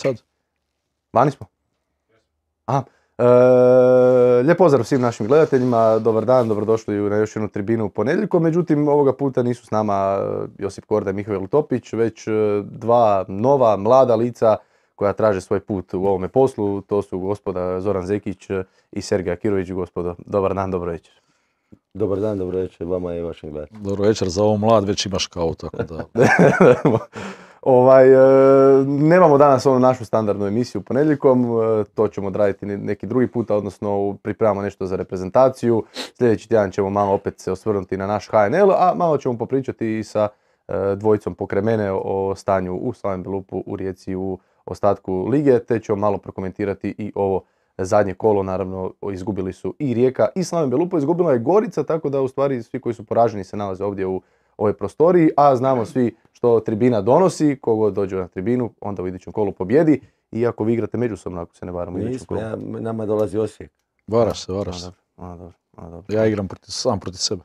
sad? Vani smo? Aha. Lijep pozdrav svim našim gledateljima, dobar dan, dobrodošli na još jednu tribinu ponedjeljkom. Međutim, ovoga puta nisu s nama Josip Korda i Mihael Topić, već dva nova, mlada lica koja traže svoj put u ovome poslu. To su gospoda Zoran Zekić i Sergej Akirović. Gospodo, dobar dan, dobro večer. Dobar dan, dobro večer vama i vašim gledateljima. Dobro večer, za ovo mlad već imaš kao, tako da... Nemamo danas onu našu standardnu emisiju ponedjeljkom, to ćemo odraditi neki drugi puta, odnosno pripremamo nešto za reprezentaciju. Sljedeći tjedan ćemo malo opet se osvrnuti na naš HNL, a malo ćemo popričati i sa dvojicom pokraj mene o stanju u Slaven Belupu, u Rijeci, u ostatku lige, te ćemo malo prokomentirati i ovo zadnje kolo. Naravno, izgubili su i Rijeka i Slaven Belupo, izgubila je Gorica, tako da u stvari svi koji su poraženi se nalaze ovdje u ovoj prostoriji, a znamo svi što tribina donosi. Kogod dođe na tribinu, onda u idućem kolu pobjedi. Iako vi igrate međusobno, ako se ne varam u idućem kolu. Nama dolazi Osijek. Varaš se. Dobro. Ja igram sam protiv sebe.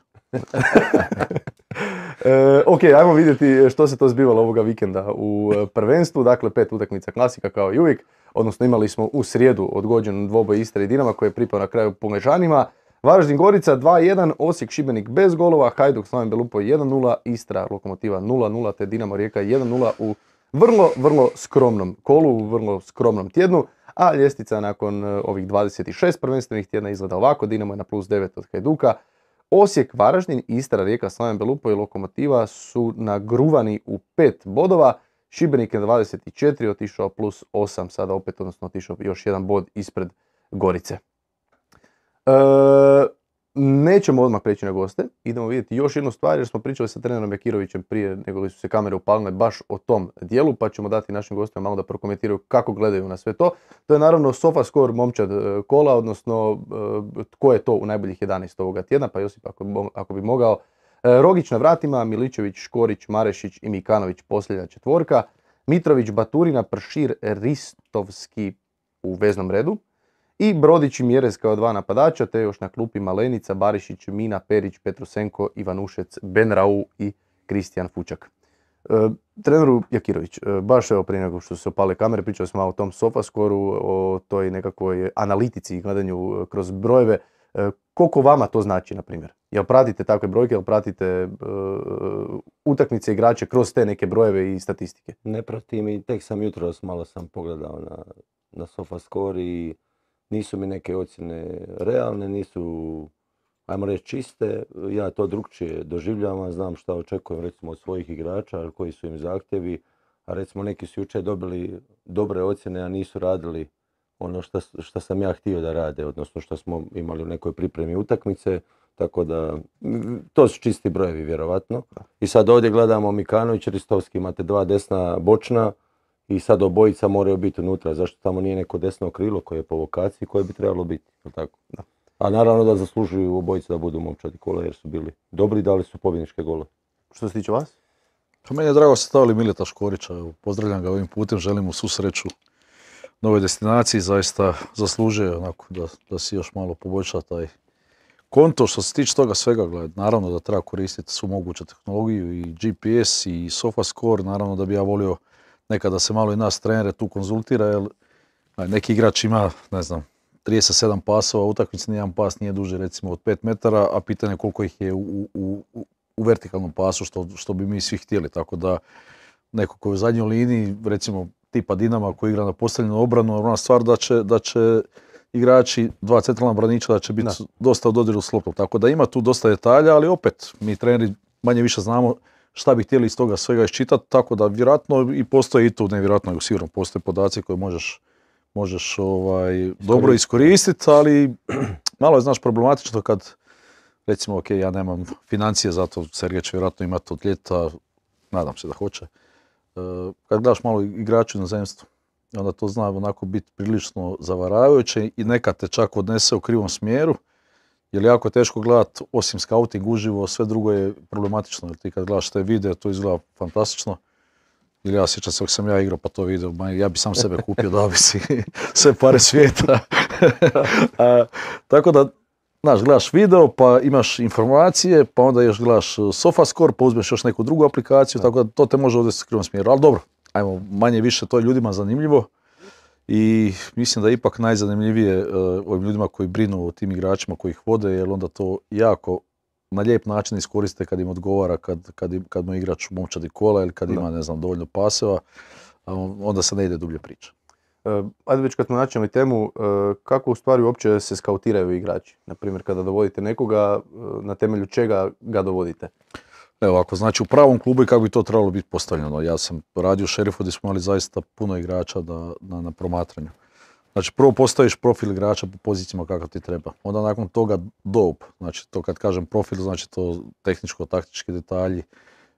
Ok, ajmo vidjeti što se to zbivalo ovoga vikenda u prvenstvu. Dakle, 5 utakmica klasika kao i uvijek. Odnosno imali smo u srijedu odgođen dvoboj Istre i Dinama koji je pripao na kraju Puležanima. Varaždin Gorica 2-1, Osijek Šibenik bez golova, Hajduk Slaven Belupo 1-0, Istra Lokomotiva 0-0 te Dinamo Rijeka 1-0 u vrlo skromnom kolu, u vrlo skromnom tjednu. A ljestvica nakon ovih 26 prvenstvenih tjedna izgleda ovako: Dinamo je na +9 od Hajduka, Osijek, Varaždin, Istra, Rijeka, Slaven Belupo i Lokomotiva su nagruvani u 5 bodova. Šibenik je na 24 otišao +8 sada opet, odnosno otišao još jedan bod ispred Gorice. Nećemo odmah preći na goste, idemo vidjeti još jednu stvar jer smo pričali sa trenerom Akirovićem prije nego li su se kamere upalile baš o tom dijelu, pa ćemo dati našim gostima malo da prokomentiraju kako gledaju na sve to. To je naravno SofaScore momčad kola, odnosno tko je to u najboljih 11 ovoga tjedna, pa Josip ako bi mogao. Rogić na vratima, Miličević, Škorić, Marešić i Mikanović posljednja četvorka, Mitrović, Baturina, Pršir, Ristovski u veznom redu. I Brodić i Mjerez kao dva napadača, te još na klupi Malenica, Barišić, Mina, Perić, Petrusenko, Ivanušec, Benrau i Kristijan Fučak. Treneru Jakirović, baš evo prije nego što se opale kamere, pričali smo o tom SofaScore-u, o toj nekakvoj analitici i gledanju kroz brojeve. Koliko vama to znači, na primjer? Jel pratite takve brojke, jel pratite utakmice igrače kroz te neke brojeve i statistike? Ne pratim i tek sam jutros malo sam pogledao na SofaScore i nisu mi neke ocjene realne, nisu, ajmo reći, čiste. Ja to drukčije doživljavam, znam šta očekujem recimo od svojih igrača, koji su im zahtjevi, a recimo neki su jučer dobili dobre ocjene, a nisu radili ono što sam ja htio da rade, odnosno što smo imali u nekoj pripremi utakmice, tako da to su čisti brojevi vjerovatno. I sad ovdje gledamo Mikanović, Ristovski, imate dva desna bočna, i sad obojica moraju biti unutra, zašto tamo nije neko desno krilo koje je po vokaciji koje bi trebalo biti, tako? Da. A naravno da zaslužuju obojica da budu momčadi kola jer su bili dobri i dali su pobjedničke gole. Što se tiče vas? Pa meni je drago ste stavili Mileta Škorića, pozdravljam ga ovim putem, želim mu svu sreću nove destinaciji, zaista zaslužuje onako da si još malo poboljša taj konto. Što se tiče toga svega, naravno da treba koristiti svu moguću tehnologiju i GPS i SofaScore, naravno da bi ja volio nekada se malo i nas trenere tu konzultira, jer neki igrač ima, ne znam, 37 pasova, utakmici nijedan pas nije duže recimo od 5 metara, a pitanje koliko ih je u vertikalnom pasu, što bi mi svi htjeli. Tako da neko koji je u zadnjoj liniji, recimo tipa Dinama koji igra na postavljenu obranu, ona stvar da će igrači, dva centralna braniča, da će biti dosta u dodiru s loptom. Tako da ima tu dosta detalja, ali opet mi treneri manje više znamo šta bi htjeli iz toga svega iščitati, tako da vjerojatno i postoji i tu, nevjerojatno sigurno postoje podaci koje možeš dobro iskoristiti, ali malo je, znaš, problematično kad recimo, ok, ja nemam financije, zato Sergej će vjerojatno imati od ljeta, nadam se da hoće. Kad gledaš malo igraču na inozemstvu, onda to zna onako biti prilično zavaravajuće i nekad te čak odnese u krivom smjeru, jer jako je teško gledati, osim scouting uživo, sve drugo je problematično, jer ti kad gledaš te videe, to izgleda fantastično. Ili ja sjećam se, ako sam ja igrao pa to video, ja bi sam sebe kupio da bi si sve pare svijeta. Tako da, znaš, gledaš video pa imaš informacije, pa onda još gledaš SofaScore, pa uzmeš još neku drugu aplikaciju, tako da to te može odvesti u krivom smjeru. Ali dobro, ajmo, manje više to je ljudima zanimljivo. I mislim da je ipak najzanimljivije ovim ljudima koji brinu o tim igračima koji ih vode, jer onda to jako na lijep način iskoriste kad im odgovara, kad mu igrač u momčadi kola ili kad ima, ne znam, dovoljno paseva, onda se ne ide dublje priča. Ajde već kad smo načeli temu, kako u stvari uopće se skautiraju igrači? Naprimjer, kada dovodite nekoga, na temelju čega ga dovodite? Evo, ako znači u pravom klubu i kako bi to trebalo biti postavljeno. Ja sam radio u Šerifu gdje smo imali zaista puno igrača na promatranju. Znači, prvo postaviš profil igrača po pozicijama kakav ti treba. Onda nakon toga dope. Znači, to kad kažem profil, znači to tehničko-taktički detalji,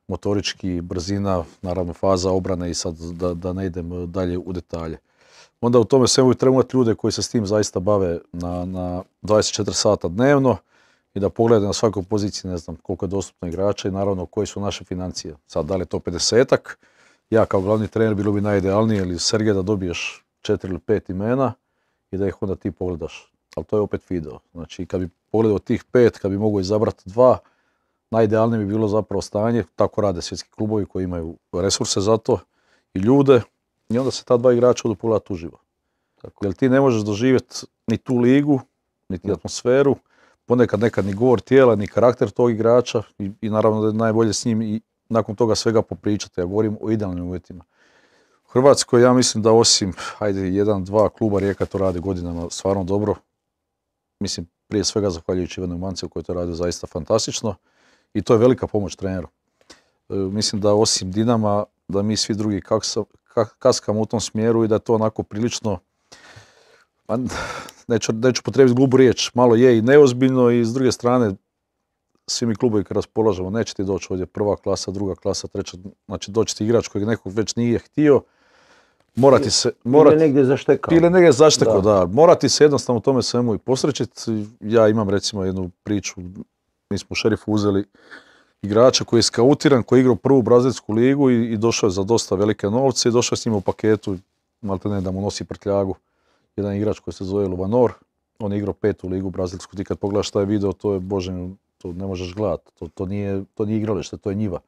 motorički, brzina, naravno faza obrane i sad da ne idem dalje u detalje. Onda u tome svemu treba imati ljude koji se s tim zaista bave na 24 sata dnevno i da pogledaju na svakoj poziciji, ne znam koliko je dostupno igrača i naravno koje su naše financije. Sad, da li je to 50-ak, ja kao glavni trener bilo bi najidealnije ili Sergej da dobiješ 4 ili 5 imena i da ih onda ti pogledaš. Ali to je opet video. Znači, kad bi pogledao tih 5, kad bi mogao izabrati 2, najidealnije bi bilo zapravo stanje, tako rade svjetski klubovi koji imaju resurse za to i ljude i onda se ta 2 igrača odu pogledati uživo. Jer ti ne možeš doživjeti ni tu ligu, niti atmosferu, ponekad nekad ni govor tijela, ni karakter tog igrača i naravno da je najbolje s njim i nakon toga svega popričati. Ja govorim o idealnim uvjetima. U Hrvatskoj ja mislim da osim, 1-2 kluba Rijeka to radi godinama stvarno dobro. Mislim, prije svega zahvaljujući Ivanu Mancevu koji to radi zaista fantastično i to je velika pomoć treneru. Mislim da osim Dinama, da mi svi drugi kaskamo u tom smjeru i da je to onako prilično, neću potrebiti grubu riječ, malo je i neozbiljno i s druge strane svi mi klubovi kad raspolažemo, neće ti doći ovdje prva klasa, druga klasa, treća, znači doći ti igrač kojeg nekog već nije htio, ili negdje zaštekao. Ili negdje zaštekao, da. Morati se jednostavno u tome svemu i posrećiti. Ja imam recimo jednu priču, mi smo u Šerifu uzeli igrača koji je skautiran, koji je igrao prvu brazilsku ligu i došao je za dosta velike novce i došao je s njima u paketu, malte ne da mu nosi prtljagu. Jedan igrač koji se zove Luvanor, on je igrao 5. ligu brazilsku, ti kad pogledaš taj video, to je bože, to ne možeš gledati, to nije igralište, to je njiva.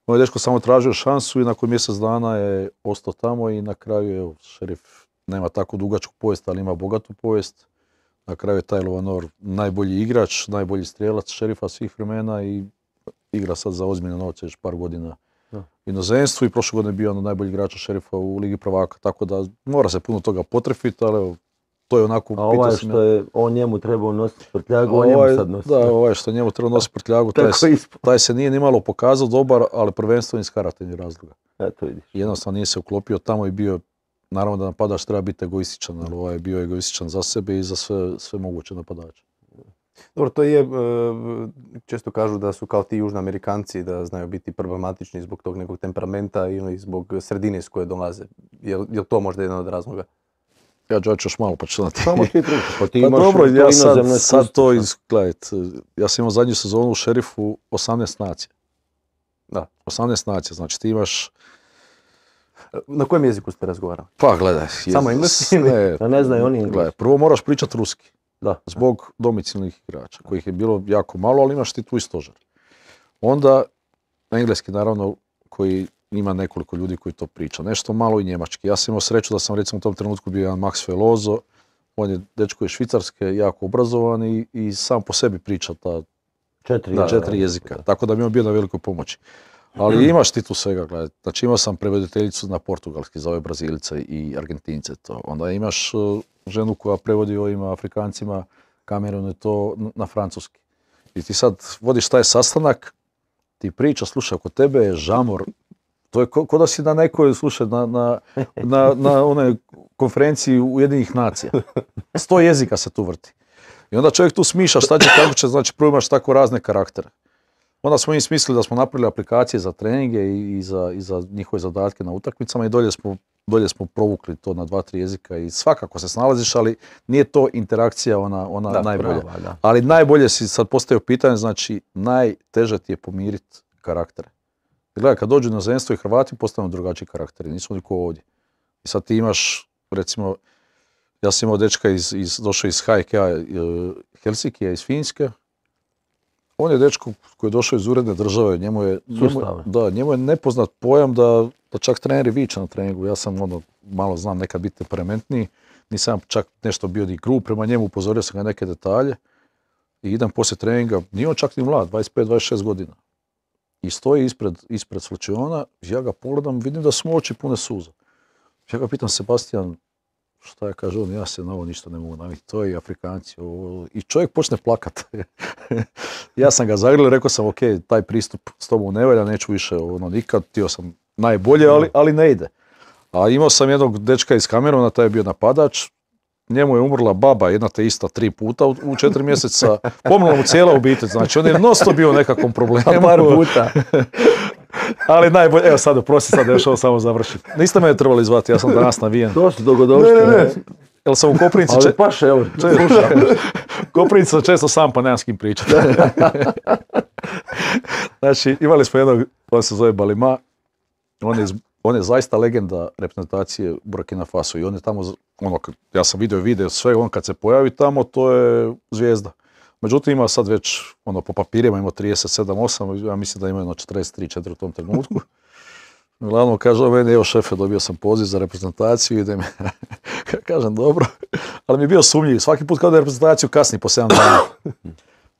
Moj dečko samo tražio šansu i nakon mjesec dana je ostao tamo i na kraju, evo, Šerif nema tako dugačku povijest, ali ima bogatu povijest. Na kraju je taj Luvanor najbolji igrač, najbolji strijelac Šerifa svih vremena i igra sad za ozbiljne novce još par godina u inozemstvu i prošle godine je bio najbolji igrač Šerifa u Ligi prvaka, tako da mora se puno toga potrefiti, ali evo, to je onako... A ovaj što je on njemu trebao nositi prtljagu, on njemu sad nosi. Da, ovaj što njemu trebao nositi prtljagu, taj se nije ni malo pokazao dobar, ali prvenstveno iz karakternih razloga. Eto vidiš. Jednostavno nije se uklopio tamo i bio, naravno da napadač treba biti egoističan, ali ovaj je bio egoističan za sebe i za sve moguće napadače. Dobro, to je, često kažu da su kao ti Južni Amerikanci, da znaju biti problematični zbog tog nekog temperamenta ili zbog sredine s koje dolaze. Je li to možda jedan od razloga? Ja ću još malo počinati. Samo ti drugi, pa ti pa imaš dobro, ja inozemno sad to izgledajte. Ja sam imao zadnju sezonu u Šerifu 18 nacija. Da. 18 nacija, znači ti imaš... Na kojem jeziku ste razgovarali? Pa gledaj. Samo engleski? Ne znaju oni engleski. Prvo moraš pričati ruski. Da. Zbog domicilnih igrača, kojih je bilo jako malo, ali imaš ti tu i stožer. Onda engleski, naravno, koji ima nekoliko ljudi koji to priča. Nešto malo i njemački. Ja sam imao sreću da sam recimo u tom trenutku bio jedan Max Veloso. On je dečko iz Švicarske, jako obrazovan i sam po sebi priča ta 4 jezika. Tako da mi je on bio na velikoj pomoći. Ali imaš ti tu svega, gledaj. Znači imao sam prevoditeljicu na portugalski za ove Brazilice i Argentince. To. Onda imaš ženu koja prevodi ovim Afrikancima, Kamerunu je to na francuski. I ti sad vodiš taj sastanak, ti priča, slušaj, oko tebe je žamor. To je ko da si na nekoj, slušaj, na onoj konferenciji Ujedinjenih nacija. 100 jezika se tu vrti. I onda čovjek tu smišlja šta će, kako će, znači prvo imaš tako razne karaktere. Onda smo im smislili da smo napravili aplikacije za treninge i za njihove zadatke na utakmicama i dolje smo provukli to na 2-3 jezika i svakako se snalaziš, ali nije to interakcija ona najbolja. Prava. Ali najbolje si sad postavio pitanje, znači najteže ti je pomiriti karaktere. Gledaj, kad dođu na inozemstvo i Hrvati postanu drugačiji karakteri, nismo niko ovdje. I sad ti imaš, recimo, ja sam imao dečka došao iz HK Helsinkija, iz Finjske. On je dečko koji je došao iz uredne države, njemu je nepoznat pojam da čak treneri viče na treningu. Ja sam malo znam nekad biti temperamentniji, nisam čak nešto bio ni grub prema njemu, upozorio sam ga na neke detalje i idem poslije treninga, nije on čak ni mlad, 25-26 godina. I stoji ispred slučiona, ja ga pogledam, vidim da su mu oči pune suza. Ja ga pitam, Sebastian, šta je, kaže on, ja se na ovo ništa ne mogu naviti, to je i Afrikanci. I čovjek počne plakat. Ja sam ga zagrlio, rekao sam, ok, taj pristup s tobom ne valja, neću više nikad, htio sam najbolje, ali ne ide. A imao sam jednog dečka iz Kameruna, taj je bio napadač, njemu je umrla baba, jedna te ista 3 puta u 4 mjeseca, pomrla mu cijela obitelj, znači on je non-stop bio u nekakvom problemu. Par puta. Ali najbolje, evo sad, oprosti, sad još ovo samo završiti. Niste me trebali zvati, ja sam danas navijen. To su dogodovštine. Ne. Jel sam u Koprivnici... Ali paše, evo, Koprivnici sam često sam, pa nemam s kim pričati. Znači, imali smo jednog, on se zove Balima, on je zaista legenda reprezentacije Burkina Faso i on je tamo, ja sam video sve, on kad se pojavi tamo, to je zvijezda. Međutim, ima sad već, po papirima ima 37-8, ja mislim da ima 43-4 u tom trenutku. Uglavnom kaže, meni, evo šefe, dobio sam poziv za reprezentaciju, idem. Kažem, dobro, ali mi je bio sumnjiv, svaki put kao da je reprezentaciju kasni po 7 dana.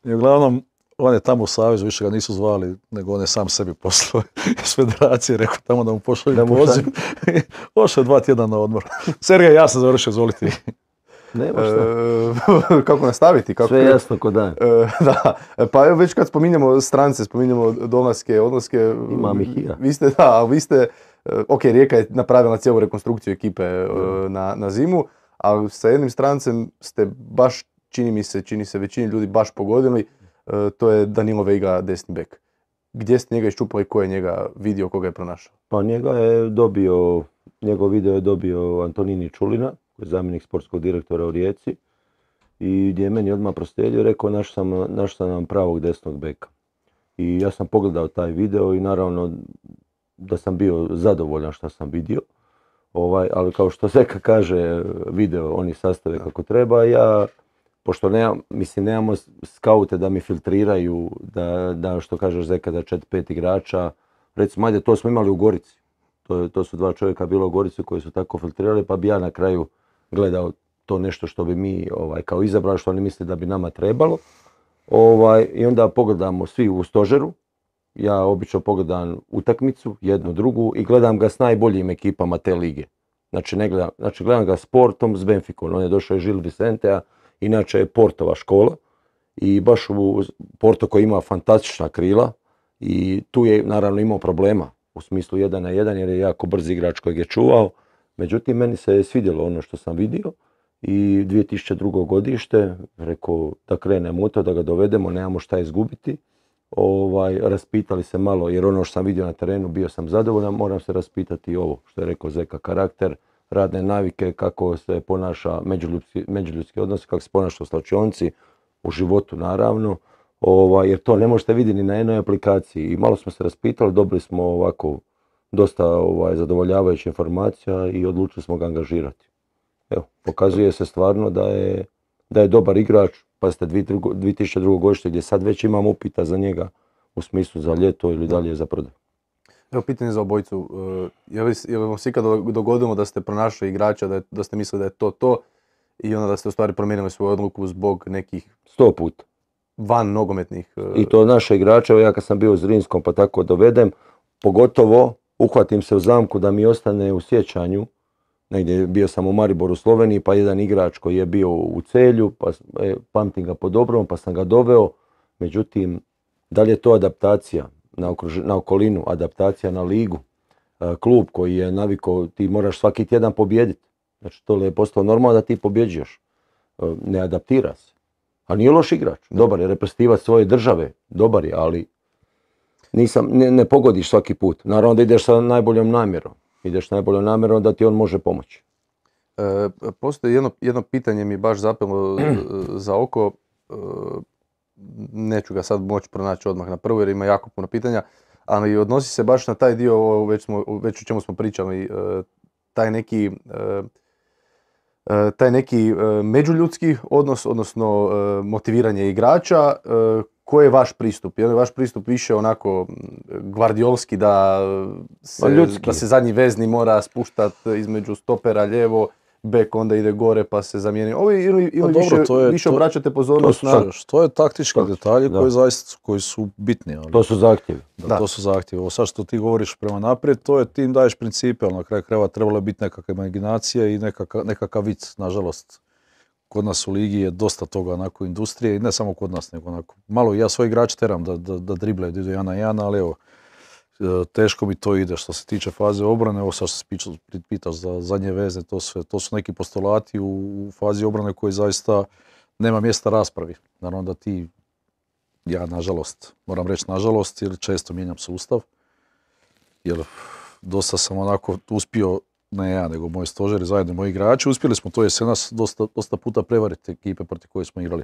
I uglavnom, on je tamo u Savezu, više ga nisu zvali, nego on je sam sebi poslao iz federacije, rekao tamo da mu pošalju poziv. Ošao je 2 tjedna na odmor. Sergej, ja sam završio, izvolite. Nema šta. Kako nastaviti? Sve je jasno ko dan. Da, pa evo već kad spominjemo strance, spominjemo dolaske, odlaske. Imam ih i ja. Vi ste, ok, Rijeka je napravila cijelu rekonstrukciju ekipe na zimu, ali sa jednim strancem ste baš, čini se većini ljudi baš pogodili, to je Danilo Veiga, desni bek. Gdje ste njega iščupali, ko je njega vidio, koga je pronašao? Pa njegov video je dobio Antonini Čulina, koji je zamjenik sportskog direktora u Rijeci, i gdje je meni odmah proslijedio, rekao našao sam nam pravog desnog beka. I ja sam pogledao taj video i naravno da sam bio zadovoljan što sam vidio, ali kao što Zeka kaže, video oni sastave kako treba, ja, pošto nemamo skaute da mi filtriraju, da što kažeš Zeka, da 4-5 igrača, recimo, ajde, to smo imali u Gorici. To su 2 čovjeka bilo u Gorici koji su tako filtrirali, pa bi ja na kraju gledao to nešto što bi mi kao izabrali, što oni misle da bi nama trebalo. I onda pogledamo svi u stožeru. Ja obično pogledam utakmicu, jednu, drugu, i gledam ga s najboljim ekipama te lige. Znači gledam ga s Portom, s Benficom. On je došao iz Gil Vicentea, inače je Portova škola. I baš u Porto koji ima fantastična krila i tu je naravno imao problema. U smislu 1 na 1 jer je jako brz igrač kojeg je čuvao. Međutim, meni se svidjelo ono što sam vidio i 2002. godište, rekao da krenemo u to, da ga dovedemo, nemamo šta izgubiti. Raspitali se malo, jer ono što sam vidio na terenu bio sam zadovoljan, moram se raspitati i ovo što je rekao Zeka, karakter, radne navike, kako se ponaša međuljudski odnos, kako se ponaša u slačionci, u životu naravno. Jer to ne možete vidjeti ni na jednoj aplikaciji. I malo smo se raspitali, dobili smo ovako dosta zadovoljavajuća informacija i odlučili smo ga angažirati. Evo, pokazuje se stvarno da je dobar igrač, pa ste 2002. godište gdje sad već imam upita za njega u smislu za ljeto ili dalje za prodaj. Evo pitanje za obojicu, je li vam se ikad dogodilo da ste pronašli igrača, da ste mislili da je to i onda da ste u stvari promijenili svoju odluku zbog nekih 100 puta. Van nogometnih... I to naše igrače, evo ja kad sam bio u Zrinskom pa tako dovedem, pogotovo uhvatim se u zamku da mi ostane u sjećanju, negdje bio sam u Mariboru u Sloveniji, pa jedan igrač koji je bio u Celju, pa pamtim ga po dobrom, pa sam ga doveo, međutim, da li je to adaptacija na okolinu, adaptacija na ligu, klub koji je navikao, ti moraš svaki tjedan pobijediti, znači to je postalo normalno da ti pobjeđuješ, ne adaptira se. A nije loš igrač, dobar je reprezentativac svoje države, dobar je, ali ne pogodiš svaki put. Naravno da ideš sa najboljom namjerom, da ti on može pomoći. Postoji jedno pitanje mi baš zapelo za oko, neću ga sad moći pronaći odmah na prvo jer ima jako puno pitanja, ali odnosi se baš na taj dio, već o čemu smo pričali, taj neki taj neki međuljudski odnos, odnosno motiviranje igrača, koji je vaš pristup? Je li vaš pristup više onako gvardiolski da se zadnji vezni mora spuštati između stopera lijevo, bek onda ide gore pa se zamijeni? Ili više obraćate pozornost na... To je taktički detalji koji su bitni. Ali, to su zahtjevi. To su zahtjevi. Ovo sad što ti govoriš prema naprijed, to je ti im daješ principe, ali na kraju krajeva trebala biti nekakva imaginacija i nekakav vic, nažalost. Kod nas u ligi je dosta toga onako industrije i ne samo kod nas, nego onako malo ja svoj igrač teram da driblaju, da idu 1-1, ali evo, teško mi to ide što se tiče faze obrane. Ovo sad što se pitaš za zadnje veze, to su neki postulati u fazi obrane koji zaista nema mjesta raspravi. Naravno da ja nažalost, moram reći nažalost, jer često mijenjam sustav, jer dosta sam onako uspio, ne ja, nego moji stožeri, zajedno moji igrači, uspjeli smo to jesenas dosta puta prevariti ekipe protiv koje smo igrali.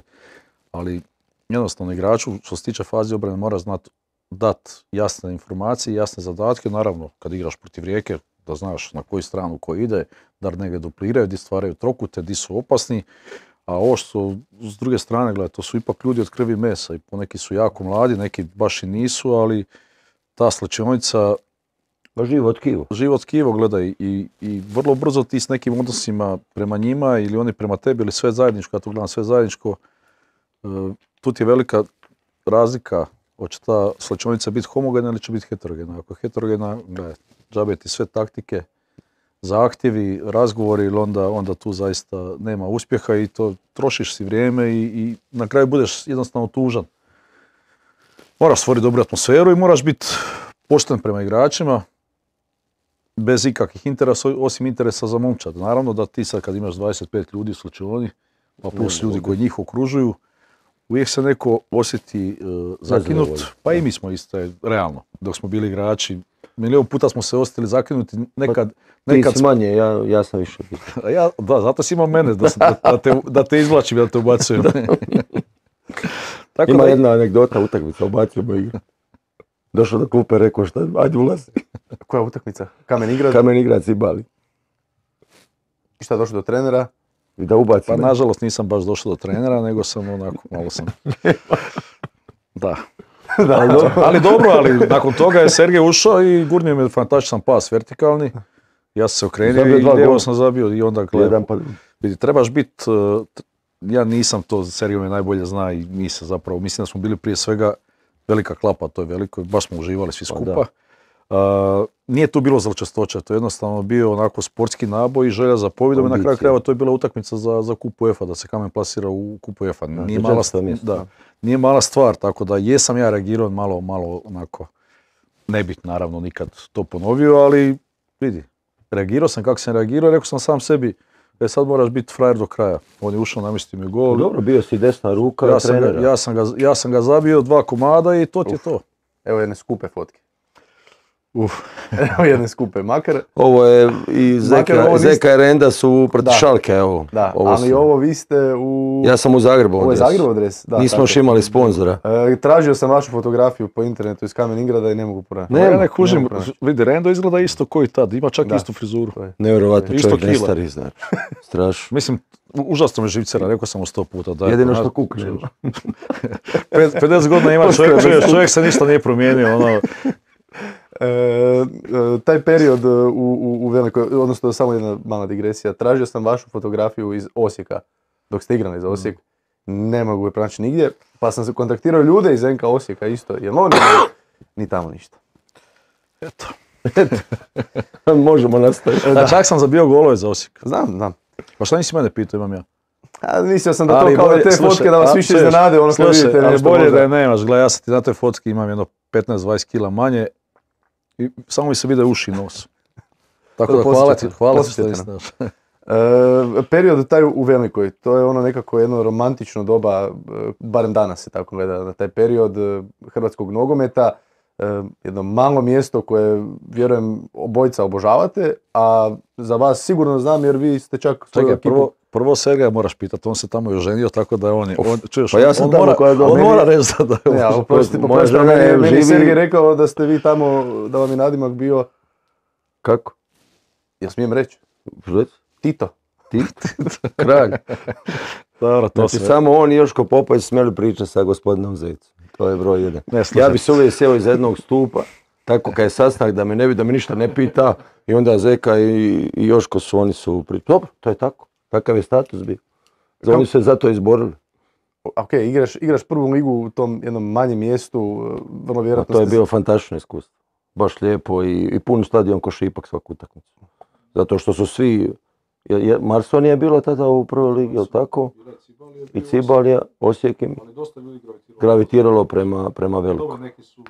Ali jednostavno igraču, što se tiče faze obrane, mora znati dati jasne informacije, jasne zadatke. Naravno, kad igraš protiv Rijeke, da znaš na koju stranu ko ide, da negdje dupliraju, gdje stvaraju trokute, gdje su opasni. A ovo što s druge strane, gledaj, to su ipak ljudi od krvi i mesa i poneki su jako mladi, neki baš i nisu, ali ta slačionica... Živo tkivo, gledaj, i vrlo brzo ti s nekim odnosima prema njima ili oni prema tebi ili sve zajedničko, ja to gledam sve zajedničko, tu ti je velika razlika, hoće ta slačionica biti homogena ili će biti heterogena. Ako je heterogena, gledaj, džabe ti sve taktike, zahtjevi, razgovori, ili onda tu zaista nema uspjeha i to trošiš si vrijeme i na kraju budeš jednostavno tužan. Moraš stvoriti dobru atmosferu i moraš biti pošten prema igračima, bez ikakvih interesa, osim interesa za momčad. Naravno da ti sad kad imaš 25 ljudi u slačioni, pa plus ljudi koji njih okružuju, uvijek se neko osjeti zakinut, pa i mi smo isto, realno, dok smo bili igrači. Milion puta smo se osjetili zakinuti, nekad... Ti si manje, ja sam više. Zato si imao mene, da te izvlačim, da te ubacujem. Ima jedna anegdota, utakmica, ubacujemo igru. Došao do klupe, rekao šta, ajde ulazi. Koja utakmica? Kamen Ingrad? Kamen Ingrad si bali. I šta, došao do trenera? I da ubaci. Pa nažalost nisam baš došao do trenera, nego sam onako, malo sam... Da. Ali dobro, ali nakon toga je Sergej ušao i gurnio mi je fantastičan pas vertikalni. Ja sam se okrenio i lijevo sam zabio i onda gledam. Vidi, trebaš biti, ja nisam to, Sergej me najbolje zna i mi se zapravo, mislim da smo bili prije svega velika klapa, to je veliko, baš smo uživali svi skupa. Nije tu bilo zločestoća, to je jednostavno bio onako sportski naboj i želja za pobjedom i na kraju krajeva to je bila utakmica za kup UEFA, da se Kamen plasira u kup UEFA. Nije mala stvar, tako da jesam ja reagirao malo onako, ne bih naravno nikad to ponovio, ali vidi, reagirao sam kako sam reagirao, rekao sam sam sebi, sad moraš biti frajer do kraja. On je ušao, namjestio mi gol. Dobro, bio si desna ruka trenera. Ja sam ga zabio 2 komada i to ti je to. Evo jedne skupe fotke. Evo jedne skupe, makar... Ovo je i Zeka i Renda su proti Šalke, evo. Da, ali ovo vi ste u... Ja sam u Zagrebu adres. Ovo je Zagrebu adres? Da. Nismo još imali sponzora. Tražio sam vašu fotografiju po internetu iz Kamen Ingrada i ne mogu pronaći. Ja ne kužim, vidi, Rendo izgleda isto koji tad, ima čak istu frizuru. Nevjerovatno, čovjek nestari, znači. Strašno. Mislim, užasno me živcera, rekao sam mu 100 puta. Jedino što kukne. 50 godina ima čovjek se ništa nije promijenio, ono... Taj period u Velikoj, odnosno samo jedna mala digresija, tražio sam vašu fotografiju iz Osijeka, dok ste igrali za Osijek, ne mogu je pronaći nigdje, pa sam se kontaktirao ljude iz NK Osijeka isto, jer oni ni tamo ništa. Eto. Možemo nastaviti. Čak sam zabio golove za Osijek. Znam. Pa šta nisi mene pitao, imam ja? Mislio sam da to kao te fotke da vas više iznenade, ono kad vidite nešto. Ali bolje da je nemaš, gledaj, ja sam ti na toj fotki imam jedno 15-20 kila manje i samo mi se vide uši i nos. Tako da hvala ti što nisi znaš. Period taj u Velikoj, to je ono nekako jedno romantično doba, barem danas se tako gleda na taj period hrvatskog nogometa. Jedno malo mjesto koje, vjerujem, obojica obožavate, a za vas sigurno znam jer vi ste čak... Čekaj, prvo Sergeja moraš pitati, on se tamo je oženio, tako da pa ja sam tamo koja ga... On mora reći da je... Ja, oprosti, meni Sergej rekao da ste vi tamo, da vam je nadimak bio... Kako? Ja smijem reći? Tito. Ti, kralj. Dobro, to Znači, sve. samo on i Joško Popović smjeli pričati sa gospodinom Zecom. To je broj 1. Ne, slušaj. Ja bi se uvijek sjeo iz jednog stupa, tako kad je sastanak da me ne vidi, da me ništa ne pita, i onda Zeka i Joško oni su pričali. Dobro, to je tako. Takav je status bio. Oni su se zato izborili. Ok, igraš prvu ligu u tom jednom manjem mjestu, vrlo vjerojatno... To je bilo fantastično iskustvo. Baš lijepo i pun stadion ko Šipak svaku utakmicu. Zato što su svi... Marson je bilo tada u prvoj ligi, jel tako? I Cibalija, Osijek im gravitiralo prema Veliku. Dobro, neki su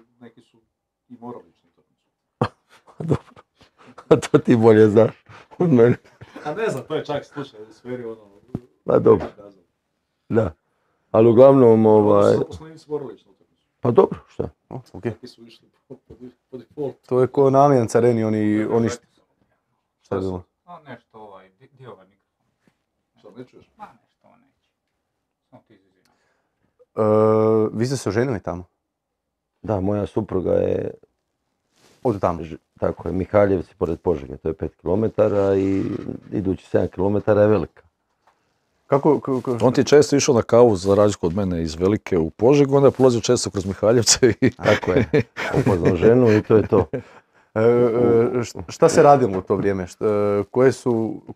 i morali ići na Dobro. A to ti bolje znaš od mene. A ne znam, to je čak slučaj u sferi ono... Pa dobro. Da. Ali uglavnom, Zaposleni su morali ići na utakmicu. pa dobro, šta? Ok. Neki su išli po default. To je ko na Allianz Areni, oni šta je bilo? A nešto dio ovaj mikrofon. Šta, ne čuješ? Ma nešto neće. Samo ti izvini. Vi ste se oženili tamo? Da, moja supruga je, Od tamo? tako je, Mihaljevci pored Požege, to je 5 km i idući 7 km je Velika. Kako On ti je često išao na kavu za razliku od mene iz Velike u Požegu, onda je prolazio često kroz Mihaljevce i... Tako je, upoznao ženu i to je to. šta se radilo u to vrijeme?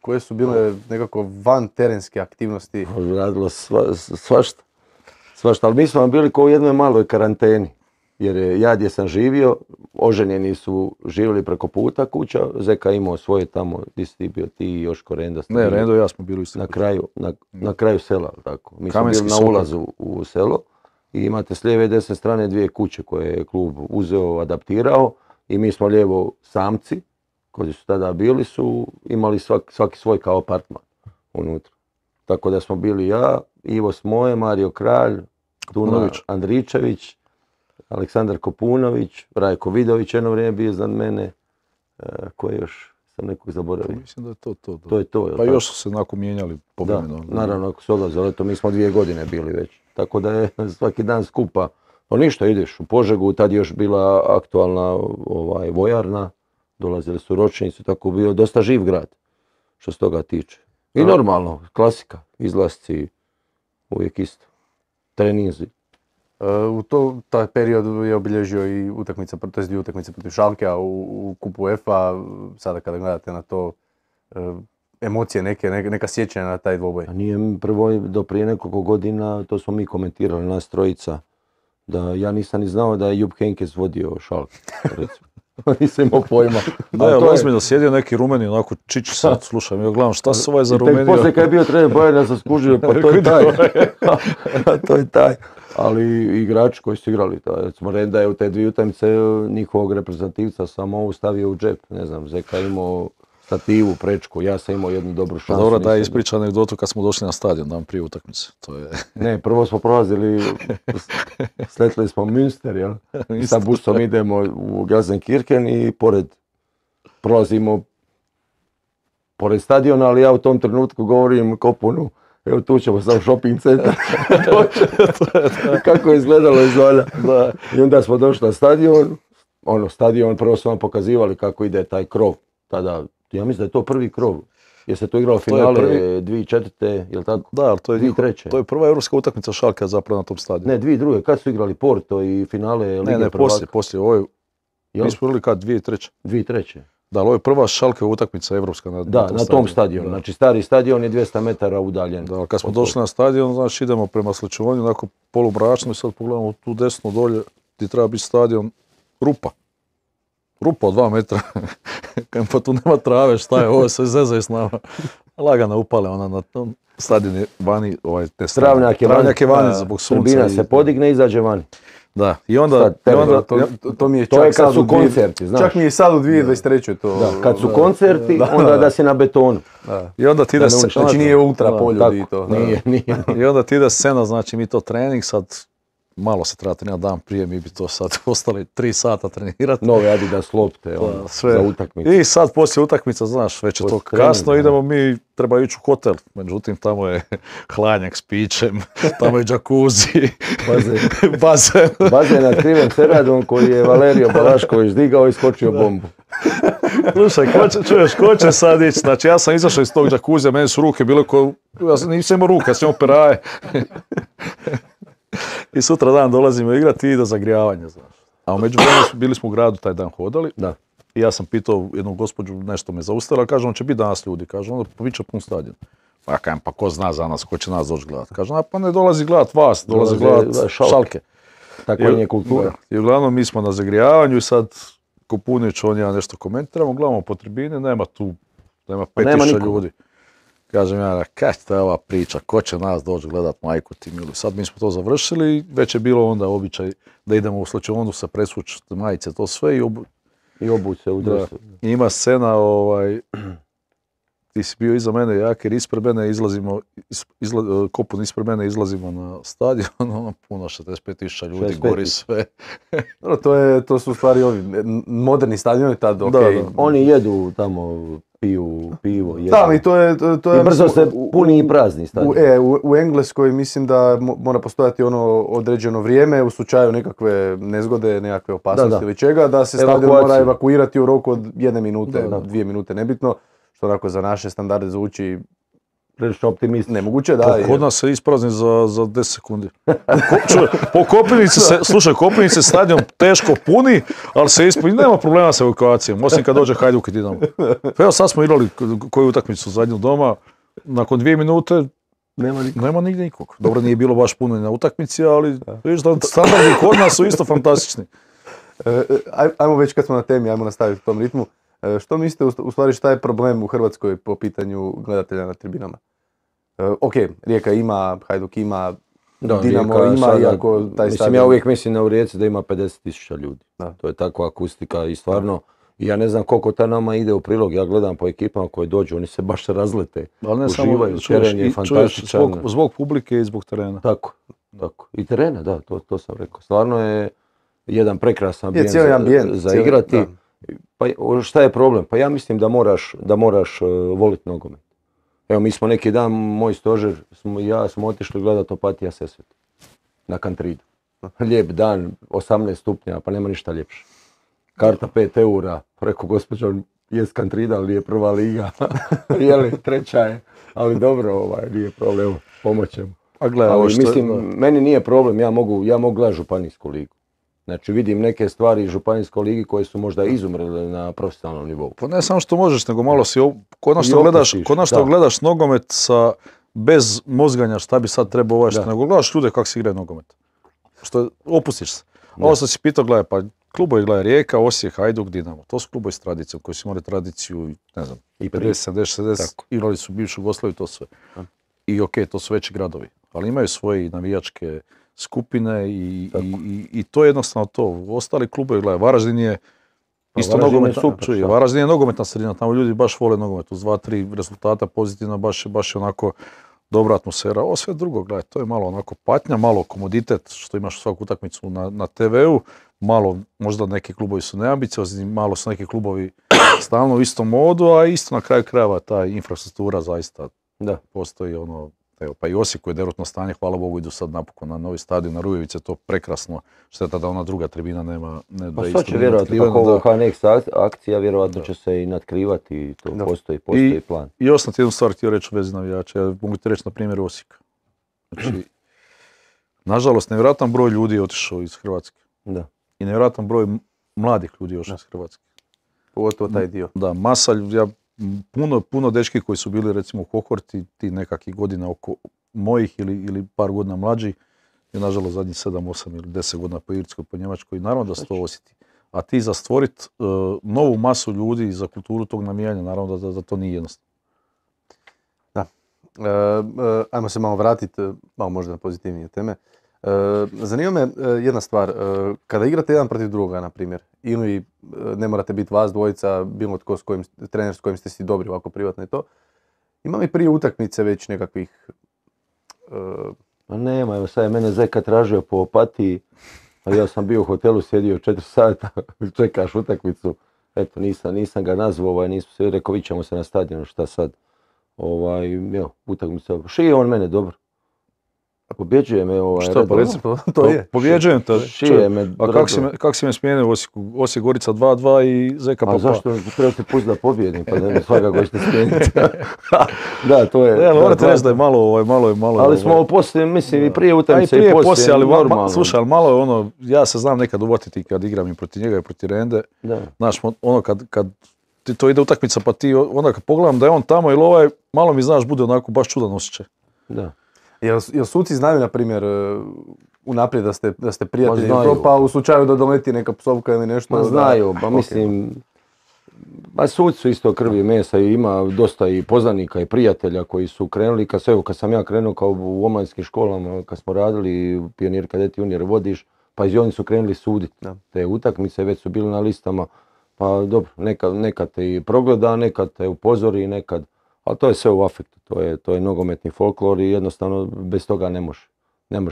Koje su bile nekako van terenske aktivnosti? Radilo svašta. Svašta, ali mi smo bili kao u jednoj maloj karanteni. Jer ja gdje sam živio, oženjeni su živjeli preko puta kuća, Zeka imao svoje tamo, gdje si ti bio, ti i Joško Renda. Ne, Rendo i ja smo bili isto. Na kraju sela, tako. Mi smo Kamenski bili na sokol. ulazu u selo i imate s lijeve i desne strane dvije kuće koje je klub uzeo, adaptirao i mi smo lijevo samci, koji su tada bili, su imali svaki svoj kao apartman unutra. Tako da smo bili ja, Ivo Smoje, Mario Kralj, Tuna Kopunović. Andričević, Aleksandar Kopunović, Rajko Vidović, jedno vrijeme bio iznad mene, koji još sam nekog zaboravio. Mislim da je to. To je to, jel Pa tako? još su se onako mijenjali Da, povremeno. naravno ako se odlaze, ali to mi smo 2 godine bili već. Tako da je svaki dan skupa. No ništa, ideš u Požegu, tad je još bila aktualna vojarna, dolazili su ročnici, tako bio dosta živ grad, što se toga tiče. I normalno, klasika, izlasci, uvijek isto, treninzi. Taj period je obilježio i utakmica, to jest 2 utakmice protiv Schalkea u kupu UEFA, sada kada gledate na to, emocije neka sjećanja na taj dvoboj. A nije prvo, do prije nekoliko godina, to smo mi komentirali, nas trojica, da ja nisam ni znao da je Jupp Heynckes vodio Schalke, recimo. Nisam imao pojma. Da, Ali je to je- ozbiljno sjedio neki Rumeni, onako čiči sad, slušam, ja gledam šta su ovaj za I tek Rumeniju. poslije kad je bio trener Bayerna sam skužio, pa to je taj. To je taj. Ali igrači koji su igrali, recimo Renda je u te 2 utakmice njihovog reprezentativca samo ovu stavio u džep. Ne znam, Zeka je imao stativu, prečku, ja sam imao jednu dobru Pa šansu. dobro, daj mislim. ispriča anegdotu kad smo došli na stadion, dan prije utakmice. To je... Ne, prvo smo prolazili, sletili smo Münster, jel? I sa busom idemo u Gelsenkirchen i prolazimo pored stadiona, ali ja u tom trenutku govorim Kopunu, evo tu ćemo sam shopping centar. Kako je izgledalo izvalja. I onda smo došli na stadion, stadion, prvo su vam pokazivali kako ide taj krov. Tada, ja mislim da je to prvi krov. Jer se tu igralo To je finale prvi. 2004. Jel tako? Da, ali to je, 2003. to je prva europska utakmica Schalkea zapravo na tom stadionu. Ne, 2002. Kad su igrali Porto i finale Lige Ne, prvaka? poslije, ovo je, Jel? mi smo igrali kad, 2003. 2003. Da, ali ovo je prva Schalkea utakmica evropska na Da, na tom stadionu. Da. Znači stari stadion je 200 metara udaljen. Da, ali kad smo došli na stadion, znači idemo prema Sličevonju, onako polumračno i sad pogledamo tu desno dolje gdje treba biti stadion, rupa. Rupa od 2 metra. Kajem, pa tu nema trave, šta je, ovo se zezaju s nama. Lagana upale, ona na tom stadion je vani, te strane. Travnjak je vani, zbog sunca. Turbina i- se podigne i izađe vani. Da, i onda... Sad, i onda To mi je To čak je kad sad su u dvije- koncerti, znaš. Čak mi je sad u 2023. to. Da, kad su koncerti, onda da si na betonu. I onda ti ide ne scena, uništi. Znači nije ultra Da, polju Tako, i to. nije. i onda ti ide scena, znači mi to trening sad malo se treba trenirati dan prije, mi bi to sad ostali 3 sata trenirati. Nove Adidas lopte, ono, sve. za utakmicu. I sad poslije utakmica, znaš, već je to Poslije treninga, kasno, da. idemo mi, treba ići u hotel. Međutim, tamo je hladnjak s pićem, tamo je džakuzi, Bazen. bazen. Bazen nad krivim ceradom koji je Valerio Balašković digao i skočio bombu. Slušaj, ko će sad ići? Znači, ja sam izašao iz tog džakuzija, meni su ruke bile ja nisam imao ruke, ja sam imao peraje. I sutra dan dolazimo igrati i do zagrijavanja, znaš. A u međuvremenu bili smo u gradu taj dan hodali. Da. I ja sam pitao jednu gospođu, nešto me zaustavila, kaže, on će biti danas ljudi, kaže, onda bit će pun stadion. Pa ja kažem, pa ko zna za nas, ko će nas doći gledat? Kaže, pa ne dolazi gledat vas, dolazi gledat Šalke. Tako je kultura. I uglavnom mi smo na zagrijavanju i sad Kopunić, on ja nešto komentiramo, gledamo po tribini, nema 5000 ljudi. Kažem ja, kaj je ova priča, ko će nas doći gledat, majku ti milu. Sad mi smo to završili i već je bilo onda običaj da idemo u slačionu se presvući majice, to sve i obući se u dresu. I ima scena, ti si bio iza mene, Jakir ispred mene, Kopun ispred mene, izlazimo na stadion, ono puno, 65.000 ljudi, 65. gori sve. To su u stvari ovi moderni stadioni tad, okej. Oni jedu tamo, piju pivo, jedu. Da, i to je... I brzo se puni i prazni stadion. U Engleskoj mislim da mora postojati ono određeno vrijeme u slučaju nekakve nezgode, nekakve opasnosti ili čega, da se stadion mora evakuirati u roku od 1 minute, 2 minute, nebitno. Što onako za naše standarde zvuči prilično optimistično. Nemoguće, da. Kod nas se isprazni za 10 sekundi. Po Kopinici se, slušaj, Kopinici stadion teško puni, ali se ispuni, nema problema sa evakuacijom, osim kad dođe Hajduk i Dinamo. Evo sad smo igrali koju utakmicu zadnju doma, nakon 2 minute nema nigdje nikog. Dobro, nije bilo baš puno na utakmici, ali vidiš da standardi kod nas su isto fantastični. Ajmo već kad smo na temi, ajmo nastaviti u tom ritmu. Što mislite u stvari šta je problem u Hrvatskoj po pitanju gledatelja na tribinama? Ok, Rijeka ima, Hajduk ima, Dinamo ima, iako taj stadion... Ja uvijek mislim u Rijeci da ima 50.000 ljudi. Da. To je takva akustika i stvarno, ja ne znam koliko ta nama ide u prilog, ja gledam po ekipama koje dođu, oni se baš razlete, uživaju, teren je fantastičan. Zbog publike i zbog terena. Tako. I terena, da, to sam rekao. Stvarno je jedan prekrasan ambijent za igrati. Pa šta je problem? Pa ja mislim da moraš voliti nogomet. Evo mi smo neki dan, moj stožer, smo otišli gledati Opatija Sesvet na Kantridu. Lijep dan, 18 stupnja, pa nema ništa ljepše. Karta 5 eura, rekao gospođo, jest Kantrida, ali je prva liga. Jeli, treća je, ali dobro, nije problem, pomoćemo. Ali mislim, meni nije problem, ja mogu gledati županijsku ligu. Znači vidim neke stvari iz županijskoj ligi koje su možda izumrle na profesionalnom nivou. Pa ne samo što možeš, nego malo si konačno gledaš nogomet bez mozganja šta bi sad trebao nego gledaš ljude kako se igraju nogomet. Što opustiš se. Ovo sam si pitao, gledaj, pa klubovi gledaj Rijeka, Osijek, Hajduk, Dinamo. To su klubovi s tradicijom koji su imali tradiciju, ne znam, i 50, 70, 70, igrali su bivšu Jugoslaviju, to sve. I okej, to su veći gradovi, ali imaju svoje navijačke skupine i to je jednostavno to. Ostali klubovi, gledaj, Varaždin je isto Varaždin je nogometna sredina, tamo ljudi baš vole nogomet, uz 2-3 rezultata pozitivno, baš je onako dobra atmosfera. Ovo sve drugo, gledaj, to je malo onako patnja, malo komoditet što imaš svaku utakmicu na TV-u, malo možda neki klubovi su neambiciozni, malo su neki klubovi stalno u istom modu, a isto na kraju krajeva ta infrastruktura zaista postoji ono. Evo, pa i Osijeku je derutno stanje, hvala Bogu, idu sad napokon na novi stadion, na Rujevice, to prekrasno, šteta da ona druga tribina nema. Pa sad će vjerojatno, kako ovo HNX akcija, vjerojatno će se i natkrivati i to postoji plan. I još sam ti jednu stvar htio reći u vezi navijača, ja mogu ti reći na primjer Osijeka. Znači, nažalost, nevjerojatan broj ljudi je otišao iz Hrvatske. Da. I nevjerojatan broj mladih ljudi je otišao iz Hrvatske. Pogotovo taj dio. Da, puno dečki koji su bili recimo u kohorti, ti nekakvih godina oko mojih ili par godina mlađi, je nažalost zadnjih 7, 8 ili 10 godina po Irskoj, po Njemačkoj, i naravno da se to osjeti. A ti za stvoriti novu masu ljudi za kulturu tog navijanja, naravno da to nije jednostavno. Da. Ajmo se malo vratiti, malo možda na pozitivnije teme. Zanima me jedna stvar, kada igrate jedan protiv druga, na primjer, ili ne morate biti vas dvojica, bilo tko trener s kojim ste si dobri, ovako privatno i to, ima li prije utakmice već nekakvih Ma nema, evo sad je mene Zeka tražio po Opatiji, a ja sam bio u hotelu, sjedio 4 sata, čekaš utakmicu. Eto, nisam ga nazvao, nismo se rekao, vi ćemo se na stadionu, šta sad. Evo, utakmica, šije on mene dobro. Pobjeđuje me Šta pa reci, to je. pobjeđujem te. Šije me. A kak si me smijenio u Osijeku? Osijek Gorica 2-2 i Zeka A pa. zašto treba se pustiti da pobjedim, pa da me svakako ćete smijeniti. Da, to je. Ja morate reći da je malo. Ali smo poslije, mislim, i prije utakmice i i poslije, ali normalno. slušaj, ali malo je ono, ja se znam nekad uvatiti kad igram i protiv njega i protiv Rende. Da. Znaš, ono kad ti to ide utakmica pa ti onda kad pogledam da je on tamo ili ovaj, malo mi znaš bude onako baš čudan osjećaj. Da. Jel suci znaju, na primjer, unaprijed da ste prijatelji, znaju. pa u slučaju da doleti neka psovka ili nešto? Ma znaju, pa mislim, pa suci su isto krvi i mesa i ima dosta i poznanika i prijatelja koji su krenuli, kad sam ja krenuo kao u omladinskim školama, kad smo radili pionir, kadeti, junior, vodiš, pa i oni su krenuli suditi te utakmice, već su bili na listama, pa dobro, nekad te i progleda, nekad te upozori, nekad, ali to je sve u afektu, to je nogometni folklor i jednostavno bez toga ne može.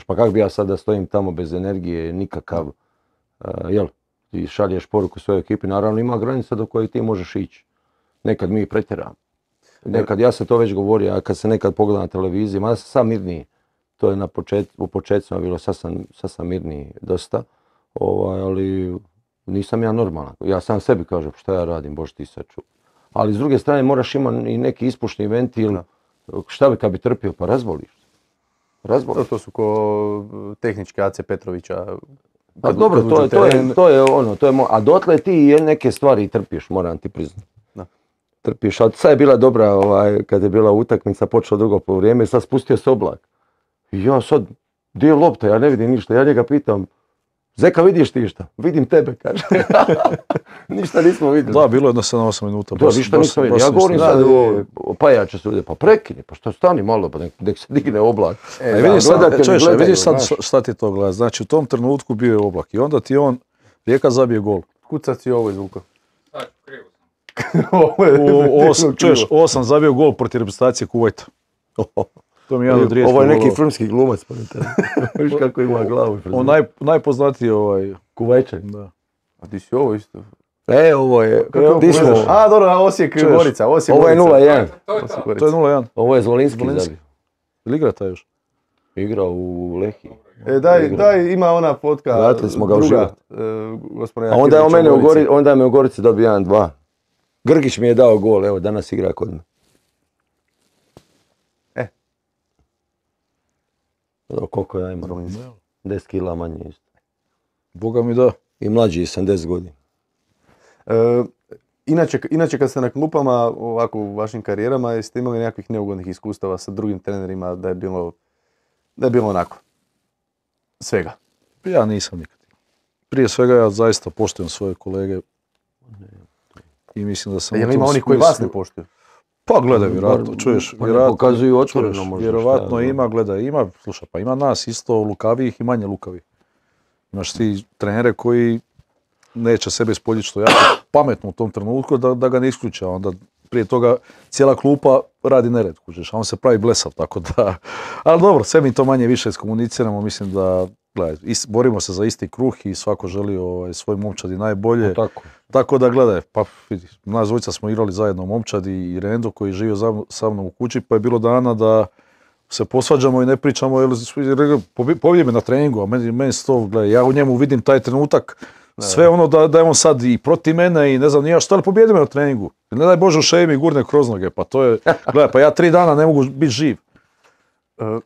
Pa kako bi ja sad da stojim tamo bez energije, nikakav, jel? Ti šalješ poruku svojoj ekipi, naravno ima granica do koje ti možeš ići. Nekad mi pretjeramo. Nekad, ja sam to već govorio, a kad se nekad pogleda na televiziji, mada sam sam mirniji, to je u početcima bilo, sad sam mirniji dosta, ali nisam ja normalan. Ja sam sebi kažem šta ja radim, Bože ti sačuvaj. Ali s druge strane moraš imati i neki ispušni ventil, šta bi kad bi trpio, pa razboliš. To su ko tehnički AC Petrovića. Pa dobro, to je ono, a dotle ti neke stvari trpiš, moram ti priznati. Trpiš, a sad je bila dobra, kad je bila utakmica, počelo drugo poluvrijeme, sad spustio se oblak. I ja sad, gdje je lopta, ja ne vidim ništa, ja njega pitam, Zeka, vidiš ti šta? Vidim tebe, kaže. Ništa nismo vidjeli. Da, bilo je jedno 7-8 minuta. Da, ništa nismo vidjeli. Ja govorim sad o pajače se ovdje, pa prekini, pa što stani malo, pa nek se digne oblak. Vidiš sad šta ti to gleda. Znači u tom trenutku bio je oblak i onda ti on, Rijeka zabije gol. Kucac si ovo izvuka. Sad, krivo sam. Ovo sam zabio gol protiv reprezentacije Kuvajta. To mi je jedan od rijetkih ovo je neki golova. filmski glumac, pa viš kako ima glavu. On najpoznatiji Kuvajčan. Da. A ti si ovo isto. Ovo je... A, dobro, Osijek Gorica. Ovo je 0-1. To je 0-1. Ovo je Zvolinski zabio. Ili igra taj još? Igrao u Lehiji. Daj, ima ona fotka. Vratili smo ga u život. A onda je me u Gorici dobio 1-2. Grgić mi je dao gol, evo danas igra kod me. Koliko ja imam? 10 kila manje isto. Boga mi da. I mlađi sam 10 godina. Inače kad ste na klupama ovako u vašim karijerama, jeste imali nekakvih neugodnih iskustava sa drugim trenerima da je bilo onako svega? Ja nisam nikad. Prije svega ja zaista poštujem svoje kolege i mislim da sam... Jel ima onih koji vas ne poštuju? Pa gledaj, vjerojatno, čuješ, pokazuju otvoreno možda. Vjerovatno ima, gledaj, slušaj, pa ima nas isto lukavijih i manje lukavih. Imaš ti trenere koji neće sebe ispoljiti što jako pametno u tom trenutku da ga ne isključa, onda prije toga cijela klupa radi nered, kužiš, a on se pravi blesav, tako da... Ali dobro, sve mi to manje više iskomuniciramo, mislim da, gledaj, borimo se za isti kruh i svako želi svoj momčadi najbolje. Tako da, gledaj, pa vidi, nas dvojica smo igrali zajedno u momčadi i Rendo koji je živio sa mnom u kući, pa je bilo dana da se posvađamo i ne pričamo, pobjedi me na treningu, a meni se to, gledaj, ja u njemu vidim taj trenutak, sve ono da je on sad i protiv mene i ne znam, nije što, ali pobjedi me na treningu. Ne daj Bože u šeji mi gurne kroz noge, pa to je, gledaj, pa ja 3 dana ne mogu biti živ.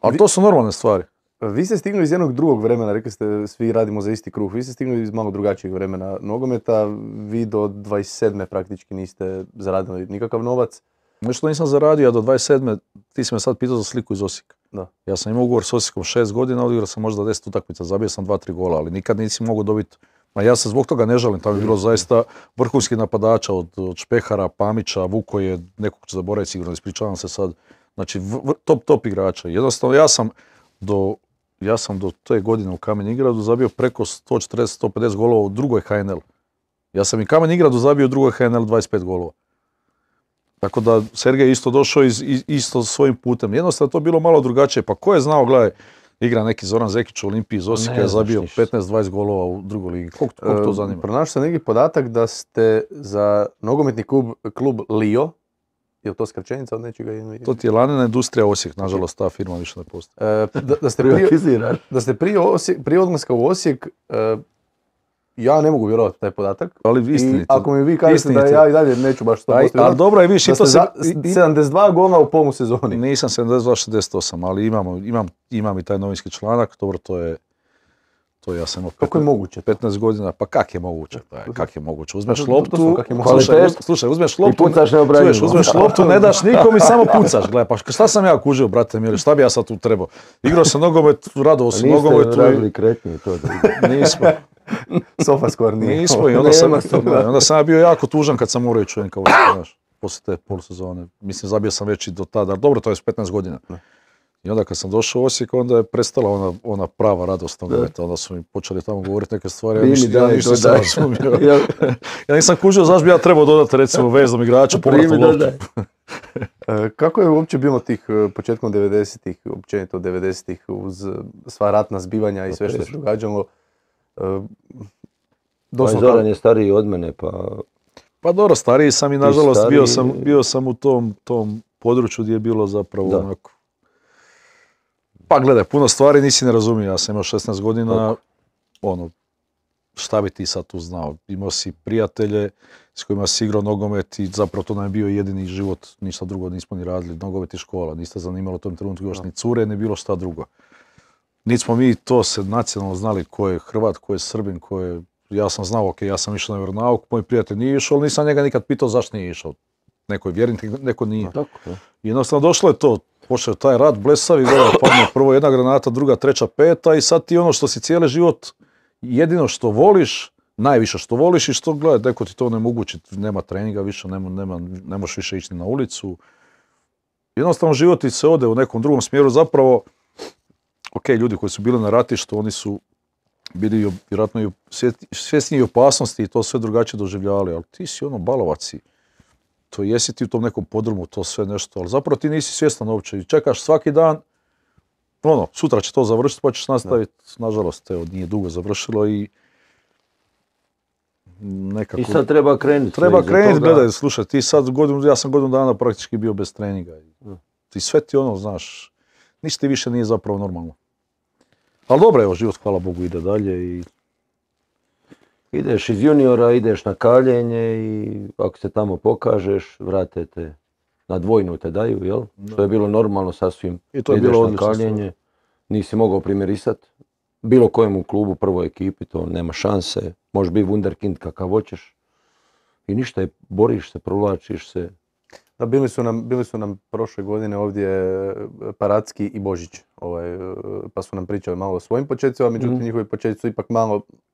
Ali to su normalne stvari. Vi ste stigli iz jednog drugog vremena, rekli ste svi radimo za isti kruh, vi ste stigli iz malo drugačijeg vremena nogometa, vi do 27. praktički niste zaradili nikakav novac. Nešto nisam zaradio, a do 27. ti si me sad pitao za sliku iz Osijeka. Da. Ja sam imao ugovor s Osijekom 6 godina, odigrao sam možda 10 utakmica, zabio sam 2-3 gola, ali nikad nisi mogao dobiti. Ma ja se zbog toga ne žalim, tamo je bilo zaista vrhunskih napadača od Špehara, Pamića, Vukoje, nekog ću zaboraviti sigurno, ispričavam se sad. Znači top igrača. Jednostavno ja sam do te godine u Kamen Ingradu zabio preko 140-150 golova u drugoj HNL. Ja sam i Kamen Ingradu zabio u drugoj HNL 25 golova. Tako da Sergej isto došao isto svojim putem. Jednostavno to bilo malo drugačije. Pa ko je znao, gledaj, Igra neki Zoran Zekić u Olimpiji iz Osijeka, Ne je znaš zabio ništa. 15-20 golova u drugoj ligi. Koliko to zanima? Pronašao sam neki podatak da ste za nogometni klub Lio, je li to skraćenica od nečega? To ti je lanena industrija Osijek, nažalost ta firma više ne postoji. Da ste prije odlaska u Osijek, ja ne mogu vjerovati taj podatak. Ali I istinito. ako mi vi kažete da ja i dalje neću baš to postaviti. Ali dobro je više, da to ste se... 72 gola u polu sezoni. Nisam 72-68, ali imam i taj novinski članak, dobro to je ja sam imao Kako je moguće? 15 godina, pa kak je moguće? Kak je moguće? Uzmeš To loptu, su kak je moguće. slušaj, uzmeš loptu, pucaš neobranjivo. uzmeš loptu, ne daš nikom i samo pucaš. Gledaj, pa šta sam ja kužio, brate mili, šta bi ja sad tu trebao? Igrao sam nogomet, radovao sam nogometu. Niste radili kretnje to da Nismo. Sofascore nije. Nismo i onda sam ja bio jako tužan kad sam morao ići u NK Osijek, znaš, poslije te polusezone. Mislim, zabio sam već i do tada, ali dobro, to je s 15 godina. I onda kad sam došao u Osijek, onda je prestala ona prava radost nogometa, onda su mi počeli tamo govoriti neke stvari, ja ništa nisam razumio. Ja nisam kužio zašto bi ja trebao dodati recimo vezom igrača, povratnu loptu. Kako je uopće bilo tih početkom 90-ih, općenito 90-ih, uz sva ratna zbivanja i sve što se događalo? Zoran je stariji od mene, Pa dobro, stariji sam i nažalost bio sam u tom području gdje je bilo zapravo onako... Pa gledaj, puno stvari nisi ne razumio, ja sam imao 16 godina, šta bi ti sad tu znao? Imao si prijatelje s kojima si igrao nogomet i zapravo to nam je bio jedini život, ništa drugo nismo ni radili, nogomet i škola, niste zanimalo u tom trenutku još ni cure, ni bilo šta drugo. Niti smo mi to se nacionalno znali ko je Hrvat, ko je Srbin, ko je... Ja sam znao, ok, ja sam išao na vjeronauk, moj prijatelj nije išao, ali nisam njega nikad pitao zašto nije išao. Neko je vjernik, neko nije. I jednostavno došlo je to, počeo taj rat blesavi, padne prvo jedna granata, druga, treća, peta i sad ti ono što si cijeli život, jedino što voliš, najviše što voliš i što gledaj, neko ti to onemogući, nema treninga više, ne možeš više ići na ulicu. Jednostavno život ti se ode u nekom drugom smjeru, zapravo, ok, ljudi koji su bili na ratištu, oni su bili vjerojatno i svjesni opasnosti i to sve drugačije doživljavali, ali ti si balovac, to jesi ti u tom nekom podrumu, to sve nešto, ali zapravo ti nisi svjestan uopće i čekaš svaki dan, sutra će to završiti pa ćeš nastaviti, nažalost, nije dugo završilo i nekako... I sad treba krenuti. Treba krenuti, gledaj, slušaj, ti sad ja sam godinu dana praktički bio bez treninga. I sve ti znaš, ništa ti više nije zapravo normalno. Ali dobro, evo, život, hvala Bogu, ide dalje i... Ideš iz juniora, ideš na kaljenje i ako se tamo pokažeš, vrate te na dvojnu te daju, jel? Što je bilo normalno sasvim. I to je ideš bilo na odlično. kaljenje, nisi mogao primirisat. Bilo kojem u klubu, prvoj ekipi, to nema šanse. Možeš biti wunderkind kakav hoćeš. I ništa, boriš se, provlačiš se. Da, bili su nam prošle godine ovdje Paracki i Božić, pa su nam pričali malo o svojim početcima, međutim njihovi početci su ipak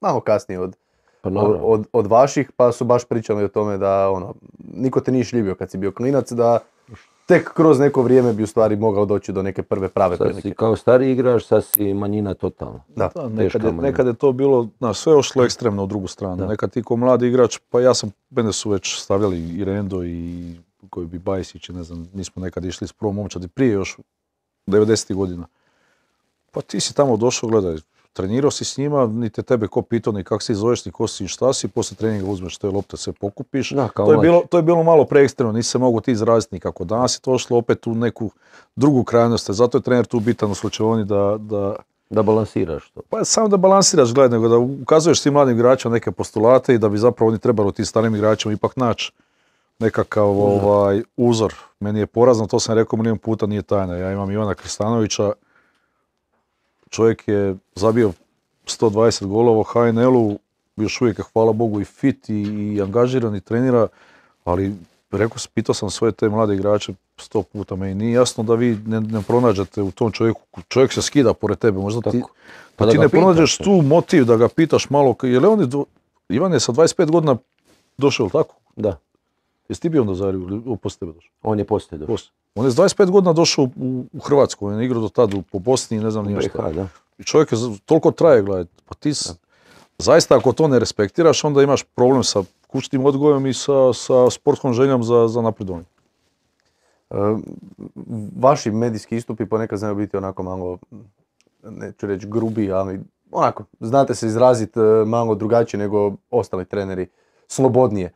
malo kasnije od vaših, pa su baš pričali o tome da niko te nije šljivio kad si bio klinac, da tek kroz neko vrijeme bi u stvari mogao doći do neke prve prave prilike. Sad si kao stari igrač, sad si manjina totalno. Da, nekad je to bilo, sve ošlo ekstremno u drugu stranu. Da. Nekad ti ko mladi igrač, pa mene su već stavljali i Rendo i koji bi Bajsić, ne znam, nismo nekad išli s prvom momčadi prije još 90. godina. Pa ti si tamo došao, gledaj, trenirao si s njima, niti tebe ko pitao, ni kak si zoveš, ni ko si, šta si, poslije treninga uzmeš te lopte, sve pokupiš. Da, to je bilo malo preekstremno, nisi se mogu ti izraziti nikako. Danas je to ošlo opet u neku drugu krajnost, zato je trener tu bitan u slučaju da balansiraš to. Pa samo da balansiraš, gledaj, nego da ukazuješ tim mladim igračima neke postulate i da bi zapravo oni trebali tim starim igračima ipak naći nekakav uzor. Meni je porazno, to sam rekao milijon puta, nije tajna. Ja imam Ivana Kristanovića, čovjek je zabio 120 golova u HNL-u, još uvijek je, hvala Bogu, i fit i angažiran i trenira, ali pitao sam svoje te mlade igrače 100 puta, meni nije jasno da vi ne pronađete u tom čovjeku, čovjek se skida pored tebe, možda ti ne pronađeš tu motiv da ga pitaš malo, Ivan je sa 25 godina došao, tako? Da. Jesi ti bio onda u Zagrebu ili poslije tebe došao? On je poslije došao. On je s 25 godina došao u Hrvatsku, on je igrao do tada po Bosni i ne znam nije šta. I čovjek je toliko traje, gledaj, pa ti zaista ako to ne respektiraš, onda imaš problem sa kućnim odgojem i sa sportskom željom za napredovanje. Vaši medijski istupi ponekad znaju biti onako malo neću reći grubi, ali onako, znate se izraziti malo drugačije nego ostali treneri, slobodnije.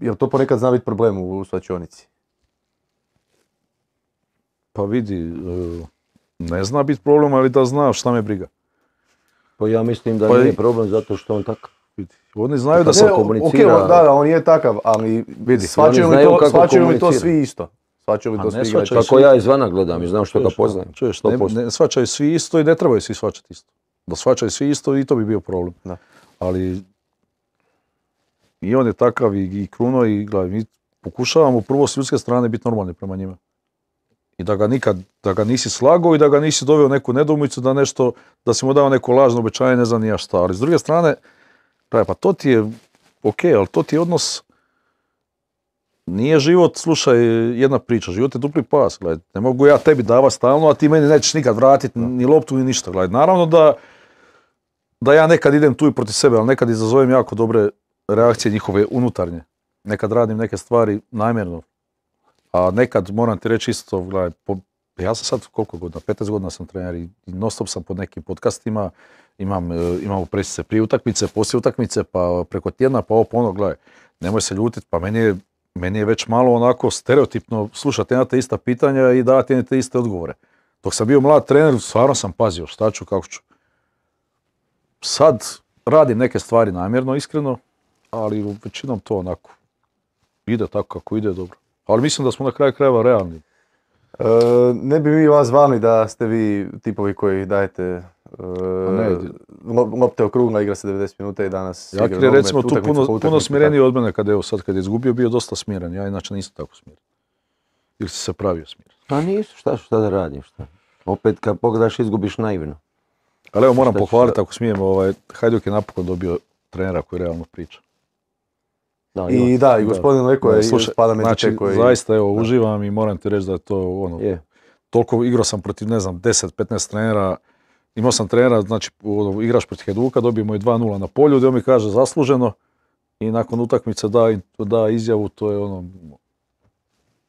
Jel to ponekad zna biti problem u svlačionici? Pa vidi, ne zna biti problem, ali da zna šta me briga. Pa ja mislim da Pa nije problem zato što on takav. Vidi. Oni znaju da Ne, sam... komunicira. Da, on je takav, ali Vidi, shvaćaju oni znaju kako li to komunicira. svi isto? Shvaćaju li A to ne svi shvaćaju igrači? Kako ja izvana gledam i znam što ga poznajem. Čuješ, 100%. ne shvaćaju svi isto i ne trebaju svi shvaćati isto. Da shvaćaju svi isto i to bi bio problem. Da. Ali i on je takav i Kruno i gledaj, mi pokušavamo prvo s ljudske strane biti normalni prema njima. I da ga nisi slagao i da ga nisi doveo neku nedoumicu da nešto, da si mu dao neko lažno obećanje, ne znam ni ja šta. Ali s druge strane, pa to ti je ok, ali to ti je odnos. Nije život, slušaj, jedna priča, život je dupli pas, gledaj, ne mogu ja tebi davati stalno, a ti meni nećeš nikad vratiti ni loptu ni ništa, gledaj. Naravno da ja nekad idem tu i protiv sebe, ali nekad izazovem jako dobre reakcije njihove unutarnje. Nekad radim neke stvari namjerno, a nekad moram ti reći isto, gledaj, ja sam sad koliko godina, 15 godina sam trener i non stop sam pod nekim podcastima, imamo presice prije utakmice, poslije utakmice, pa preko tjedna, pa ovo pa ono, gledaj, nemoj se ljutiti, pa meni je već malo onako stereotipno slušati jedna te ista pitanja i davati jedna te iste odgovore. Dok sam bio mlad trener, stvarno sam pazio šta ću, kako ću. Sad radim neke stvari namjerno, iskreno, ali većinom to onako ide tako kako ide, dobro. Ali mislim da smo na kraju krajeva realni. Ne bi mi vas zvali da ste vi tipovi koji dajete lopte okrugla, igra se 90 minuta i danas igra Jakir je nogomet, recimo tu utakmica po puno utakmici, smireniji od mene kad je izgubio, bio dosta smiren. Ja inače nisam tako smiren. Ili si se pravio smiren. Pa nisu, šta da radim, šta. Opet kad pogledaš izgubiš naivno. Ali evo moram Šta ću pohvaliti ako smijem, Hajduk je napokon dobio trenera koji realno priča. I da, i gospodin Leko je spada među znači, te koji... zaista evo, uživam i moram ti reći da je to ono, Je. toliko igrao sam protiv, ne znam, 10-15 trenera, imao sam trenera, znači igraš protiv Hajduka, dobijemo i 2-0 na polju, gdje on mi kaže zasluženo i nakon utakmice da izjavu, to je ono,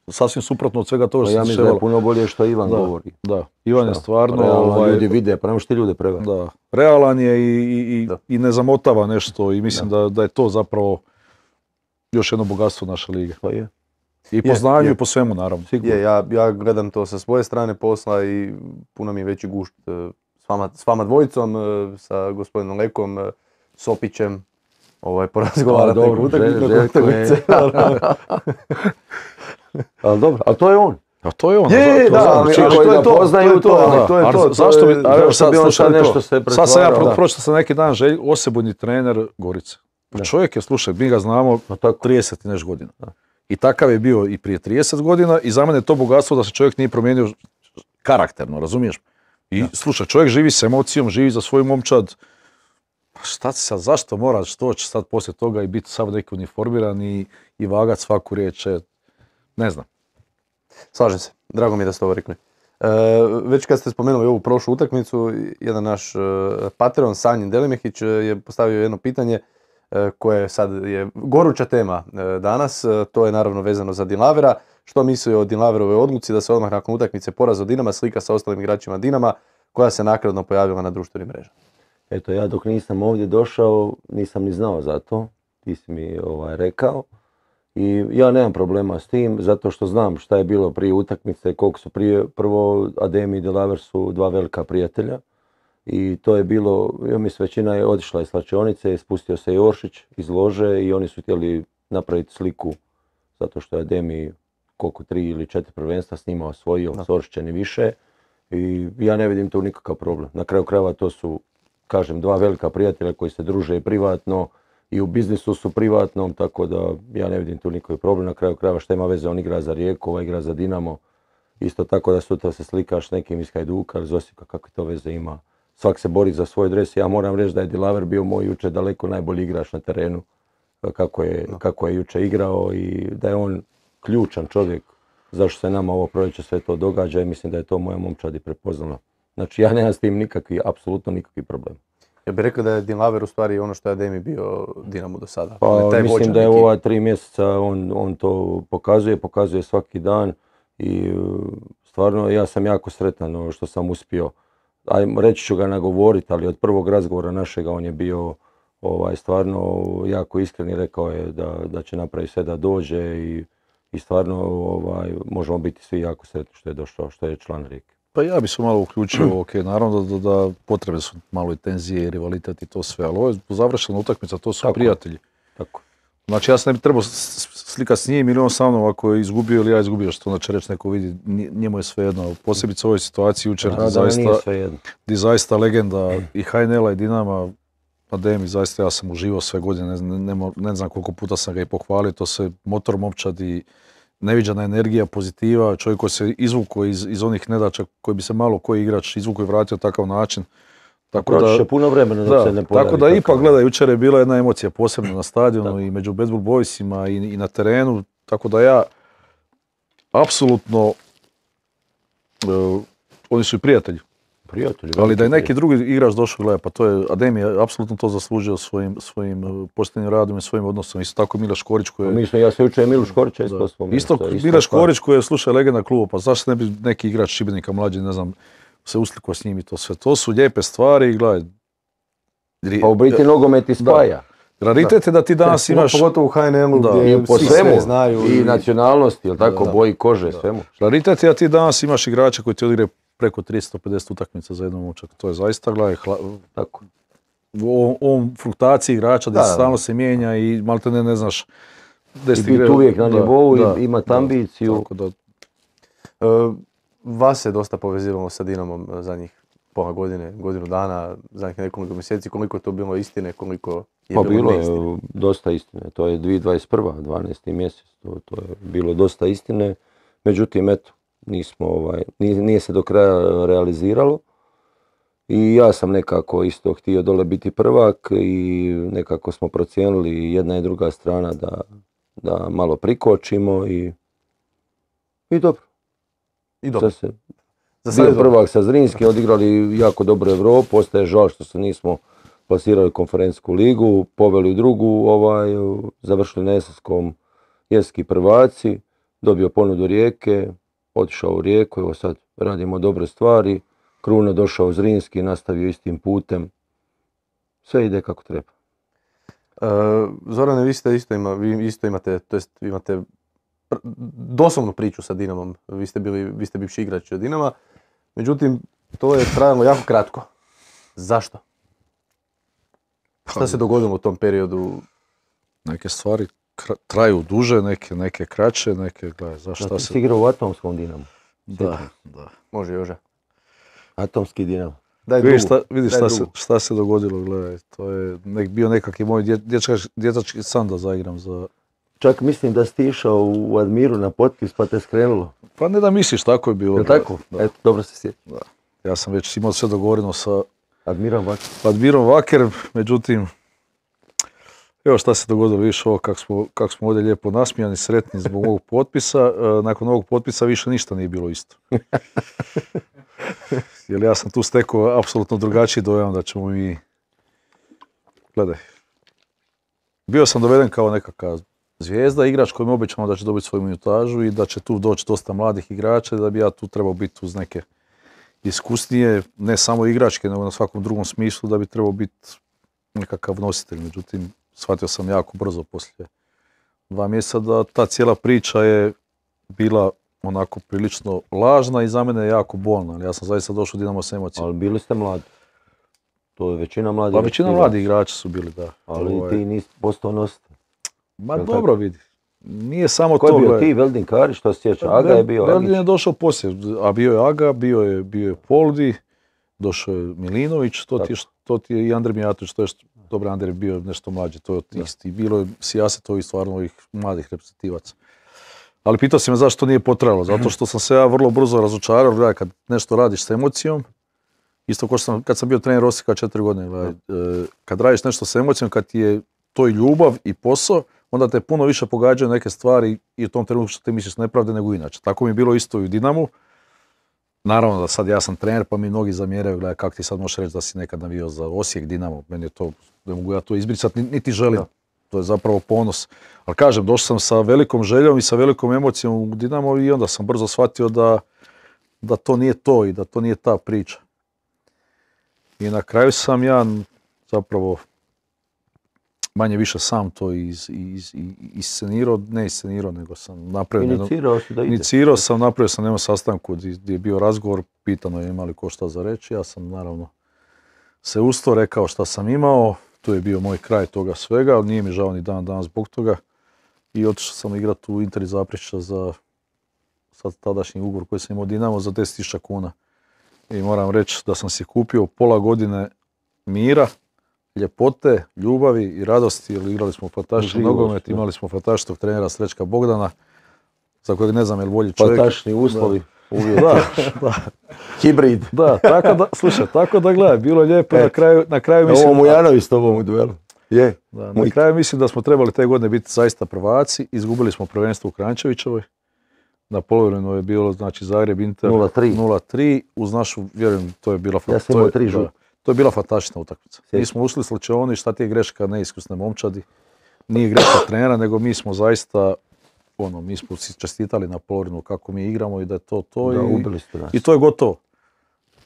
sasvim suprotno od svega toga što Ja se mislim da je dešavalo. puno bolje što Ivan govori. Da, Ivan je stvarno, Realno, ljudi vide, pa nemaš ti ljude prevari. da, realan je i ne zamotava nešto i mislim da je to zapravo još jedno bogatstvo naše lige. Pa je. I po znanju i po svemu naravno. Je, ja gledam to sa svoje strane posla i puno mi je veći gušt s vama dvojicom, sa gospodinom Lekom, Sopićem, porazgovarati neku utakmicu. Ali dobro, ali to je on. A to je ono. Je, da, ali to je to, poznaju to. to je to. Zašto bi, a evo sad bi on slušaj sad to. nešto se Sad sam ja pretvarao. pročitao sam neki dan osebujni trener Gorice. Pa čovjek je, slušaj, mi ga znamo 30 i nešto godina. I takav je bio i prije 30 godina i za mene je to bogatstvo da se čovjek nije promijenio karakterno, razumiješ? I slušaj, čovjek živi s emocijom, živi za svoju momčad. Pa šta ti sad, zašto moraš doći sad poslije toga i biti sav neki uniformiran i vagat svaku riječ? Ne znam. Slažem se, drago mi je da ste ovo rekli. Već kad ste spomenuli ovu prošlu utakmicu, jedan naš Patreon, Sanjin Delimehić, je postavio jedno pitanje koje sad je goruća tema danas. To je naravno vezano za Dinlavera. Što misli o Dinlaverovoj odluci da se odmah nakon utakmice poraza od Dinama slika sa ostalim igračima Dinama koja se naknadno pojavila na društvenim mrežama? Eto, ja dok nisam ovdje došao, nisam ni znao za to. Ti si mi rekao. I ja nemam problema s tim, zato što znam šta je bilo prije utakmice, koliko su prvo Ademi i Dinlaver su dva velika prijatelja. I to je bilo, ja mislim, većina je otišla iz slačionice, spustio se Joršić iz lože i oni su htjeli napraviti sliku, zato što je Ademi koliko 3 ili 4 prvenstva s njima osvojio, s Oršićem i više. I ja ne vidim tu nikakav problem. Na kraju krajeva to su, kažem, dva velika prijatelja koji se druže i privatno i u biznisu su privatnom, tako da ja ne vidim tu nikakav problem. Na kraju krajeva šta ima veze, on igra za Rijeku, ovaj igra za Dinamo. Isto tako da sutra se slikaš s nekim iz Hajduka ili iz Osijeka, kakve to veze ima. Svak se bori za svoj dres. Ja moram reći da je Dinlaver bio moj jučer daleko najbolji igrač na terenu, kako je jučer igrao i da je on ključan čovjek zašto se nama ovo proljeće sve to događa i mislim da je to moja momčad i prepoznala. Znači ja nemam s tim apsolutno nikakvi problem. Ja bih rekao da je Dinlaver u stvari ono što je Ademi bio Dinamo do sada. Pa mislim da je u ova 3 mjeseca on to pokazuje svaki dan i stvarno ja sam jako sretan što sam uspio. ajmo reći ću ga nagovoriti, ali od prvog razgovora našega on je bio stvarno jako iskren i rekao je da će napraviti sve da dođe i stvarno možemo biti svi jako sretni što je došao, što je član Rijeke. Pa ja bi se malo uključio, ok, naravno da potrebe su malo i tenzije, rivalitet i to sve, ali ovo je završena utakmica, to su prijatelji. Tako. Znači ja se ne bi trebao slikati s njim ili on sa mnom ako je izgubio ili ja izgubio, što onda će reći neko vidi, njemu je svejedno. Posebice u ovoj situaciji jučer gdje zaista legenda i HNL-a i Dinama, pa Demi, zaista ja sam uživao sve godine, ne znam koliko puta sam ga i pohvalio, to se motor momčad i neviđena energija, pozitiva, čovjek koji se izvukao iz onih nedaća koji bi se malo koji igrač izvukao i vratio takav način. Proći će puno vremena dok se ne pojavi. Tako da ipak gledaj, jučer je bila jedna emocija posebno na stadionu i među Bad Bull Boysima i na terenu, tako da ja apsolutno, oni su i prijatelji. Ali da je neki drugi igrač došao, gledaj, pa to je, Ademi je apsolutno to zaslužio svojim poštenim radom i svojim odnosom. Isto tako Mile Škorić koji je... Ja se učujem Milu Škorića isto spomenuo. Isto Mile Škorić koji je, slušaj, legenda kluba, pa zašto ne bi neki igrač Šibenika mlađi, ne znam, se uslikao s njim i to sve. To su lijepe stvari i gledaj. Pa u biti nogomet i spaja. Raritet je da ti danas imaš... Pogotovo u HNL-u gdje po svi svemu, sve znaju. I nacionalnosti, jel tako, boji kože, svemu. Raritet je da ti danas imaš igrača koji ti odigraju preko 350 utakmica za jednom učak. To je zaista, gledaj, tako. U ovom fruktaciji igrača gdje stalno se mijenja i malo te ne znaš... I biti uvijek na nivou, imati ambiciju. Tako da... Vas se dosta povezivamo sa Dinamom zadnjih pola godine, godinu dana, zadnjih nekoliko mjeseci. Koliko je to bilo istine, koliko je bilo neistine? Bilo je dosta istine. To je 2021. 12. mjesec. To je bilo dosta istine. Međutim, eto, nije se do kraja realiziralo. I ja sam nekako isto htio dole biti prvak i nekako smo procijenili jedna i druga strana da malo prikočimo i dobro. I dobro. Bio prvak sa Zrinskim, odigrali jako dobro Europu, ostaje žal što se nismo plasirali konferencijsku ligu, poveli u drugu, završili na Esenskom jeski prvaci, dobio ponudu Rijeke, otišao u Rijeku, evo sad radimo dobre stvari, Kruno došao u Zrinski, nastavio istim putem, sve ide kako treba. Zorane, vi isto imate, to jest imate doslovnu priču sa Dinamom, vi ste bivši igrač Dinama, međutim to je trajalo jako kratko. Zašto? Šta se dogodilo u tom periodu? Neke stvari traju duže, neke kraće, neke, gledaj, zašto se... Ti si igrao u Atomskom Dinamu? Da. Može, Jože. Atomski Dinamo. Vidiš šta se dogodilo, gledaj, to je bio nekakvi moj dječački san da zaigram za... Čak mislim da si ti išao u Admiru na potpis pa te skrenulo. Pa ne da misliš, tako je bilo. Je tako? Eto, dobro se sjećam. Ja sam već imao sve dogovoreno sa Admirom Vaker, međutim, evo šta se dogodilo, vidiš ovo kako smo ovdje lijepo nasmijani, sretni zbog ovog potpisa. Nakon ovog potpisa više ništa nije bilo isto. Jer ja sam tu stekao apsolutno drugačiji dojam da ćemo mi... Gledaj, bio sam doveden kao nekakav zvijezda, igrač kojim obećamo da će dobiti svoju minutažu i da će tu doći dosta mladih igrača i da bi ja tu trebao biti uz neke iskusnije, ne samo igračke, nego na svakom drugom smislu da bi trebao biti nekakav nositelj. Međutim, shvatio sam jako brzo poslije 2 mjeseca da ta cijela priča je bila onako prilično lažna i za mene jako bolna. Ali ja sam zaista došao u Dinamo s emocijama. Ali bili ste mladi. To je većina mladih. Pa većina mladih igrača su bili, da. Ali ti nisi postao nositelj. Ma dobro vidi. Nije samo to. Ko je bio ti, Veldin Karić, što se sjeća? Aga je bio. Veldin je došao poslije, a bio je Aga, bio je Poldi, došao je Milinović, to ti je i Andrej Mijatović, to je dobro, Andrej je bio nešto mlađi, to je isti. Bilo je sijaset stvarno ovih mladih reprezentativaca. Ali pitao si me zašto nije potrajalo, zato što sam se ja vrlo brzo razočarao, gledaj, kad nešto radiš s emocijom, isto kao što kad sam bio trener Osijeka 4 godine, gledaj, kad radiš nešto s emocijom, kad ti je to i ljubav i posao, onda te puno više pogađaju neke stvari i u tom trenutku što ti misliš nepravde nego inače. Tako mi je bilo isto i u Dinamu. Naravno da sad ja sam trener pa mi mnogi zamjeraju, gledaj kako ti sad možeš reći da si nekad navio za Osijek, Dinamo, meni je to, ne mogu ja to izbrisati, niti želim. To je zapravo ponos. Ali kažem, došao sam sa velikom željom i sa velikom emocijom u Dinamo i onda sam brzo shvatio da to nije to i da to nije ta priča. I na kraju sam ja zapravo manje više sam to iscenirao, ne iscenirao, nego sam napravio... Inicirao si da ide. Inicirao sam, napravio sam jednom sastanku gdje je bio razgovor, pitano je imali ko šta za reći, ja sam naravno se usto rekao šta sam imao, tu je bio moj kraj toga svega, ali nije mi žao ni dan danas zbog toga i otišao sam igrati u Inter iz Zaprešića za sad tadašnji ugovor koji sam imao Dinamo za 10.000 kuna. I moram reći da sam si kupio pola godine mira, ljepote, ljubavi i radosti, jer igrali smo fantastičan nogomet, imali smo fantastičnog trenera Srećka Bogdana, za kojeg ne znam je li bolji čovjek. Fantastični uslovi, uvjeti. Da. Hibrid. Da, tako da gledaj, bilo je lijepo, na kraju mislim... Ovo Mujanović s tobom u duelu. Je. Da, na kraju mislim da smo trebali te godine biti zaista prvaci, izgubili smo prvenstvo u Kranjčevićevoj. Na polovremenu je bilo, znači, Zagreb Inter 0-3, uz našu, vjerujem, to je bila to je bila fantastična utakmica. Mi smo ušli slučajoni, šta ti je greška neiskusne momčadi, nije greška trenera, nego mi smo zaista, mi smo si čestitali na polovremenu kako mi igramo i da je to i to je gotovo.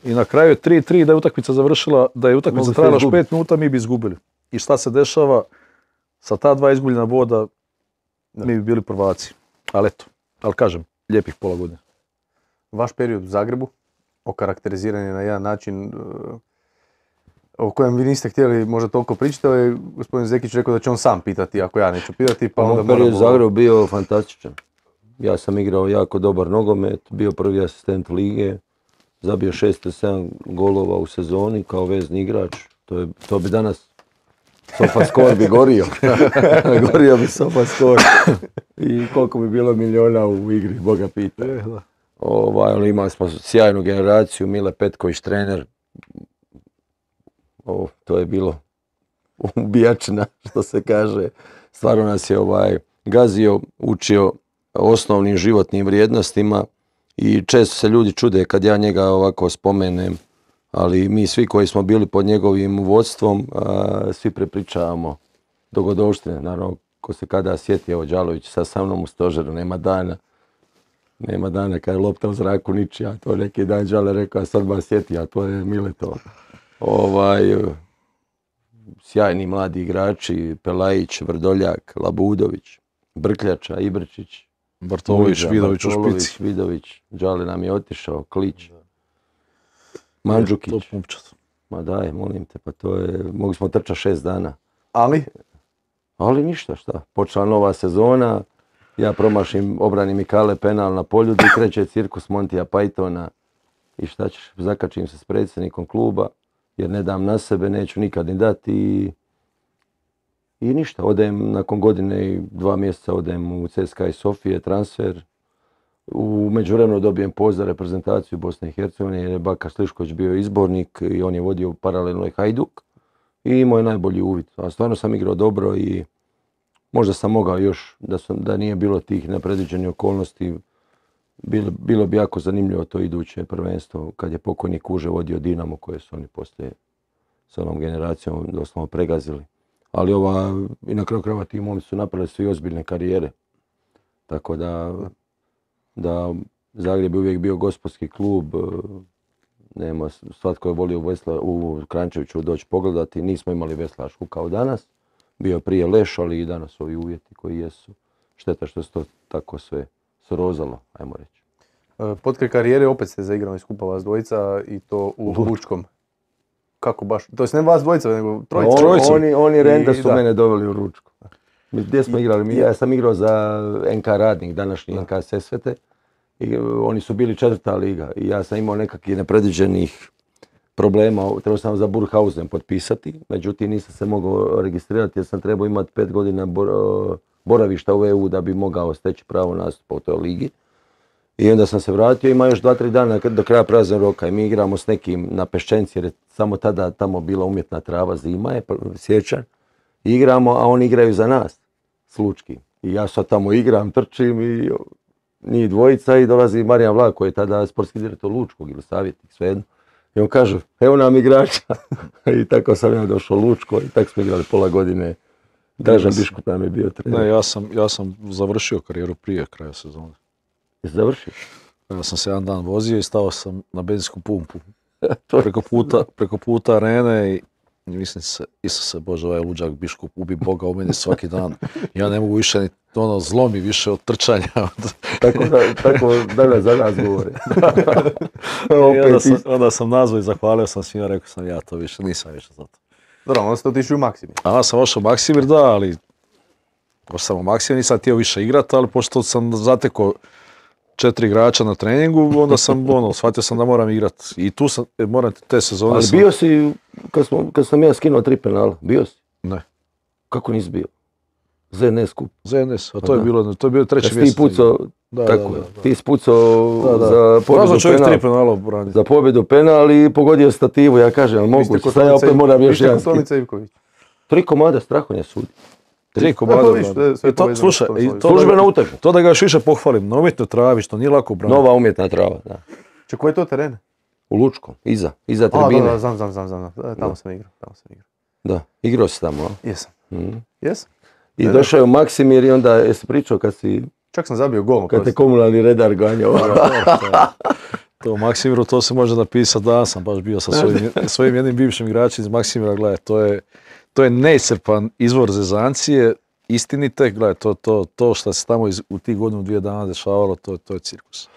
I na kraju je 3-3, da je utakmica završila, da je utakmica trajala 5 minuta, mi bi izgubili. I šta se dešava? Sa ta 2 izgubljena boda, mi bi bili prvaci. Ali eto, kažem, lijepih pola godine. Vaš period u Zagrebu, okarakteriziran je na jedan način o kojem vi niste htjeli možda toliko pričati, ali gospodin Zekić rekao da će on sam pitati ako ja neću pitati. Pa onda period u Zagrebu bio fantastičan. Ja sam igrao jako dobar nogomet, bio prvi asistent lige, zabio 6-7 golova u sezoni kao vezni igrač. To bi danas SofaScore bi gorio. Gorio bi SofaScore. I koliko bi bilo miliona u igri, Boga pita. Ali imali smo sjajnu generaciju, Mile Petković trener. To je bilo ubijačina, što se kaže. Stvarno nas je gazio, učio osnovnim životnim vrijednostima i često se ljudi čude kad ja njega ovako spomenem, ali mi svi koji smo bili pod njegovim vodstvom, svi prepričavamo dogodovštine. Naravno, ko se kada sjeti, evo Đalović sa mnom u stožeru, nema dana kad je lopta u zraku ničija, to neki dan Đale rekao, a sad ba sjeti, a to je Mileto. Sjajni mladi igrači, Pelajić, Vrdoljak, Labudović, Brkljača, Ibrčić, Bartolović, Vidović u špici. Vidović, Đale nam je otišao, Klić, Mandžukić. Ma daj, molim te, pa to je, mogli smo trčati 6 dana. Ali ništa, šta, počela nova sezona, ja promašim obrani Mikale penal na polju, gdje kreće cirkus Montija Pythona i šta ćeš, zakačim se s predsjednikom kluba, jer ne dam na sebe, neću nikad ni dati i ništa, odem nakon godine i 2 mjeseca odem u CSKA iz Sofije, transfer. U međuvremenu dobijem poziv za reprezentaciju Bosne i Hercegovine jer je Baka Slišković bio izbornik i on je vodio paralelno i Hajduk i imao je najbolji uvid. A stvarno sam igrao dobro i možda sam mogao još, da nije bilo tih nepredviđenih okolnosti, bilo bi jako zanimljivo to iduće prvenstvo kad je pokojni Kuže vodio Dinamo koje su oni poslije s onom generacijom doslovno pregazili. Ali i na kraju krajeva ti momci su napravili svi ozbiljne karijere. Tako da Zagreb je uvijek bio gospodski klub, svatko je volio u Kranjčeviću doći pogledati, nismo imali veslašku kao danas, bio prije Leš, ali i danas ovi uvjeti koji jesu. Šteta što se to tako sve srozalo, ajmo reći. Potkraj karijere opet ste zaigrali skupa vas dvojica i to u Lučkom. Kako baš? To jest ne vas dvojica, nego trojica. Oni Renda su mene doveli u Lučko. Gdje smo igrali? Ja sam igrao za NK Radnik, današnji NK Sesvete. I oni su bili 4. liga i ja sam imao nekakvih nepredviđenih problema. Trebao sam za Burghausen potpisati, međutim nisam se mogao registrirati jer sam trebao imati 5 godina boravišta u EU da bi mogao steći pravo nastupa u toj ligi. I onda sam se vratio, ima još 2-3 dana do kraja praznog roka i mi igramo s nekim na Peščenci jer je samo tada tamo bila umjetna trava, zima je, siječanj. Igramo, a oni igraju za nas, s Lučkim. I ja sad tamo igram, trčim i njih dvojica i dolazi Marijan Vlak koji je tada sportski direktor Lučkog ili savjetnik, svejedno. I on kaže, evo nam igrača. I tako sam ja došao u Lučko i tako smo igrali pola godine. Dražan Biškup nam je bio trener. Ne, ja sam završio karijeru prije kraja sezone. Jesi završio? Ja sam se jedan dan vozio i stao sam na benzinsku pumpu. preko puta arene i mislim se, Isuse Bože, ovaj luđak Biškup ubi Boga u meni svaki dan. Ja ne mogu više ni zlomi više od trčanja. Tako danas za nas govori. Onda sam nazvao i zahvalio sam svima, rekao sam ja to više, nisam više za to. Dobro, onda ste otišli u Maksimir. A sam ošao u Maksimir, da, ali ošao sam u Maksimir, nisam htio više igrati, ali pošto sam zatekao 4 igrača na treningu, onda sam, shvatio sam da moram igrati. I tu sam, moram te sezone... Ali bio si, kad sam ja skinuo 3 penala, bio si? Ne. Kako nisi bio? ZNS kup. ZNS, a to je bilo treći mjesec. Ti pucao, tako je, ti spucao za pobjedu penal. Za pobjedu penal i pogodio stativu, ja kažem, ali moguće, sad ja opet moram još jedan skit. 3 komada Strahonja sudi. 3 komada. Slušaj, službena utakmica. To da ga još više pohvalim, na umjetnoj travi, što nije lako braniti. Nova umjetna trava, da. Če, koje je to terene? U Lučkom, iza tribine. Da, znam. Tamo sam igrao. Da, igrao si tamo, a? Jesam. Jesam. I došao je u Maksimir i onda jesi pričao kad si... Čak sam zabio gol. Kad te komunalni redar ganjao. To u Maksimiru, to se može napisati, da sam baš bio sa svojim jednim bivšim igračem iz Maksimira, gledaj, to je neiscrpan izvor zezancije, istinite, gledaj, to što se tamo u tih godinu 2 dana dešavalo, to je cirkus.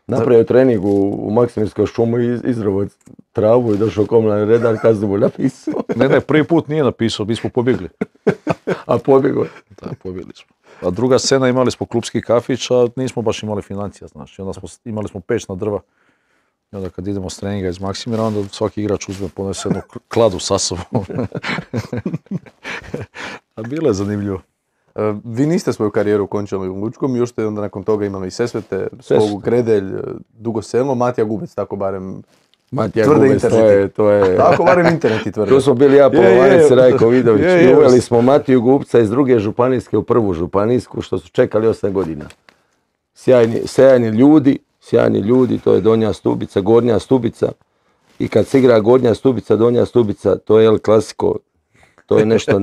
Napravio trening u Maksimirskoj šumu, izravo travu i došao komunalni redar, kaznu mu napisao. Ne, prvi put nije napisao, mi smo pobjegli. A pobjegli? Da, pobjegli smo. A druga scena, imali smo klubski kafić, a nismo baš imali financija, znaš. I onda imali smo peć na drva. I onda kad idemo s treninga iz Maksimira, onda svaki igrač uzme, ponese jednu kladu sa sobom. A bilo je zanimljivo. Vi niste svoju karijeru končali u Lučkom, još ste onda nakon toga imali Sesvete, Skogu, Gredelj, Dugo Selo, Matija Gubec, tako barem tvrde interneti. To je... Tako barem interneti tvrde. Tu smo bili ja, Polovanec i Rajko Vidović. I uveli smo Matiju Gubca iz 2. županijske u 1. županijsku, što su čekali 8 godina. Sjajni ljudi, to je Donja Stubica, Gornja Stubica. I kad se igra Gornja Stubica, Donja Stubica, to je El Clasico. To je nešto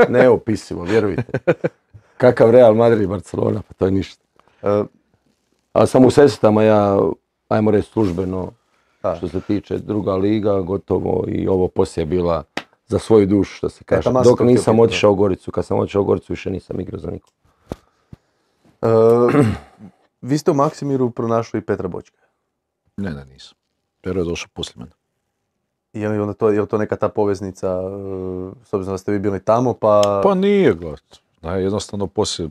neopisivo, vjerujte. Kakav Real Madrid i Barcelona, pa to je ništa. A sam u Sesvetama ja, ajmo reći službeno, što se tiče druga liga, gotovo i ovo poslije bila za svoju dušu, što se kaže. Dok nisam otišao u Goricu, kad sam otišao u Goricu više nisam igrao za nikog. Vi ste u Maksimiru pronašli Petra Bočka? Ne, nisam. Pero je došao poslije mene. Je li to neka ta poveznica, s obzirom da ste vi bili tamo, pa... Pa nije, gledaj. Jednostavno poslije,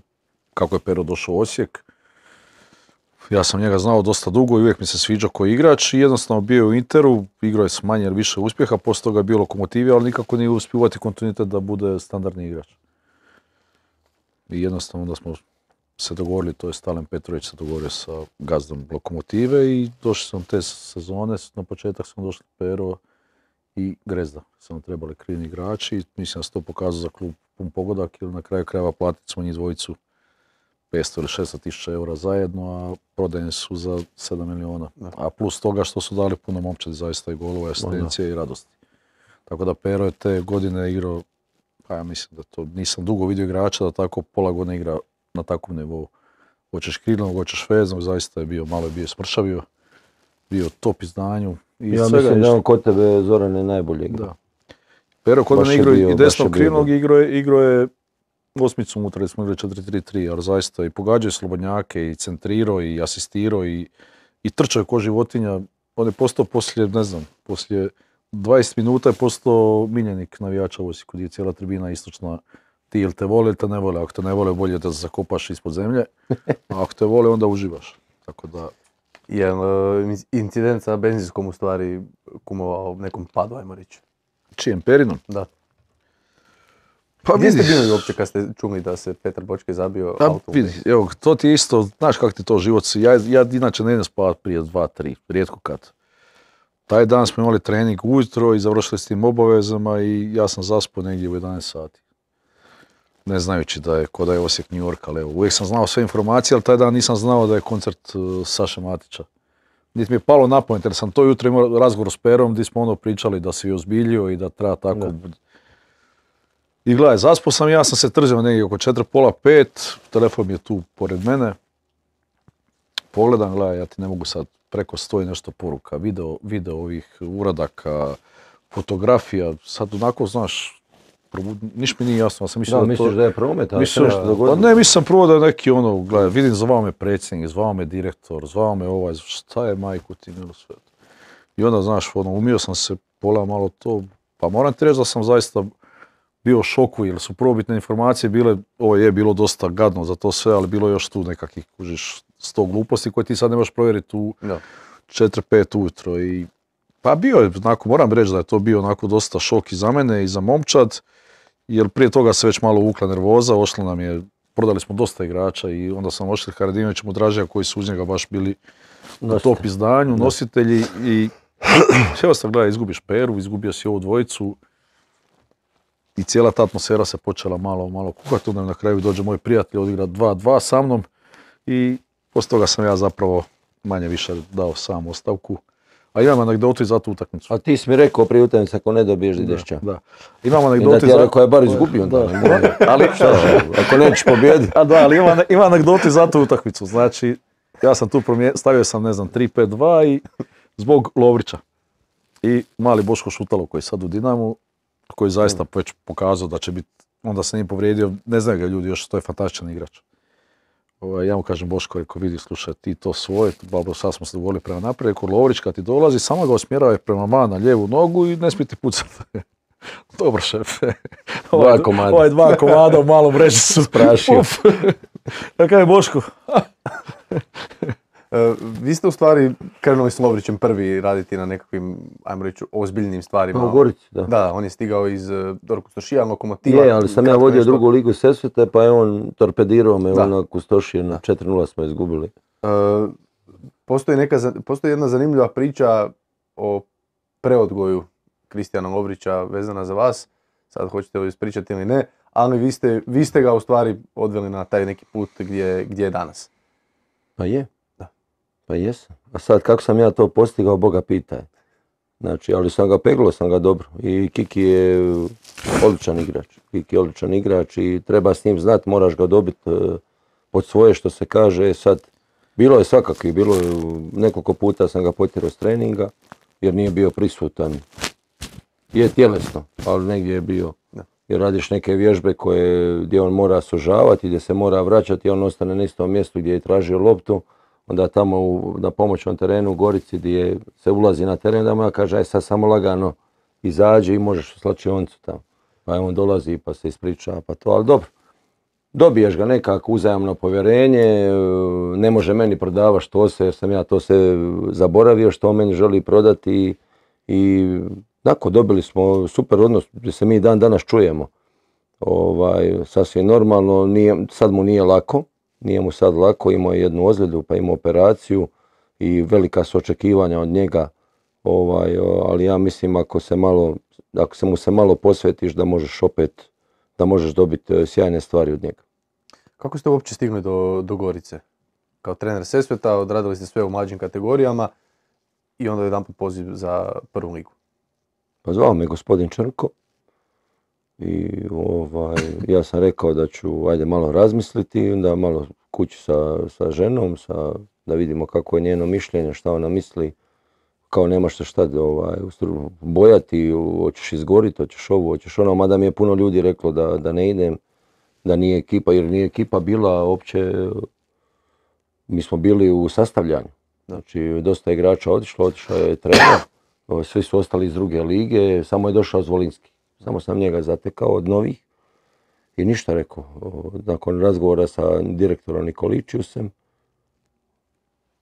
kako je Pero došao u Osijek, ja sam njega znao dosta dugo i uvijek mi se sviđao kao igrač i jednostavno bio je u Interu, igrao je s manje ili više uspjeha, poslije toga je bio Lokomotivi, ali nikako nije uspio uvati kontinuitet da bude standardni igrač. I jednostavno da smo se dogovorili, to je Stalen Petrović se dogovorio sa gazdom Lokomotive i došli sam te sezone, na početak smo došli Pero i Grezda. Samo trebali krivni igrači i mislim da se to pokazao za klub pun pogodak jer na kraju krajeva platiti smo njih dvojicu 500 ili 600 tisuća eura zajedno, a prodajeni su za 7 miliona. A plus toga što su dali puno momčadi, zaista i golova, asistencije i radosti. Tako da Pero je te godine igrao, pa ja mislim da to nisam dugo vidio igrača da tako pola godine igra na takvom nivou. Hoćeš krilnog, hoćeš veznog, zaista je bio, malo je bio smršavio, bio top izdanju. Ja mislim da on kod tebe, Zorane, najbolje igra. Da. Pero kod mene igrao i desnog krilnog, igrao je osmicu unutra, da smo igrali 4-3-3, ali zaista i pogađao slobodnjake, i centrirao, i asistirao, i trčao je ko životinja. On je postao poslije 20 minuta je postao miljenik navijača u Osijeku, gdje je cijela tribina istočna. Ti ili te vole ili te ne vole. Ako te ne vole, bolje da se zakopaš ispod zemlje. A ako te vole, onda uživaš. Tako da... Je incident sa benzinskom u stvari kumovao nekom padu, ajmo reći? Čijem, Perinom? Da. Pa gdje ste bili uopće kad ste čuli da se Petar Bočke zabio auto? Vidi, evo, to ti je isto, znaš kako ti to život si. Ja inače ne idem spavat prije 2-3, rijetko kad. Taj dan smo imali trening ujutro i završili s tim obavezama i ja sam zaspao negdje u 11 sati. Ne znajući da je da je Osijek New York, ali evo, uvijek sam znao sve informacije, ali taj dan nisam znao da je koncert Saše Matića. Niti mi je palo na pamet, jer sam to jutro imao razgovor s Perom gdje smo pričali da se je ozbiljio i da treba tako... Ne. I gledaj, zaspao sam, ja sam se trzio negdje oko 4:30, telefon je tu pored mene. Pogledam, gledaj, ja ti ne mogu sad preko 100 i nešto poruka, video ovih uradaka, fotografija, sad onako, znaš, niš mi nije jasno, ja sam mislio Da, da to... misliš da je promet, ali se Mislim, nešto dogodilo? pa ne, mislim prvo da je neki ono, gledaj, vidim zvao me predsjednik, zvao me direktor, zvao me ovaj, šta je majku ti milo sve. I onda, znaš, ono, umio sam se pola malo to, pa moram ti reći da sam zaista bio u šoku, jer su prvobitne informacije bile, ovo je bilo dosta gadno za to sve, ali bilo još tu nekakvih, kužiš, 100 gluposti koje ti sad ne možeš provjeriti u 4-5 ujutro. I, pa bio je, onako, moram reći da je to bio onako dosta šok i za mene i za momčad, jer prije toga se već malo uvukla nervoza, ošlo nam je, prodali smo dosta igrača i onda sam ošli Haradinovićem od Dražija koji su uz njega baš bili na top izdanju, nositelji i sve ostalo, gledaj, izgubiš Peru, izgubio si ovu dvojicu i cijela ta atmosfera se počela malo kukati, onda na kraju dođe moj prijatelj, odigra 2-2 sa mnom i poslije toga sam ja zapravo manje više dao sam ostavku. A imam anegdotu i za tu utakmicu. A ti si mi rekao prije utakmice ako ne dobiješ ideš ča. Da. Imam I da anegdotu ti ja rekao je bar izgubio onda. ali Ako nećeš pobijediti. A da, ali ima anegdotu i za tu utakmicu. Znači, ja sam tu stavio sam, ne znam, 3-5-2 i zbog Lovrića. I mali Boško Šutalo koji je sad u Dinamu, koji zaista već pokazao da će biti, onda se nije povrijedio, ne znaju ga ljudi još, to je fantastičan igrač. Ja mu kažem Boško, rekao, vidi, slušaj, ti to svoje, babo, sad smo se dogovorili prema naprijed, rekao, Lovrić kad ti dolazi, samo ga usmjerava prema van na lijevu nogu i ne smije ti pucati. Dobro, šefe. Ovaj dva komada u malom mreži su sprašio. Ja kažem, Boško. Vi ste u stvari krenuli s Lovrićem prvi raditi na nekakvim, ajmo reći, ozbiljnim stvarima. U Gorici, da. Da, on je stigao iz Kustošija, Lokomotiva. Je, ali sam ja vodio drugu ligu Sesvete, pa je on torpedirao me, on na Kustošije, na 4-0 smo izgubili. Postoji jedna zanimljiva priča o preodgoju Kristijana Lovrića vezana za vas. Sad hoćete li ispričati ili ne, ali vi ste ga u stvari odveli na taj neki put gdje je danas. Pa je. Pa jesam. A sad kako sam ja to postigao, Boga pitaj. Znači, ali peglao sam ga dobro. I Kiki je odličan igrač. I treba s njim znati, moraš ga dobiti pod svoje što se kaže. Sad, bilo je svakakvi, nekoliko puta sam ga potjerao s treninga, jer nije bio prisutan. Je tjelesno, ali negdje je bio. Jer radiš neke vježbe gdje on mora sužavati, gdje se mora vraćati, on ostane na istom mjestu gdje je tražio loptu. Onda tamo na pomoćnom terenu u Gorici gdje se ulazi na teren, da mu ja kaže, aj sad samo lagano izađi i možeš u slačionicu tamo. Pa on dolazi pa se ispriča, pa to, ali dobro. Dobiješ ga nekako uzajamno povjerenje, ne može meni prodavati što se, jer sam ja to sve zaboravio što on meni želi prodati i tako dobili smo super odnos gdje se mi dan danas čujemo. Sasvim normalno, sad mu nije lako. Nije mu sad lako, imao je jednu ozljedu, pa imao operaciju i velika su očekivanja od njega, ali ja mislim ako se mu se malo posvetiš da možeš dobiti sjajne stvari od njega. Kako ste uopće stigli do Gorice? Kao trener Sesveta, odradili ste sve u mlađim kategorijama i onda jedanput poziv za prvu ligu. Pa zvao me gospodin Črko. I ja sam rekao da ću ajde malo razmisliti, onda malo kući sa ženom, da vidimo kako je njeno mišljenje, šta ona misli, kao nemaš se šta bojati, hoćeš izgoriti, hoćeš ovo, hoćeš ono, mada mi je puno ljudi reklo da ne idem, da nije ekipa, jer nije ekipa bila uopće, mi smo bili u sastavljanju, znači dosta igrača otišao je trener, svi su ostali iz druge lige, samo je došao Zvolinski. Samo sam njega zatekao od novih i ništa rekao. Nakon razgovora sa direktorom Nikoličiusem,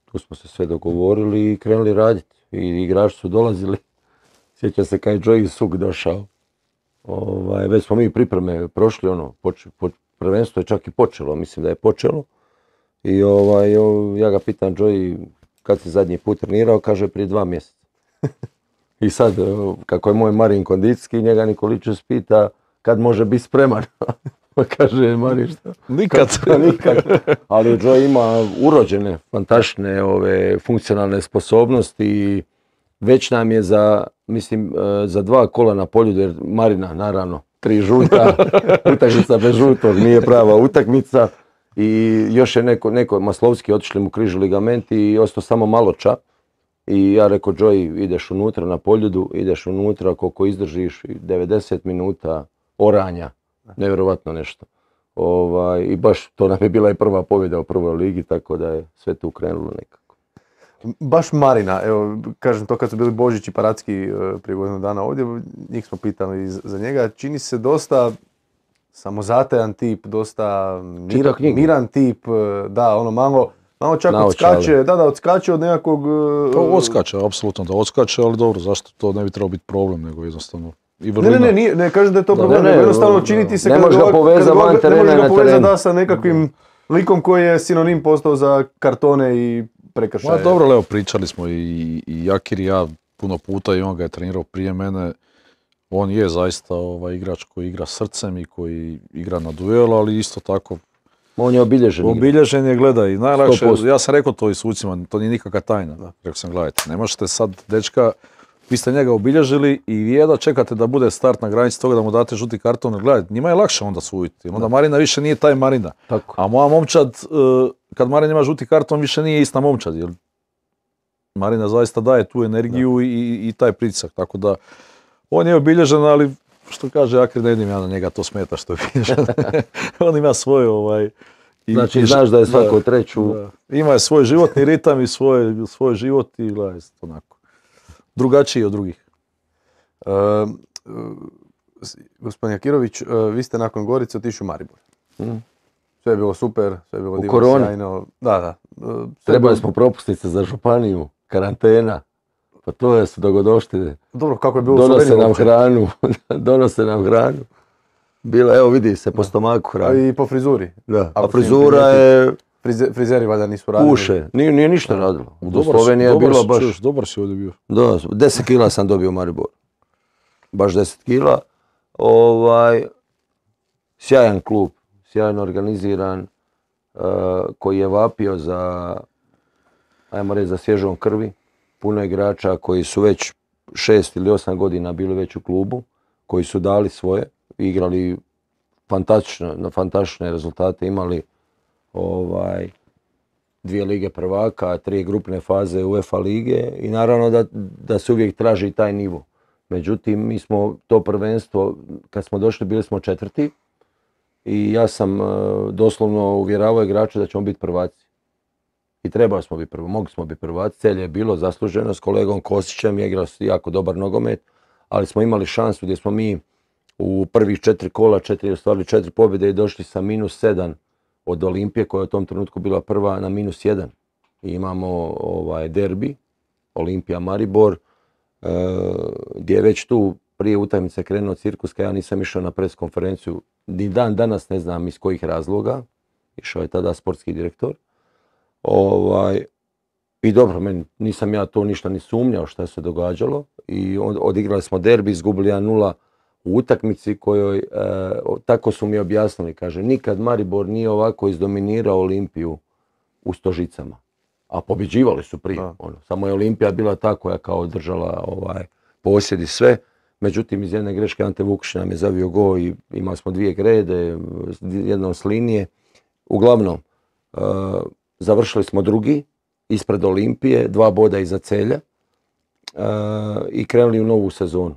tu smo se sve dogovorili i krenuli raditi. I igrači su dolazili. Sjeća se kad je Joey Suk došao. Već smo mi pripreme prošli, prvenstvo je čak i počelo, mislim da je počelo. I ja ga pitam, Joey, kad si zadnji put trenirao, kaže prije 2 mjeseca. I sad, kako je moj Marin kondicijski, njega Nikoličius pita kad može biti spreman. Pa kaže, Marin šta? Nikad. Ali Joe ima urođene, fantastične funkcionalne sposobnosti i već nam je za 2 kola na polju, jer Marina, naravno, 3 žuta, utakmica bez žutog, nije prava utakmica. I još je neko Maslovski, otišli mu križ ligamenti i ostao samo Maloča. I ja rekao, Joey, ideš unutra na Poljudu, ideš unutra koliko izdržiš, 90 minuta oranja, nevjerovatno nešto. I baš to nam je bila i prva pobjeda u prvoj ligi, tako da je sve tu krenulo nekako. Baš Marina, evo, kažem to kad su bili Božić i Paracki prije godinu dana ovdje, njih smo pitali za njega, čini se dosta samozatajan tip, dosta miran tip, da, ono malo čak odskače od nekakvog... Odskače, apsolutno da odskače, ali dobro, zašto to ne bi trebalo biti problem, nego jednostavno... Ne kažem da je to problem, nego jednostavno činiti se ne može ga povezati van terena na terenu. Sa nekakvim likom koji je sinonim postao za kartone i prekršaje. Dobro, evo, pričali smo i Jakir i ja puno puta i on ga je trenirao prije mene. On je zaista igrač koji igra srcem i koji igra na duel, ali isto tako... On je obilježen. Obilježen je, gledaj, najlakše, ja sam rekao to i sucima, to nije nikakva tajna. Rekao sam, gledajte, ne možete sad dečka, vi ste njega obilježili i vi jedva čekate da bude start na granici toga da mu date žuti karton, gledajte, njima je lakše onda suditi, onda Marina više nije taj Marina. Tako. A moja momčad, kad Marina ima žuti karton, više nije ista momčad, jer Marina zaista daje tu energiju i taj pritisak, tako da on je obilježen, ali što kaže Jakir, ne vidim ja na njega, to smeta što je obilježen. On ima svoj znači znaš da je svako treću... Ima svoj životni ritam i svoj život i gledaj, onako, drugačiji od drugih. Gospodin Jakirović, vi ste nakon Gorice otišli u Maribor. Sve je bilo super, sve je bilo divno, sjajno. Da. Trebali smo propusnice za županiju, karantena. Pa to je su dogodoštine. Dobro, kako je bilo donose nam hranu. Bila, evo vidi se po stomaku hranu. I po frizuri. Da, a frizura je... Frizeri valjda nisu radili. Puše, nije ništa radilo. U Sloveniji je bilo baš... Dobar si ovdje bio. Da, 10 kila sam dobio u Mariboru. Baš 10 kila. Sjajan klub, sjajno organiziran, koji je vapio za, ajmo reći, za svježom krvi. Puno igrača koji su već 6 ili 8 godina bili već u klubu, koji su dali svoje, igrali fantastične rezultate, imali 2 lige prvaka, 3 grupne faze UEFA lige i naravno da se uvijek traži taj nivo. Međutim, mi smo to prvenstvo, kad smo došli, bili smo 4. i ja sam doslovno uvjeravao igrače da ćemo biti prvaci. I trebali smo biti prvo, mogli smo biti prvaci, celje je bilo zasluženo s kolegom Kosićem, je igrao jako dobar nogomet, ali smo imali šansu gdje smo mi u prvih 4 kola, ostvarili 4 pobjede i došli sa -7 od Olimpije koja je u tom trenutku bila prva na -1. I imamo derbi, Olimpija Maribor, gdje je već tu prije utakmice krenuo cirkus, kad ja nisam išao na pres konferenciju, ni dan danas ne znam iz kojih razloga, išao je tada sportski direktor. I dobro, nisam ja to ništa ni sumnjao šta se događalo i odigrali smo derbi, izgubili 1-0 u utakmici kojoj, tako su mi objasnili, kaže, nikad Maribor nije ovako izdominirao Olimpiju u Stožicama, a pobjeđivali su prije, samo je Olimpija bila ta koja kao držala posjed i sve, međutim iz jedne greške Ante Vukić nam je zavio gol i imali smo 2 grede, jednom s linije, uglavnom, završili smo 2. ispred Olimpije, 2 boda iza Celja i krenuli u novu sezonu.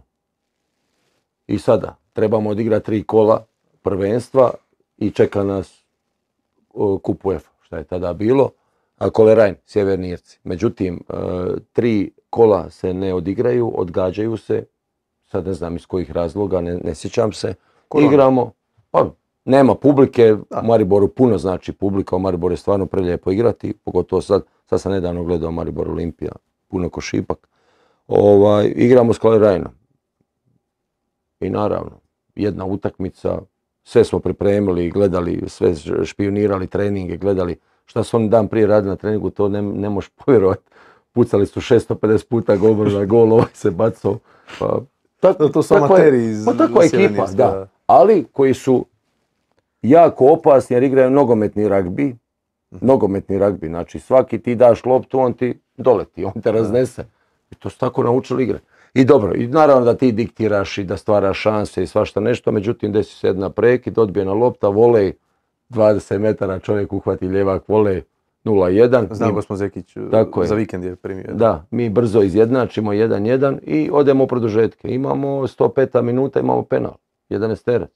I sada trebamo odigrati 3 kola prvenstva i čeka nas kup UEFA, šta je tada bilo, a Kolerajn, Sjeverni Irci. Međutim, 3 kola se ne odigraju, odgađaju se, sad ne znam iz kojih razloga, ne sjećam se. Igramo, pa nema publike, u Mariboru puno znači publika, u Mariboru je stvarno prelijepo igrati, pogotovo sad sam nedavno gledao Maribor Olimpija, puno ko šipak. Igramo s Kolerajnom. I naravno, jedna utakmica, sve smo pripremili, gledali, sve špionirali treninge, gledali šta su oni dan prije radili na treningu, to ne možeš povjerovati. Pucali su 650 puta gol, ovaj se bacao. To su amateri iz takva ekipa, da. Ali koji su jako opasni jer igraju nogometni ragbi, znači svaki ti daš loptu, on ti doleti, on te raznese. I to su tako naučili igre. I dobro, i naravno da ti diktiraš i da stvaraš šanse i svašta nešto, međutim desi se jedna prekid, odbijena lopta, volej, 20 metara čovjek uhvati ljevak volej, 0-1. Znam Gospo Zekić, Tako je. za vikend je primio. Da, mi brzo izjednačimo 1-1 i odemo u produžetke. Imamo 105. minuta, imamo penal, 11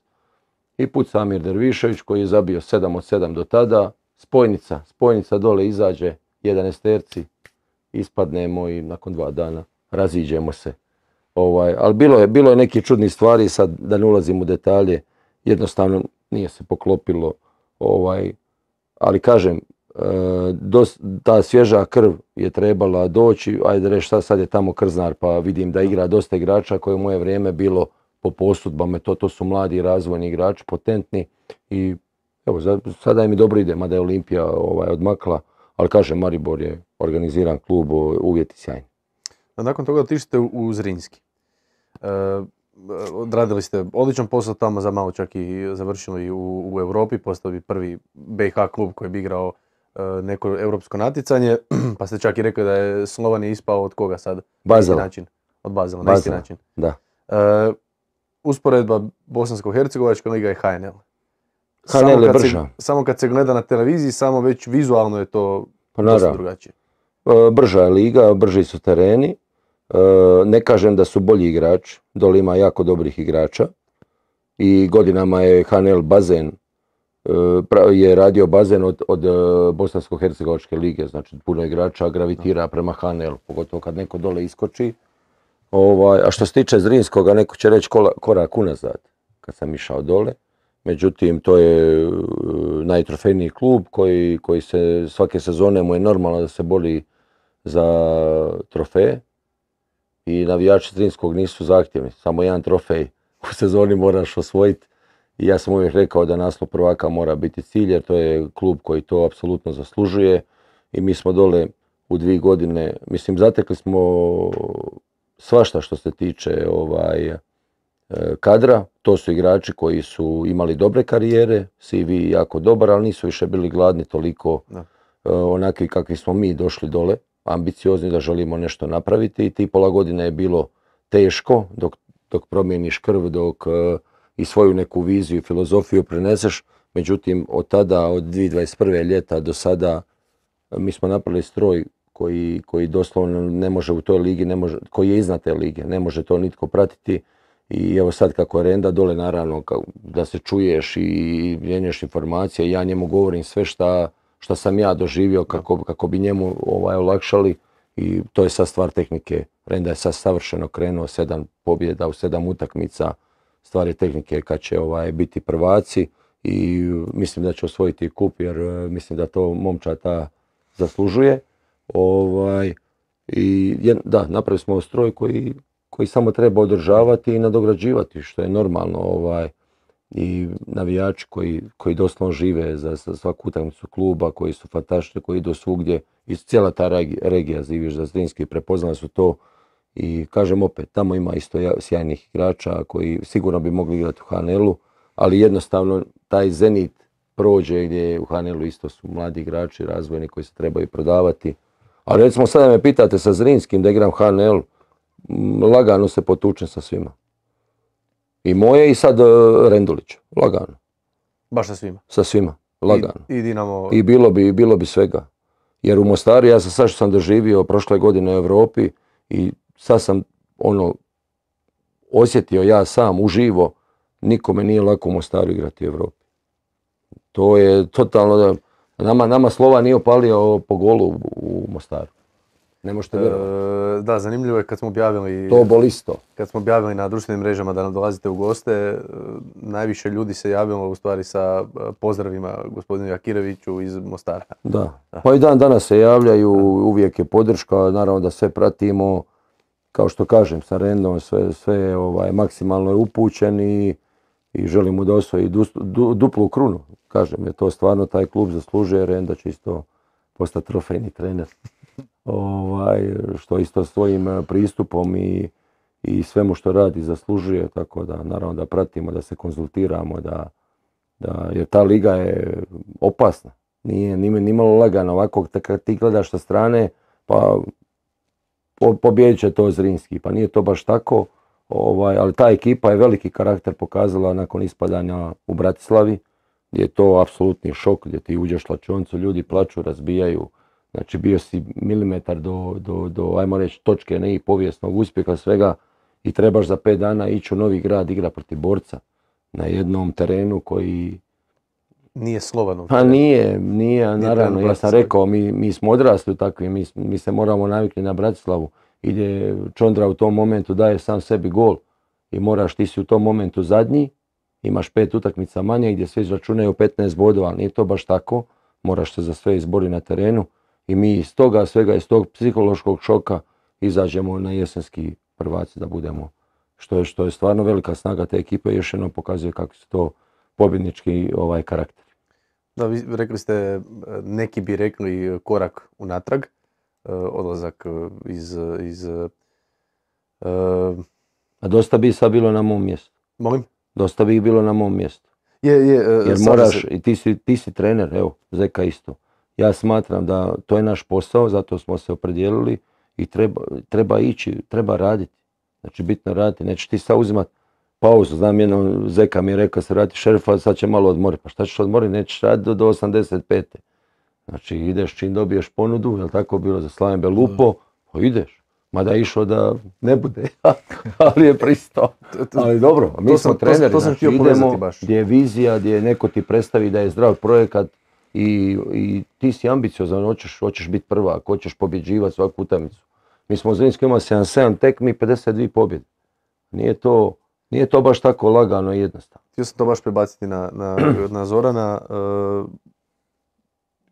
I puca Amir Dervišević koji je zabio 7 od 7 do tada. Spojnica dole izađe 11 ispadnemo i nakon 2 dana raziđemo se. Ali bilo je neki čudni stvari, sad da ne ulazim u detalje, jednostavno nije se poklopilo. Ali kažem, ta svježa krv je trebala doći, ajde reći sad je tamo Krznar pa vidim da igra dosta igrača koje u moje vrijeme bilo po posudbama, to su mladi razvojni igrači, potentni i evo sada im dobro ide, mada je Olimpija odmakla, ali kažem Maribor je organiziran klub, uvjeti sjajni. Nakon toga otišli u Zrinski. Odradili ste odličan posao tamo, za malo čak i završili u Europi, postali prvi BiH klub koji bi igrao neko europsko natjecanje, pa ste čak i rekli da je Slovan ispao od koga sad? Bazela. Od Bazela, na isti način. Da. Usporedba Bosansko-Hercegovačka liga i HNL. HNL je brža. Samo kad se gleda na televiziji, samo već vizualno je to dosta drugačije. Brža je liga, brži su tereni. Ne kažem da su bolji igrači, dole ima jako dobrih igrača i godinama je HNL bazen, je radio bazen od Bosansko-Hercegovačke lige, znači puno igrača gravitira prema HNL, pogotovo kad neko dole iskoči. A što se tiče Zrinskoga, neko će reći korak unazad kad sam išao dole. Međutim, to je najtrofejniji klub koji se svake sezone mu je normalno da se bori za trofeje. I navijači Zrinskog nisu zahtjevni, samo jedan trofej u sezoni moraš osvojiti. I ja sam uvijek rekao da naslov prvaka mora biti cilj, jer to je klub koji to apsolutno zaslužuje. I mi smo dole u 2 godine, mislim, zatekli smo svašta što se tiče kadra. To su igrači koji su imali dobre karijere, CV jako dobar, ali nisu više bili gladni toliko onakvi kakvi smo mi došli dole. Ambiciozni da želimo nešto napraviti i ti pola godine je bilo teško dok promijeniš krv, dok i svoju neku viziju i filozofiju preneseš. Međutim, od tada, od 2021. ljeta do sada, mi smo napravili stroj koji doslovno ne može u toj ligi, koji je iznad te lige, ne može to nitko pratiti. I evo sad kako je Renda dole, naravno da se čuješ i mijenjaš informacije, ja njemu govorim sve šta sam ja doživio kako bi njemu olakšali i to je sad stvar tehnike. Renda je sad savršeno krenuo, 7 pobjeda u 7 utakmica, stvar je tehnike kad će biti prvaci i mislim da će osvojiti kup jer mislim da to momčad ta zaslužuje. I da, napravili smo stroj koji samo treba održavati i nadograđivati, što je normalno. I navijači koji doslovno žive za svaku utakmicu kluba, koji su fantastični, koji idu svugdje, i cijela ta regija Ziviš za Zrinski prepoznali su to. I kažem opet, tamo ima isto sjajnih igrača koji sigurno bi mogli igrati u HNL-u, ali jednostavno taj Zenit prođe gdje u HNL-u isto su mladi igrači, razvojni koji se trebaju prodavati. Ali recimo sada me pitate sa Zrinskim da igram HNL, lagano se potučem sa svima. I moje i sad Rendulić, lagano. Baš sa svima? Sa svima, lagano. I Dinamo? I bilo bi svega. Jer u Mostaru, ja sad što sam doživio prošle godine u Europi i sad sam osjetio ja sam uživo, nikome nije lako u Mostaru igrati u Europi. To je totalno, nama Slova nije opalio po golu u Mostaru. Ne možete vjerovati. Da, zanimljivo je kad smo objavili... To bolisto. Kad smo objavili na društvenim mrežama da nam dolazite u goste, najviše ljudi se javilo u stvari sa pozdravima gospodinu Jakireviću iz Mostara. Da. Pa i dan danas se javljaju, uvijek je podrška, naravno da sve pratimo. Kao što kažem, sa Rendom sve je maksimalno je upućen i želimo da osvoji duplu krunu. Kažem, je to stvarno taj klub zaslužuje, Renda će isto postati trofejni trener. Što isto svojim pristupom i svemu što radi zaslužuje, tako da naravno da pratimo, da se konzultiramo, jer ta liga je opasna. Nije nimalo lagano, ovako kad ti gledaš sa strane, pa pobijedit će to Zrinski, pa nije to baš tako, ali ta ekipa je veliki karakter pokazala nakon ispadanja u Bratislavi, gdje je to apsolutni šok, gdje ti uđeš u slačionicu, ljudi plaču, razbijaju. Znači bio si milimetar do ajmo reći, točke ne i povijesnog uspjeha svega i trebaš za 5 dana ići u novi grad, igra protiv Borca na jednom terenu koji... Nije slovan. Pa nije, naravno, ja sam rekao, mi smo odrasli u takvim, mi se moramo naviknuti na Bratislavu, gdje Čondra u tom momentu daje sam sebi gol i ti si u tom momentu zadnji, imaš 5 utakmica manje gdje svi izračunaju 15 bodova, ali nije to baš tako, moraš se za sve izboriti na terenu i mi iz toga svega, iz tog psihološkog šoka izađemo na jesenski prvaci da budemo, što je stvarno velika snaga te ekipe i još jednom pokazuje kako su to pobjednički karakter. Da, vi rekli ste, neki bi rekli korak unatrag, odlazak iz A dosta bi sad bilo na mom mjestu. Molim? Dosta bi ih bilo na mom mjestu. Jer moraš, i ti si trener, evo, Zeka isto. Ja smatram da to je naš posao, zato smo se opredijelili i treba ići, treba raditi. Znači bitno raditi, nećeš ti sad uzimati pauzu. Znam jedno, Zeka mi je rekao se vrati Šerifa, sad će malo odmoriti. Pa šta ćeš odmoriti, nećeš raditi do 85. Znači ideš čim dobiješ ponudu, jel tako bilo za Slaven Belupo, pa ideš. Mada je išao da ne bude, ali je pristao. Ali dobro, mi smo treneri, znači idemo gdje je vizija, gdje neko ti predstavi da je zdrav projekat i ti si ambiciozan, hoćeš biti prvak, hoćeš pobjeđivati svaku utakmicu. Mi smo u Zrinskoj imali 77 tekmi, 52 pobjede. Nije to baš tako lagano i jednostavno. Htio sam to baš prebaciti na Zorana.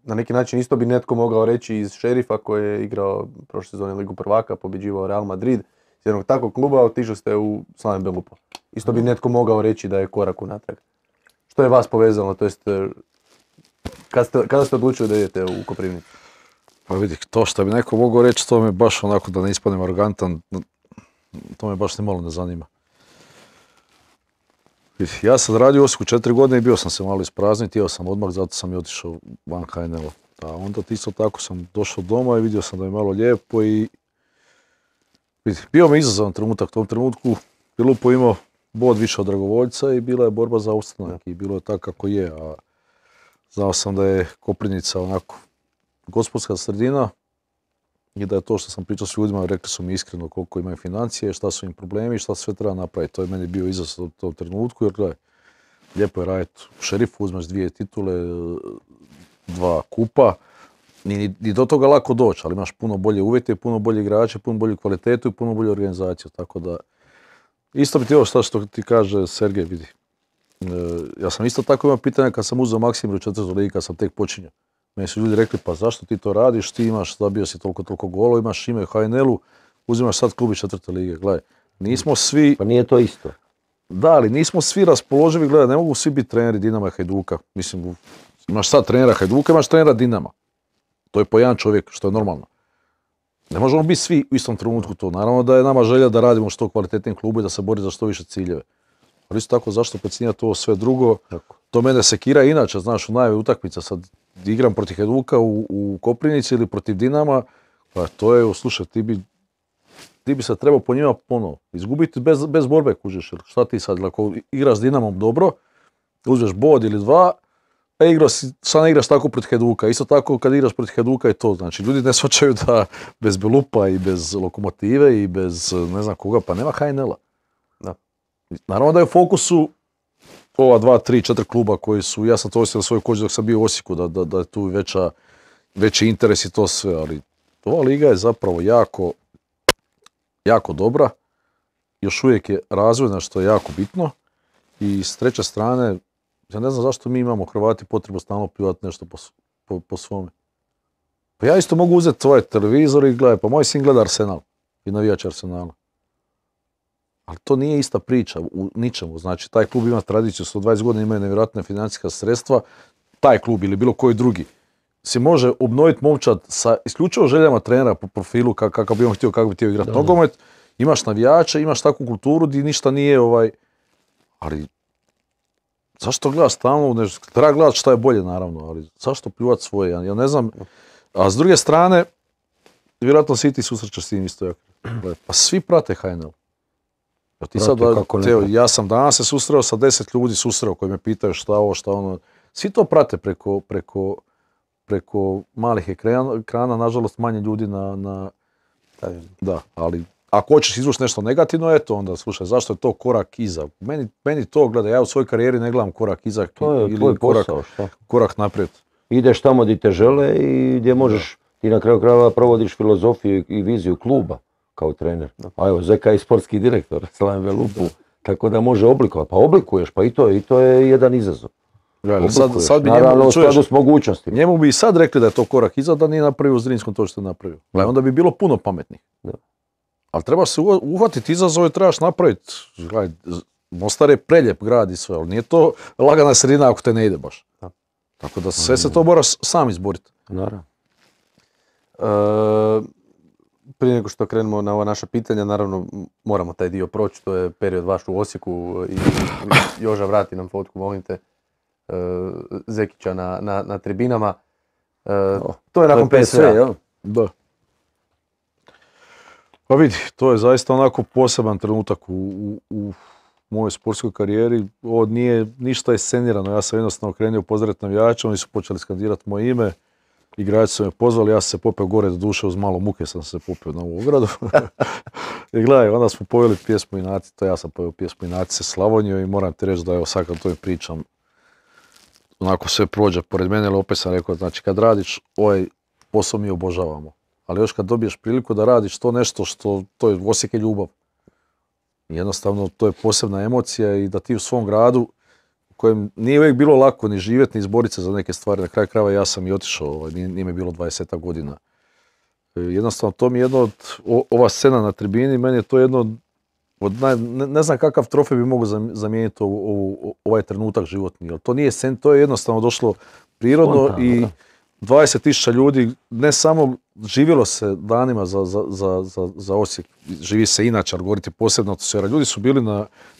Na neki način isto bi netko mogao reći iz Šerifa koji je igrao prošle sezone Ligu prvaka, pobjeđivao Real Madrid. Iz jednog takvog kluba otišli ste u Slaven Belupo. Isto bi netko mogao reći da je korak unatrag. Što je vas povezalo, to jest kada ste odlučili da idete u Koprivnicu? Pa vidi, to što bi neko mogao reći, to me baš onako da ne ispadnem arogantan, to me baš nimalo ne zanima. Ja sam radio u Osijeku 4 godine i bio sam se malo isprazniti, htio sam odmah, zato sam i otišao van HNL-a. A onda isto tako sam došao doma i vidio sam da je malo lijepo i bio mi izazovan trenutak u tom trenutku. Belupo imao bod više od dragovoljca i bila je borba za ostanak i bilo je tako kako je. A znao sam da je Koprivnica onako gospodarska sredina i da je to što sam pričao s ljudima, rekli su mi iskreno koliko imaju financije, šta su im problemi i šta sve treba napraviti. To je meni bio izazov u tom trenutku jer gledaj, lijepo je raditi u Šerifu, uzmeš 2 titule, 2 kupa, ni do toga lako doći, ali imaš puno bolje uvjete, puno bolje igrače, puno bolju kvalitetu i puno bolju organizaciju, tako da isto bi ti ovo što ti kaže Sergej, vidi. Ja sam isto tako imao pitanja kad sam uzeo Maksimir u 4. ligi, kad sam tek počinjao. Meni su ljudi rekli, pa zašto ti to radiš, ti imaš, zabio si toliko golova, imaš ime u HNL-u, uzimaš sad klub iz 4. lige. Gledaj, nismo svi... Pa nije to isto. Da, ali nismo svi raspoloživi, gledaj, ne mogu svi biti treneri Dinama i Hajduka. Mislim, imaš sad trenera Hajduka, imaš trenera Dinama. To je po jedan čovjek, što je normalno. Ne možemo biti svi u istom trenutku to. Naravno da je nama želja da radimo što kvalitetnijem klubu i da se bori za što više ciljeve. Ali isto tako, zašto precinjati ovo sve drugo? Tako. To mene sekira inače, znaš, u najavi utakmica sad igram protiv Hajduka u Koprivnici ili protiv Dinama, pa to je, slušaj, ti bi se trebao po njima ponovo izgubiti bez borbe, kužiš, šta ti sad, ako igraš s Dinamom dobro, uzmeš bod ili 2, a sad ne igraš tako protiv Hajduka, isto tako kad igraš protiv Hajduka i to, znači ljudi ne shvaćaju da bez Belupa i bez Lokomotive i bez ne znam koga, pa nema HNL-a. Da. Naravno da je u fokusu ova 2, 3, 4 kluba koji su, ja sam to osjetio na svojoj koži dok sam bio u Osijeku, da je tu veći interes i to sve, ali ova liga je zapravo jako dobra, još uvijek je razvojna što je jako bitno i s treće strane, ja ne znam zašto mi imamo Hrvati potrebu stalno pljuvati nešto po svome. Pa ja isto mogu uzeti tvoj televizor i gledaj, pa moj sin gleda Arsenal i navijač Arsenala. Ali to nije ista priča u ničemu. Znači, taj klub ima tradiciju, 120 godina imaju nevjerojatne financijska sredstva, taj klub ili bilo koji drugi se može obnoviti momčad sa isključivo željama trenera po profilu kakav bi on htio, kako bi htio igrati nogomet. Imaš navijače, imaš takvu kulturu gdje ništa nije ali zašto gledaš stalno, treba gledati šta je bolje naravno, ali zašto pljuvati svoje, ja ne znam. A s druge strane, vjerojatno svi ti susrećeš s tim isto jako. Pa svi prate HNL. Ja sam danas se susreo sa 10 ljudi koji me pitaju šta ovo, šta ono. Svi to prate preko malih ekrana, nažalost manje ljudi da, ali ako hoćeš izvući nešto negativno, eto onda, slušaj, zašto je to korak iza? Meni to, gledaj, ja u svojoj karijeri ne gledam korak iza ili korak naprijed. Ideš tamo gdje te žele i gdje možeš, ti na kraju krajeva provodiš filozofiju i viziju kluba kao trener. A evo, Zeka je sportski direktor, Slaven Velupu, tako da može oblikovati. Pa oblikuješ, pa i to je jedan izazov. Sad bi naravno u skladu s mogućnostima. Njemu bi i sad rekli da je to korak iza, da nije napravio u Zrinskom to što je napravio. Onda bi bilo puno pametnih. Ali treba se uhvatiti izazove, trebaš napraviti. Mostar je preljep grad i sve, ali nije to lagana sredina ako te ne ide baš. Tako da sve se to moraš sam izboriti. Naravno. Prije nego što krenemo na ova naša pitanja, naravno moramo taj dio proći, to je period vaš u Osijeku i Joža, vrati nam fotku, molim te, Zekića na tribinama. To je nakon PSV-a. Da. Pa vidi, to je zaista onako poseban trenutak u mojoj sportskoj karijeri. Ovo nije ništa iscenirano, ja sam jednostavno krenio pozdraviti navijače, oni su počeli skandirati moje ime. Igrači su me pozvali, ja sam se popeo gore, do duše uz malo muke sam se popeo na ovu ogradu. I gledaj, onda smo poveli pjesmu Inati, to ja sam poveo pjesmu Inati se Slavoniju i moram ti reći da evo sad kad to pričam, onako sve prođe pored mene, ali opet sam rekao, znači kad radiš ovaj posao mi obožavamo. Ali još kad dobiješ priliku da radiš to nešto što, to je Osijek je ljubav. Jednostavno to je posebna emocija i da ti u svom gradu u kojem nije uvijek bilo lako ni živjeti, ni izboriti se za neke stvari. Na kraju krajeva ja sam i otišao, nije mi bilo 20 godina. Jednostavno to mi je jedno od, ova scena na tribini, meni je to jedno od ne znam kakav trofej bi mogao zamijeniti ovaj trenutak životni. To nije scen, to je jednostavno došlo prirodno. Spontano, i 20.000 ljudi, ne samo živjelo se danima za Osijek, živi se inače, ali govorite posebno atmosfera. Ljudi su bili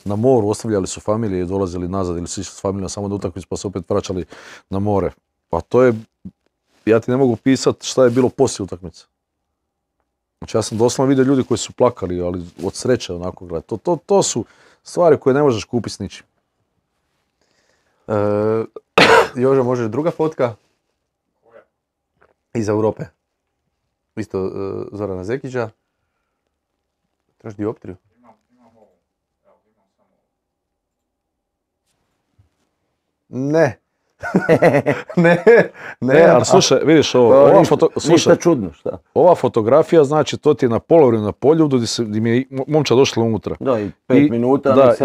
na moru, ostavljali su familije i dolazili nazad ili su išli s familijom samo na utakmicu pa se opet vraćali na more. Pa to je, ja ti ne mogu pisati šta je bilo poslije utakmice. Znači ja sam doslovno vidio ljudi koji su plakali, ali od sreće onako gledati. To su stvari koje ne možeš kupiti s ničim. Joža, možeš druga fotka? Iz Europe. Isto Zorana Zekića. Trebaš dioptriju? Imam ovo. Evo, imam samo ovo. Ne, ali slušaj, vidiš ovo, ništa čudno, šta? Ova fotografija, znači to ti je na polovremenu na Poljudu gdje mi je momča došla unutra. Da, i 5 minuta. Da,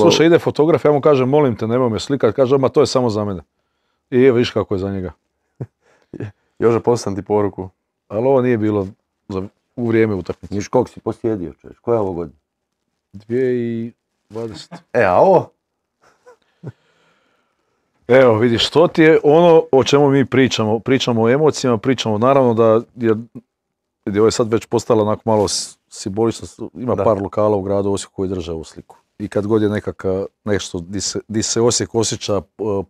slušaj, ide fotograf, ja mu kažem, molim te, nemoj me slikati, kaže, ma to je samo za mene. I evo, viš kako je za njega. Joža, poslam ti poruku. Ali ovo nije bilo u vrijeme utakmice. Viš kog si posjedio, češ? Koja je ovo godina? 2020. A ovo? Evo, vidiš, to ti je ono o čemu mi pričamo. Pričamo o emocijama, pričamo naravno da je ovo je sad već postalo onako malo simbolično. Ima par lokala u gradu Osijeku koji drže ovu sliku. I kad god je nešto di se Osijek osjeća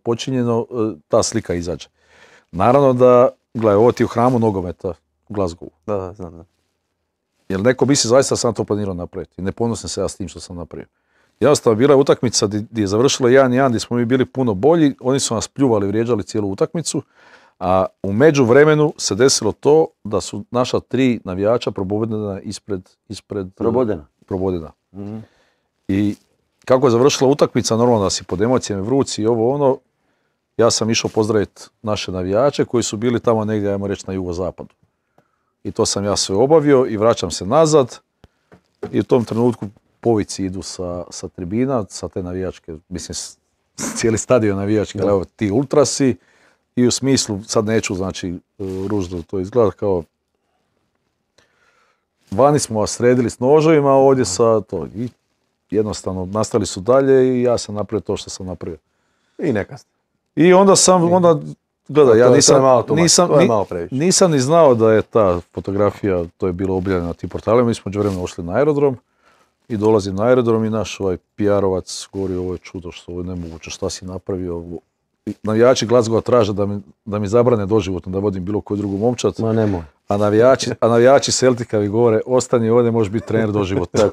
počinjeno, ta slika izađe. Naravno da, gledaj, ovo ti je u hramu nogometa u Glasgowu. Da, znam, da. Jer neko misli zaista sam to planirao napraviti. I ne ponosim se ja s tim što sam napravio. Jednostavno, bila je utakmica gdje je završila 1-1, gdje smo mi bili puno bolji, oni su nas pljuvali, vrijeđali cijelu utakmicu, a u međuvremenu se desilo to da su naša 3 navijača probodena ispred Probodena. Mm-hmm. I kako je završila utakmica, normalno da si pod emocijama vrući i ovo ono, ja sam išao pozdraviti naše navijače koji su bili tamo negdje, ajmo reći, na jugozapadu. I to sam ja sve obavio i vraćam se nazad i u tom trenutku povici idu sa tribina, sa te navijačke, mislim, cijeli stadion navijački, ali evo ti ultrasi i u smislu, sad neću, znači, ružno to izgleda kao vani smo vas sredili s noževima, ovdje sa to. I jednostavno nastali su dalje i ja sam napravio to što sam napravio. I neka ste. I onda gledaj, ja nisam ni znao da je ta fotografija, to je bilo objavljeno na tim portalima, mi smo međuvremeno ošli na aerodrom i dolazim na aerodrom i naš ovaj PR-ovac govori ovo je čudo, što ovo je nemoguće, šta si napravio. Navijači Glasgowa traže da mi zabrane doživotno da vodim bilo koju drugu momčad, ma nemoj. A navijači Celtica mi govore ostani ovdje, možeš biti trener doživotno.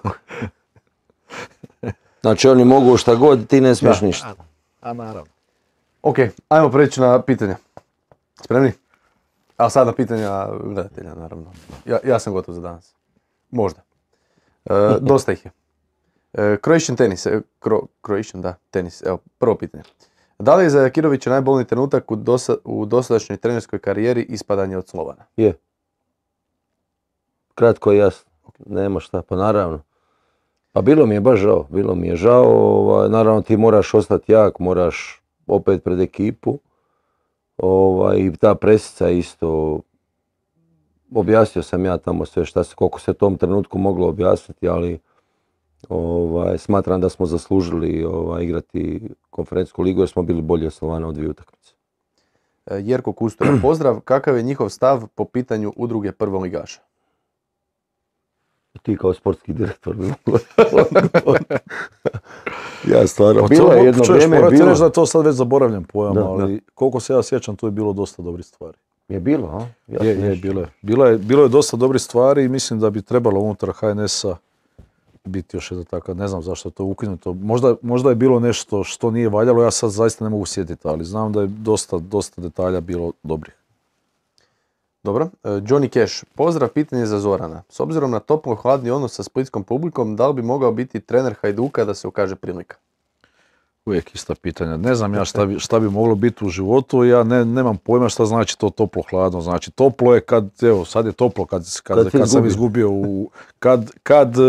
Znači oni mogu šta god, ti ne smiješ ništa. A naravno. Ok, ajmo preći na pitanja. Spremni? A sada pitanja gledatelja, naravno. Ja sam gotov za danas. Možda. Dosta ih je. Croatian tenis. Croatian, da, tenis. Evo, prvo pitanje. Da li je za Jakirovića najbolniji trenutak u dosadašnjoj trenerskoj karijeri ispadanje od Slovana? Je. Kratko i jasno. Nema šta, pa naravno. Pa bilo mi je baš žao, naravno ti moraš ostati jak, moraš opet pred ekipu. I ta presica isto, objasnio sam ja tamo sve koliko se u tom trenutku moglo objasniti, ali smatram da smo zaslužili igrati konferencijsku ligu jer smo bili bolji od Slovana u 2 utakmice. Jerko Kustura, pozdrav. Kakav je njihov stav po pitanju udruge prvoligaša? Ti kao sportski direktor bi mogla. Ja stvarno, bilo je jedno vrijeme. Morate reći da je to sad već zaboravljen pojam, ali koliko se ja sjećam, tu je bilo dosta dobrih stvari. Je bilo, a? Bilo je dosta dobrih stvari i mislim da bi trebalo unutar HNS-a biti još jedna taka, ne znam zašto je to ukinuto. Možda je bilo nešto što nije valjalo, ja sad zaista ne mogu sjetiti, ali znam da je dosta detalja bilo dobrih. Dobro. Johnny Cash, pozdrav, pitanje za Zorana. S obzirom na toplo hladni odnos sa splitskom publikom, da li bi mogao biti trener Hajduka da se ukaže prilika? Uvijek ista pitanja. Ne znam ja šta bi moglo biti u životu, ja nemam pojma šta znači to toplo hladno. Znači toplo je sad je toplo kad sam izgubio kad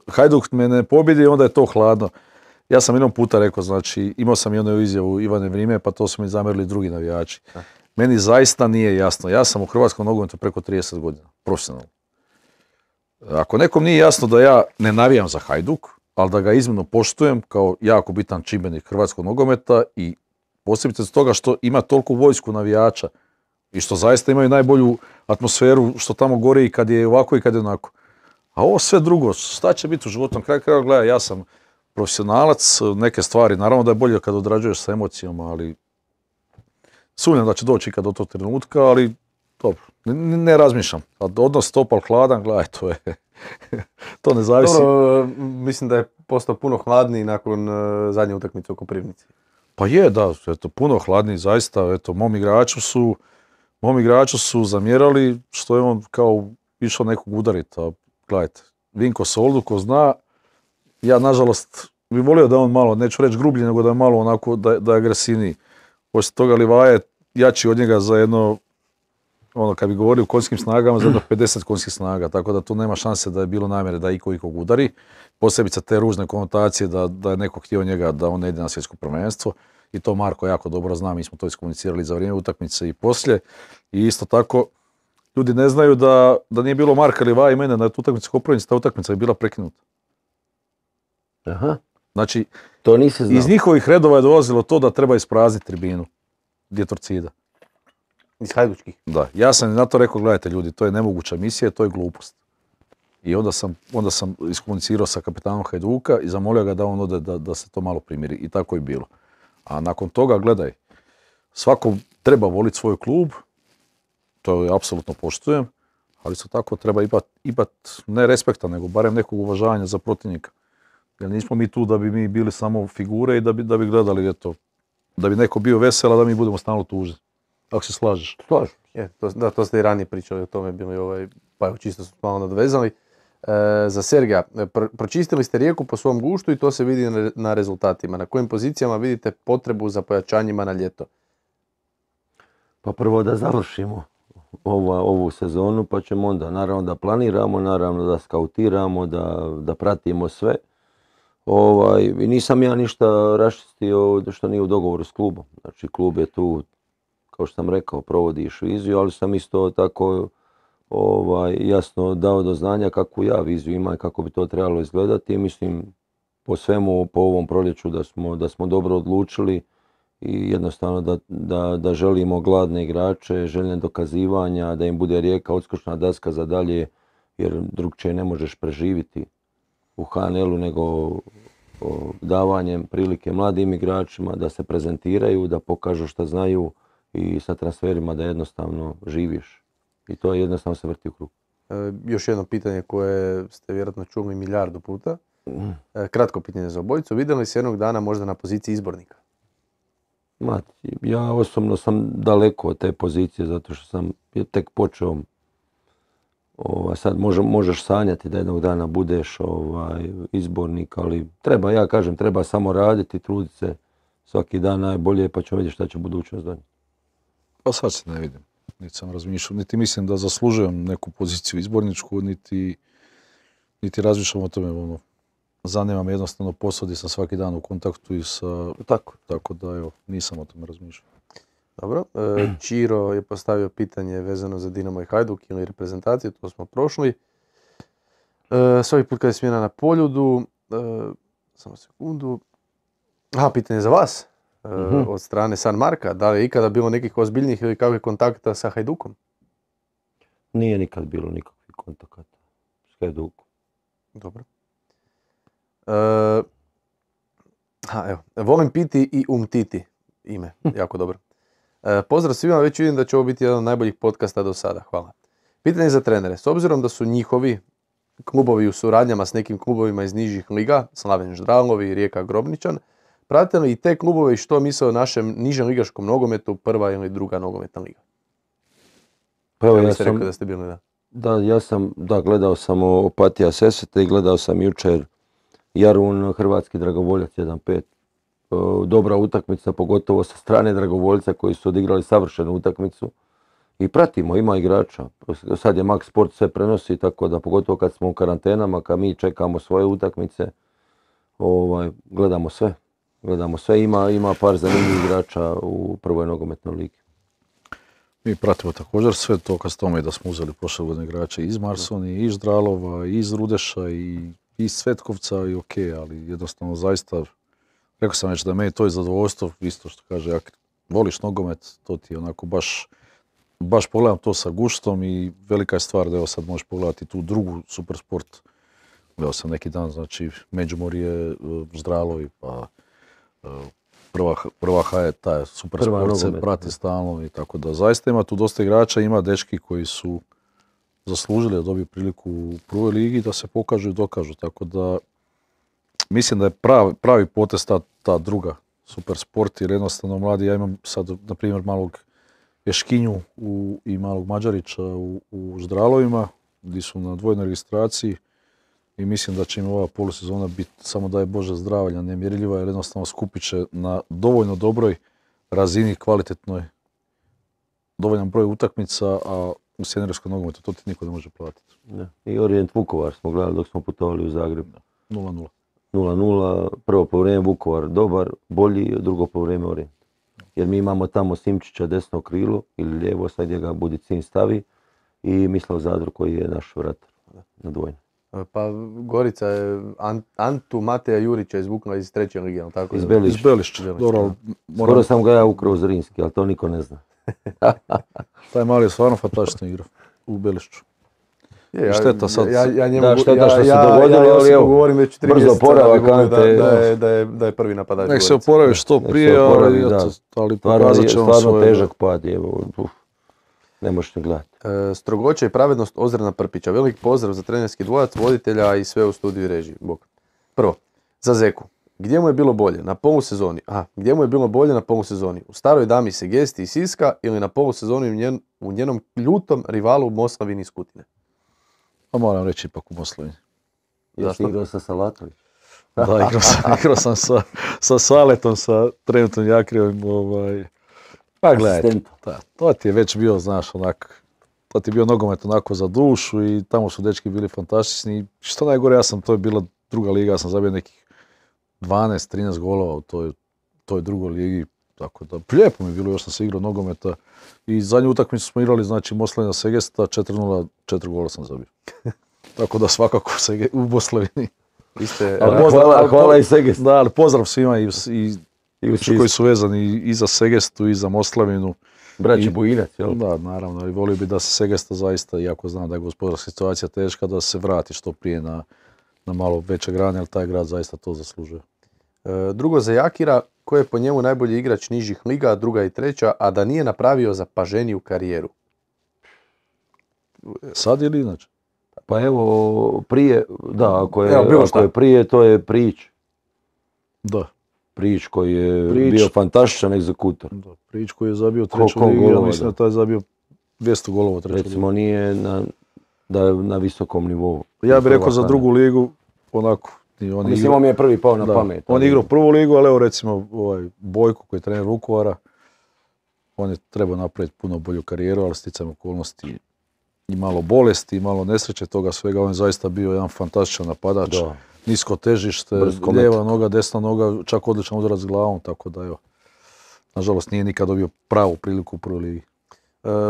Hajduk me ne pobjedi, onda je to hladno. Ja sam jednom puta rekao, znači imao sam jednu izjavu Ivane Vrime, pa to su mi zamjerili drugi navijači. Meni zaista nije jasno. Ja sam u hrvatskom nogometu preko 30 godina, profesionalno. Ako nekom nije jasno da ja ne navijam za Hajduk, ali da ga iznimno poštujem kao jako bitan čimbenik hrvatskog nogometa i posebice zbog toga što ima toliko vojsku navijača i što zaista imaju najbolju atmosferu što tamo gori i kad je ovako i kad je onako. A ovo sve drugo, šta će biti u životu? Na kraju kraja gledaj, ja sam profesionalac, neke stvari, naravno da je bolje kad odrađuješ sa emocijama, ali sumnjam da će doći ikad do tog trenutka, ali dobro, ne razmišljam. Odnos topal hladan, gledaj, to ne zavisi. Dobro, mislim da je postao puno hladniji nakon zadnje utakmice u Koprivnici. Pa je, da, puno hladniji, zaista. Mom igraču su zamjerali što je on kao išao nekog udariti. Gledajte, Vinko Soldu, ko zna, ja nažalost bi volio da on malo, neću reći grublji, nego da je malo onako, da je agresivniji. Poslije toga Livaja je jači od njega za jedno, kad bi govorio o konjskim snagama, za jedno 50 konjskih snaga, tako da tu nema šanse da je bilo namjere da ikog udari. Posebice te ružne konotacije da je neko htio njega da on ne ide na svjetsko prvenstvo. I to Marko jako dobro zna, mi smo to iskomunicirali za vrijeme utakmice i poslije. I isto tako, ljudi ne znaju da nije bilo Marka Livaja i mene na utakmici Koprivnici, ta utakmica je bila prekinuta. Aha. Znači, to nisi znao. Iz njihovih redova je dolazilo to da treba isprazniti tribinu. Gdje Torcida. Iz Hajdučkih. Da, ja sam na to rekao, gledajte ljudi, to je nemoguća misija, to je glupost. I onda sam iskomunicirao sa kapetanom Hajduka i zamolio ga da on ode da se to malo primiri. I tako je bilo. A nakon toga, gledaj, svako treba voliti svoj klub, to je apsolutno poštujem, ali isto tako treba imat ne respekta, nego barem nekog uvažavanja za protivnika. Jer nismo mi tu da bi mi bili samo figure i da bi gledali, da bi neko bio vesel, a da mi budemo stalno tužni. Ako se slažeš. Slažem. To ste i ranije pričali o tome, bili pa evo čisto smo malo nadvezali. Za Sergeja, pročistili ste Rijeku po svom guštu i to se vidi na rezultatima. Na kojim pozicijama vidite potrebu za pojačanjima na ljeto? Pa prvo da završimo ovu sezonu, pa ćemo onda naravno da planiramo, naravno da skautiramo, da pratimo sve. I nisam ja ništa raščistio što nije u dogovoru s klubom. Znači klub je tu, kao što sam rekao, provodiš viziju, ali sam isto tako jasno dao do znanja kakvu ja viziju imam i kako bi to trebalo izgledati. Mislim, po svemu, po ovom proljeću da smo dobro odlučili i jednostavno da želimo gladne igrače, željne dokazivanja, da im bude Rijeka odskočna daska za dalje, jer drugčije ne možeš preživiti u HNL-u nego davanjem prilike mladim igračima da se prezentiraju, da pokažu šta znaju i sa transferima da jednostavno živiš. I to jednostavno se vrti u krug. Još jedno pitanje koje ste vjerojatno čuli milijardu puta. Kratko pitanje za obojicu. Vidjeli li se jednog dana možda na poziciji izbornika? Ja osobno sam daleko od te pozicije zato što sam tek počeo. Sad možeš sanjati da jednog dana budeš izbornik, ali treba samo raditi, truditi se svaki dan najbolje pa ćemo vidjeti šta će budućnost donijeti. Pa sad se ne vidim. Niti sam razmišljao, niti mislim da zaslužujem neku poziciju izborničku, niti razmišljam o tome. Zanima me jednostavno posao gdje sam svaki dan u kontaktu i sa... Tako da, evo, nisam o tome razmišljao. Dobro. Čiro je postavio pitanje vezano za Dinamo i Hajduk ili reprezentaciju, to smo prošli. Svaki put kad je smjena na Poljudu, samo sekundu. Pitanje za vas, od strane San Marka. Da li je ikada bilo nekih ozbiljnih ili kakvih kontakta sa Hajdukom? Nije nikad bilo nikakvih kontakata s Hajdukom. Dobro. Evo, volim piti i umtiti ime, jako dobro. Pozdrav svima, već vidim da će ovo biti jedan od najboljih podcasta do sada, hvala. Pitanje za trenere, s obzirom da su njihovi klubovi u suradnjama s nekim klubovima iz nižih liga, Slaven Ždralovi, Rijeka Grobničan, prate li i te klubove i što misle o našem nižem ligaškom nogometu, prva ili druga nogometna liga? Pa evo, ja sam rekao da ste bili, gledao sam Opatija Sesvete i gledao sam jučer Jarun, hrvatski dragovoljac 1-5. Dobra utakmica, pogotovo sa strane dragovoljca koji su odigrali savršenu utakmicu. I pratimo, ima igrača. Sad je Max Sport sve prenosi, tako da pogotovo kad smo u karantenama, kad mi čekamo svoje utakmice, gledamo sve. Ima par zanimljivih igrača u prvoj nogometnoj ligi. Mi pratimo također sve to kad s tome da smo uzeli prošle godine igrače iz Marsoni, iz Ždralova, iz Rudeša i iz Svetkovca i ok, ali jednostavno zaista, rekao sam već da meni to je zadovoljstvo, isto što kaže, ako voliš nogomet, to ti je onako baš pogledam to sa guštom i velika je stvar da evo sad možeš pogledati tu drugu super sport. Evo sam neki dan, znači Međimurje, Ždralovi, pa prva H, taj super sport se prati stalno i tako da zaista ima tu dosta igrača, ima dečki koji su zaslužili da dobiju priliku u prvoj ligi da se pokažu i dokažu, tako da mislim da je pravi potez ta druga super sport jer jednostavno mladi, ja imam sad na primjer malog Ješkinju i malog Mađarića u Ždralovima gdje su na dvojnoj registraciji i mislim da će im ova polusezona biti samo daj Bože zdravlja, nemjerljiva jer jednostavno skupit će na dovoljno dobroj razini, kvalitetnoj, dovoljan broj utakmica, a u seniorskom nogometu to ti niko ne može platiti. I Orient Vukovar smo gledali dok smo putovali u Zagreb. 0-0. 0-0, prvo poluvreme Vukovar dobar, bolji, drugo poluvreme Orient. Jer mi imamo tamo Simčića desno krilo ili lijevo, sad gdje ga Budicin stavi i Mislav Zadro koji je naš vratar na dvojnju. Pa Gorica je Antu Mateja Jurića izvukla iz treće lige, ali tako? Iz Belišća. Skoro sam ga ja ukrao Zrinski, ali to niko ne zna. Taj mali je stvarno fantastično igrao u Belišću. Šteta sad. Šteta što se dogodilo, ali evo, govorim već 3 brzo oporavak da je prvi napadač. Nek se oporavi što prije, ali pokazat će on svoje. Stvarno težak pad, ne možeš ni gledati. Strogoća i pravednost Ozrena Prpića. Velik pozdrav za trenerski dvojac, voditelja i sve u studiju i režiji. Bog. Prvo, za Zeku. Gdje mu je bilo bolje? Na polusezoni. Gdje mu je bilo bolje na polusezoni? U staroj dami Segesti i Siska ili na polusezoni u njenom ljutom rivalu Moslavini iz Kutine? Pa moram reći ipak u Moslavini. Jesi igrao sa Salatović? Da, igrao sam sa Saletom, sa trenutnom Jakrijom. Pa gledajte, to ti je već bio, znaš, onak, to ti je bio nogomet onako za dušu i tamo su dečki bili fantastični. Što najgore, to je bila druga liga, ja sam zabio nekih 12-13 golova u toj drugoj ligi. Tako da, lijepo mi je bilo, još sam se igrao nogometa i zadnju utakmicu smo igrali, znači Moslavina Segesta, 4-0, 4 gola sam zabio. Tako da svakako u Moslavini. Hvala i Segest. Da, ali pozdrav svima i koji su vezani i za Segestu i za Moslavinu. Braći Bujinac, jel? Da, naravno, i volio bi da se Segesta zaista, iako znam da je gospodarska situacija teška, da se vrati što prije na malo veće grane, ali taj grad zaista to zaslužuje. Drugo za Jakira, ko je po njemu najbolji igrač nižih liga, druga i treća, a da nije napravio zapaženiju karijeru? Sad ili inače? Pa evo, prije, da, ako je prije, to je Prijić. Da. Prič koji je Prič. bio fantastičan egzekutor. Da, Prič koji je zabio Koliko treću ligu, ja golova, mislim da. da taj je zabio 200 golova treću ligu. Recimo nije da je na visokom nivou. Ja bih rekao za drugu ligu, onako, Mislim, on mi je prvi pao na da, pamet. on je igrao prvu ligu, ali evo recimo Bojko koji je trener Vukovara, on je trebao napraviti puno bolju karijeru, ali sticajem okolnosti i malo bolesti, i malo nesreće toga svega, on je zaista bio jedan fantastičan napadač. Da. Nisko težište, Brskomet. lijeva noga, desna noga, čak odličan udarac s glavom, tako da evo. Nažalost nije nikad dobio pravu priliku u prvoj ligi.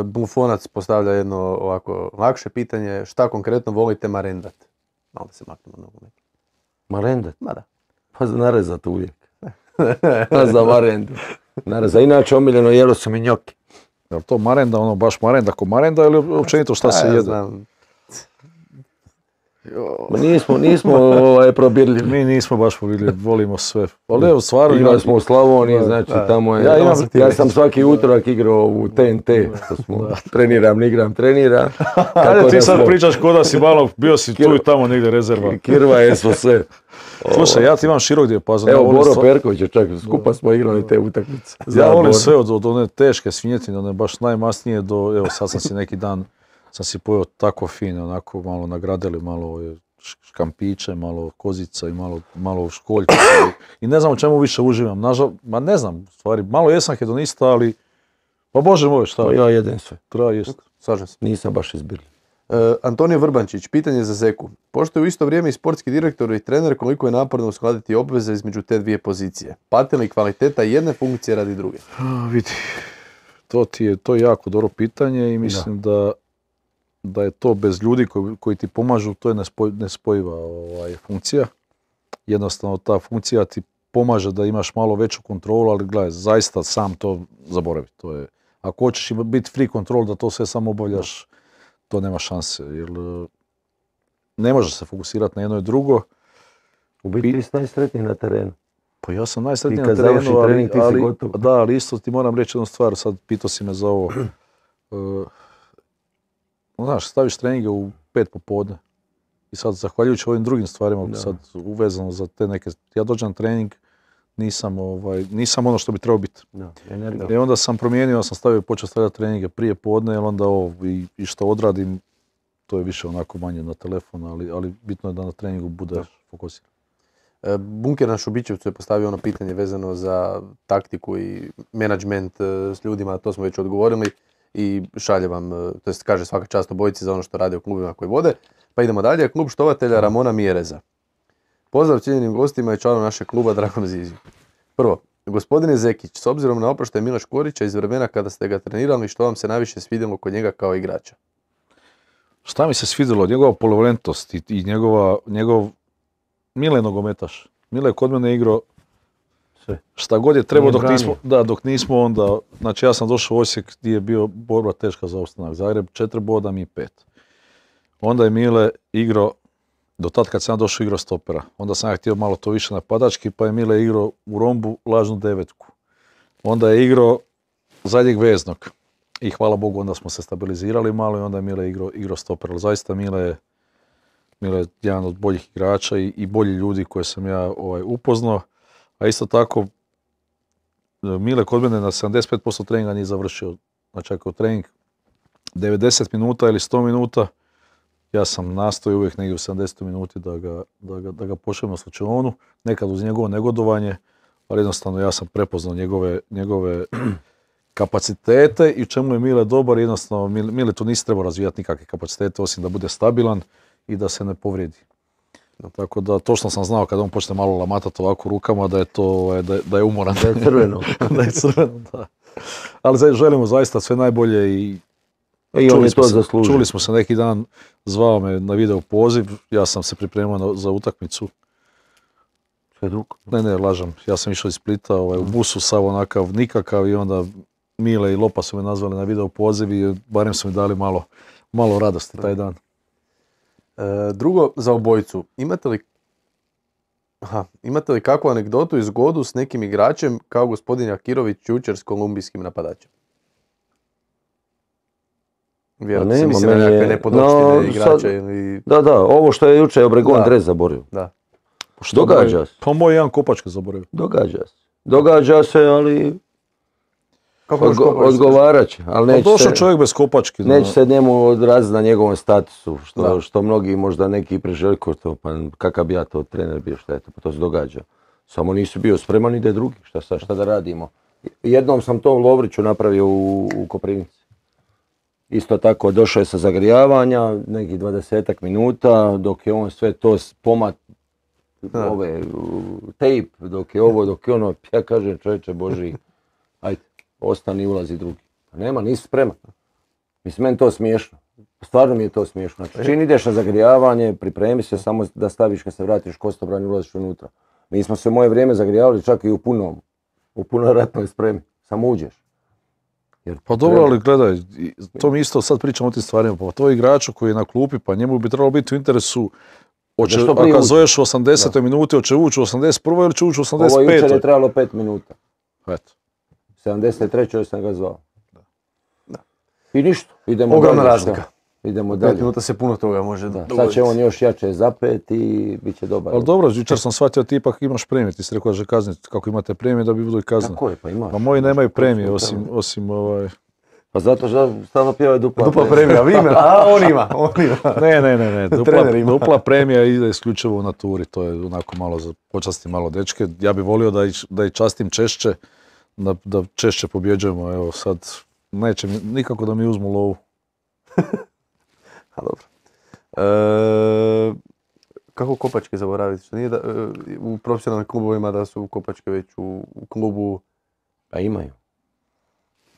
Bufonac postavlja jedno ovako lakše pitanje, šta konkretno volite marendat? Malo da se maknemo na nogomet. Marendat? Ma da. Pa za narezat uvijek. Pa za marendu. Nareza. Inače omiljeno jelo su mi njoki. Je li to marenda, ono baš marenda ko marenda ili općenito šta se Ja jede? znam. Ma nismo probirljivi. Mi nismo baš povidjeli, volimo sve. Ali evo stvarno Igrali smo u Slavoniji, Da, znači da. tamo je... Ja sam svaki utorak igrao u TNT, što smo treniram. Ajde Tako ti da sad smo- pričaš ko da si malo, bio si tu i tamo negdje rezerva. Kirva je smo sve. Slušaj, ja ti imam širok dijapazon. Evo, ja volim Boro stvar- Perković je čak, skupa smo igrali te utakmice. Ja volim Boro. sve od one teške svinjetine, one baš najmasnije do, evo sad sam si neki dan, sam si pojeo tako fino, onako malo nagradili, malo škampiće, malo kozica i malo školjka. I ne znam u čemu više uživam, ma ne znam, u stvari, malo jesam hedonista, ali, pa bože moj, šta, Pa ja jedem sve. treba jest. Slažem se. Nisam baš izbirljiv. Antonio Vrbančić, pitanje za Zeku. Pošto je u isto vrijeme i sportski direktor i trener, koliko je naporno uskladiti obveze između te dvije pozicije? Pati li kvaliteta jedne funkcije radi druge? Vidi, to je jako dobro pitanje i mislim da je to bez ljudi koji ti pomažu, to je nespojiva funkcija. Jednostavno ta funkcija ti pomaže da imaš malo veću kontrolu, ali gledaj, zaista sam to zaboravi. To je, ako hoćeš biti free control da to sve samo obavljaš, to nema šanse. Jer ne možeš se fokusirati na jedno i drugo. U biti ti si najsretniji na terenu. Pa ja sam najsretniji Ti na kad terenu, završi trening, ti si gotov. da, ali isto ti moram reći jednu stvar, sad pitao si me za ovo. Znaš, staviš treninge u 5 popodne i sad zahvaljujući ovim drugim stvarima, sad uvezano za te neke, ja dođem na trening, nisam ono što bi trebao biti. I onda sam promijenio, sam stavio i počeo stavljati treninge prije podne, jer onda ovo i što odradim, to je više onako manje na telefon, ali bitno je da na treningu budeš fokusiran. Bunker na Šubićevcu je postavio ono pitanje vezano za taktiku i menadžment s ljudima, to smo već odgovorili i šalje vam, to jest kaže svaka čast obojici za ono što rade u klubima koji vode. Pa idemo dalje, klub štovatelja Ramona Mjereza. Pozdrav cijenjenim gostima i članom našeg kluba Dragom Ziziju. Prvo, gospodine Zekić, s obzirom na oproštaj Mila Škorića iz vremena kada ste ga trenirali, što vam se najviše svidjelo kod njega kao igrača? Šta mi se svidjelo? Njegova polivalentnost i njegov Mile je nogometaš. Mile je kod mene igrao sve. Šta god je trebao Nije dok nismo onda, znači ja sam došao u Osijek gdje je bio borba teška za opstanak. Zagreb 4 boda, mi 5. Onda je Mile igrao, do tad kad sam došao igrao stopera. Onda sam ja htio malo to više napadački, pa je Mile igrao u rombu lažnu 9. Onda je igrao zadnjeg veznog. I hvala Bogu onda smo se stabilizirali malo i onda je Mile igrao stoper. Ali zaista Mile je jedan od boljih igrača i bolji ljudi koje sam ja upoznao. A isto tako, Mile kod mene na 75% treninga nije završio. Znači ako je trening 90 minuta ili 100 minuta, ja sam nastojao uvijek negdje u 70 minuti da ga pošaljem na slučajonu, nekad uz njegovo negodovanje, ali jednostavno ja sam prepoznao njegove kapacitete i u čemu je Mile dobar, jednostavno Mile tu nisi trebao razvijati nikakve kapacitete osim da bude stabilan i da se ne povrijedi. Tako da točno sam znao kada on počne malo lamatati ovako rukama da je to, da je umoran. Da je crveno. Da je crveno, da. Ali želimo zaista sve najbolje i on je to zaslužio. Čuli smo se neki dan, zvao me na video poziv, ja sam se pripremao za utakmicu. Ne, lažem, ja sam išao iz Splita u busu, sav onakav nikakav i onda Mile i Lopa su me nazvali na video poziv i barem su mi dali malo radosti taj dan. Drugo, za obojicu, imate li kakvu anegdotu i zgodu s nekim igračem kao gospodin Jakirović jučer s kolumbijskim napadačem? Vjerojatno se misli na nekakve nepodopštine igrača ili... Da, ovo što je jučer Obregon dres zaborio. Da. Događa se. Pa moj jedan kopačke zaboravio. Događa se, ali Kako još kopačke? odgovarat će. Ali Pa neće došao se, čovjek bez kopačke. neće se njemu odraziti na njegovom statusu, Da. što mnogi možda neki priželjkuju to, pa kakav bi ja to trener bio, šta je to, pa to se događa. Samo nisi bio spreman, ide drugi, šta da radimo. Jednom sam to Lovriću napravio u Koprivnici. Isto tako, došao je sa zagrijavanja, nekih 20 minuta, dok je on sve to tape, dok je ovo, dok je ono, ja kažem čovječe Boži, ajde, ostani, ulazi drugi. Pa nema, nisi spreman. Mislim, meni to smiješno. Stvarno mi je to smiješno. Znači, čim ideš na zagrijavanje, pripremi se samo da staviš kad se vratiš kostobran i ulaziš unutra. Mi smo se u moje vrijeme zagrijavali čak i u punoj ratnoj spremi. Samo uđeš. Jer Pa dobro, ali gledaj, to mi isto sad pričamo o tim stvarima, pa to je igraču koji je na klupi, pa njemu bi trebalo biti u interesu, što prije ako uđe. zoveš u 80. minuti, hoće ući u 81. ili će ući u ovo jučer je 85. trebalo 5 minuta. Eto. 73. sam ga zvao. Da. I ništa, idemo Ogromna dalje. razlika. Idemo 5 dalje. minuta se puno toga može Da. Sad dogoditi. će on još jače zapet i bit će dobar. Ali dobro, jučer sam shvatio ti ipak imaš premije, ti si rekao da će kazniti, kako imate premije da bi budu i kazne. Tako je, pa imaš. Pa moji nemaju premije osim Pa zato što stalno pjevaju Dupla premija, vi ima, a on ima. Ne. Trener ima. Dupla premija ide isključivo u naturi, to je onako malo za počasti malo dečke. Ja bih volio da ih častim češće, da češće pobjeđujemo, evo sad neće nikako da mi uzmu lovu. A dobro. Kako kopačke zaboraviti? Što nije u profesionalnim klubovima da su kopačke već u klubu? Pa imaju.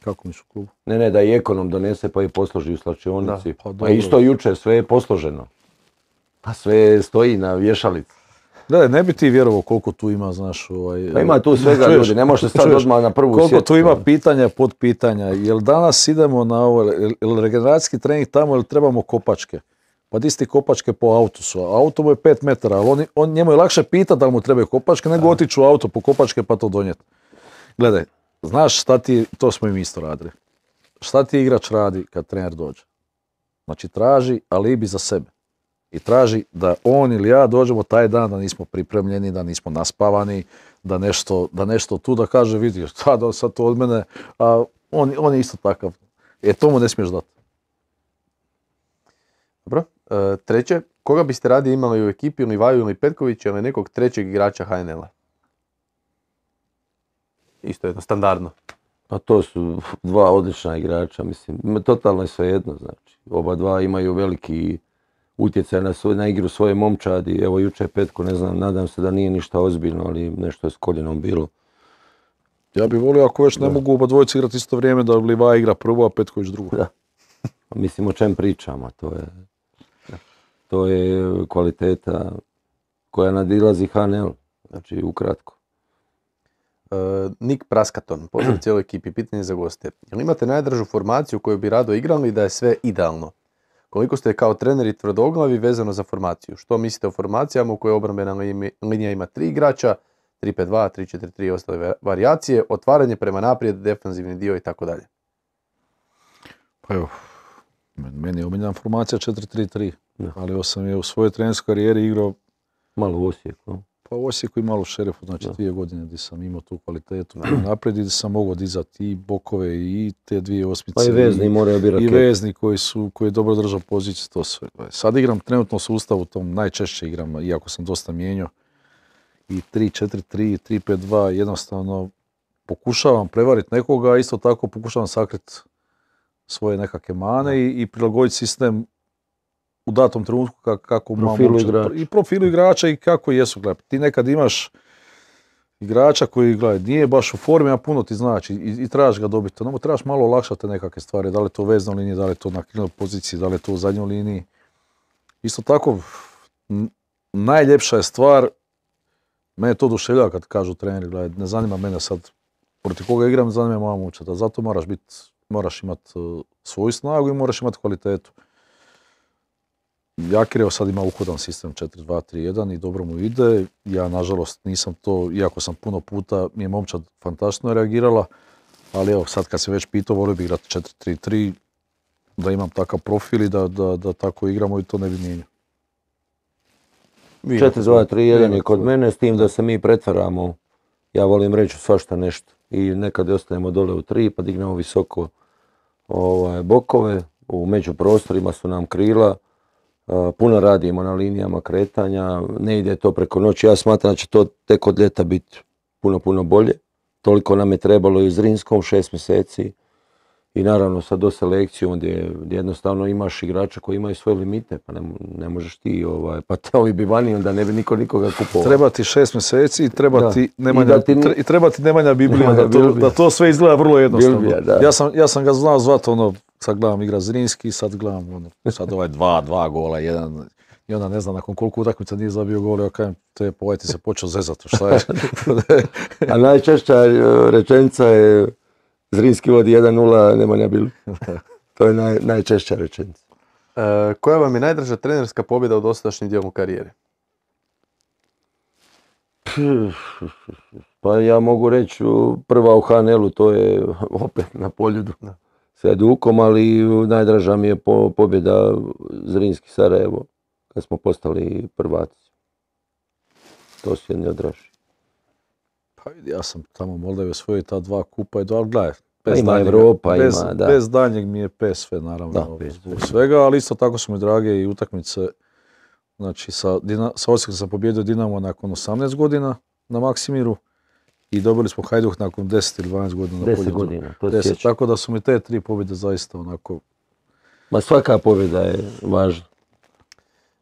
Kako misliš u klubu? Ne, da i ekonom donese pa i posloži u slačionici. Da, pa Pa dobro. isto jučer sve je posloženo. Pa sve stoji na vješalici. Gledaj, ne bi ti vjerovao koliko tu ima, znaš, Pa ima tu svega čuješ, ljudi, ne može sad čuješ, odmah na prvu koliko sjetku. tu ima pitanja, podpitanja, jel danas idemo na ovo, jel regeneracijski trening tamo ili trebamo kopačke? Pa di ste kopačke po autu su, a auto mu je 5 metara, ali njemu je lakše pitati da li mu trebaju kopačke nego otići u auto po kopačke pa to donijeti. Gledaj, znaš šta ti, to smo i mi isto radili, šta ti igrač radi kad trener dođe? Znači traži alibi za sebe. I traži da on ili ja dođemo taj dan da nismo pripremljeni, da nismo naspavani, da nešto tu da kaže vidi šta da sad to od mene, a on je isto takav. To mu ne smiješ dati. Dobro. Treće, koga biste radije imali u ekipi, ili Vaju ili Petkovića ili nekog trećeg igrača HNL-a? Isto jedno, standardno. Pa to su dva odlična igrača, mislim, totalno je svejedno, znači. Oba dva imaju veliki utjecaj na igru svoje momčadi. Evo jučer Petko, ne znam, nadam se da nije ništa ozbiljno, ali nešto je s koljenom bilo. Ja bih volio ako već ne mogu oba dvojice igrati isto vrijeme da Livaja igra prvo, a Petković drugo. Da. Mislim o čem pričamo, to je kvaliteta koja nadilazi HNL, znači ukratko. Nik Praskaton, pozdrav cijeloj ekipi, pitanje za goste. Jel imate najdražu formaciju koju bi rado igrali da je sve idealno? Koliko ste kao treneri tvrdoglavi vezano za formaciju? Što mislite o formacijama u kojoj obrambena linija ima 3 igrača, 3-5-2, 3-4-3 i ostale varijacije, otvaranje prema naprijed, defanzivni dio i tako dalje? Pa evo, meni je omiljena formacija 4-3-3, Da. ali sam je u svojoj trenerskoj karijeri igrao Malo u Osijeku. pa u Osijeku i malo u Šerefu, znači 2 godine gdje sam imao tu kvalitetu prema naprijed i gdje sam mogao dizati i bokove i te 2 osmice. Pa i vezni moraju biti I rakete. vezni koji je dobro držao poziciju, to sve. Sad igram trenutno sustav u tom, najčešće igram, iako sam dosta mijenjao, i 3-4-3, 3-5-2, jednostavno pokušavam prevariti nekoga, a isto tako pokušavam sakriti svoje nekakve mane i prilagoditi sistem u datom trenutku kako Profilu igrača. i profilu igrača i kako jesu. Gledaj, ti nekad imaš igrača koji, gledaj, nije baš u formi, a puno ti znači i trebaš ga dobiti. No, trebaš malo olakšati nekakve stvari, da li je to u veznoj liniji, da li je to na krilnoj poziciji, da li je to u zadnjoj liniji. Isto tako, najljepša je stvar, mene to oduševljava kad kažu treneri, gledaj, ne zanima mene sad protiv koga igram, ne zanima moja momčad, a zato moraš imati svoju snagu i moraš imati kvalitetu. Jakirjev sad ima uhodan sistem 4-2-3-1 i dobro mu ide. Ja nažalost nisam to, iako sam puno puta, mi je momčad fantastično reagirala, ali evo sad kad se već pitao, volio bih igrati 4-3-3, da imam takav profil i da tako igramo i to ne bi mijenjao. Vi imate 4-2-3-1 svoj. je kod mene, s tim da se mi pretvaramo, ja volim reći svašta nešto. I nekad ostajemo dole u 3 pa dignemo visoko bokove, u međuprostorima su nam krila, puno radimo na linijama kretanja, ne ide to preko noći, ja smatram da će to tek od ljeta biti puno bolje. Toliko nam je trebalo i u Zrinskom 6 mjeseci i naravno sa do selekcijom gdje jednostavno imaš igrača koji imaju svoje limite, pa ne možeš ti, pa te ovi bi vani, onda ne bi niko nikoga kupovao. Treba ti 6 mjeseci i treba Da. ti Nemanja Biblija, Nemanja Biblija. da to sve izgleda vrlo jednostavno. Biblija, da. Ja sam ga znao zvati, sad gledam igra Zrinski, sad gledam, sad 2 gola, 1, i onda ne znam nakon koliko utakmica nije zabio gol, ja kažem, ovaj ti se počeo zezati, šta je? A najčešća rečenica je Zrinski vodi 1-0, Nemanja Biblija. To je najčešća rečenica. Koja vam je najdraža trenerska pobjeda u dosadašnjem dijelu karijere? Pa ja mogu reći prva u HNL-u, to je opet na Poljudu s Hajdukom, ali najdraža mi je pobjeda Zrinski Sarajevo kad smo postali prvaci. To su jedni od dražih. Pa vidi, ja sam tamo u Moldavi osvojio ta 2 kupa i ali gledaj, Ima Europa, da. Bez daljnjeg mi je PSV naravno, Da, zbog svega, ali isto tako su mi drage i utakmice. Znači, sa Osijekom sam pobjedio Dinamo nakon 18 godina na Maksimiru i dobili smo Hajduk nakon 10 ili 12 godina na 10 Poljudu. godina, to 10, sjećam. tako da su mi te 3 pobjede zaista onako... Ma svaka pobjeda je važna.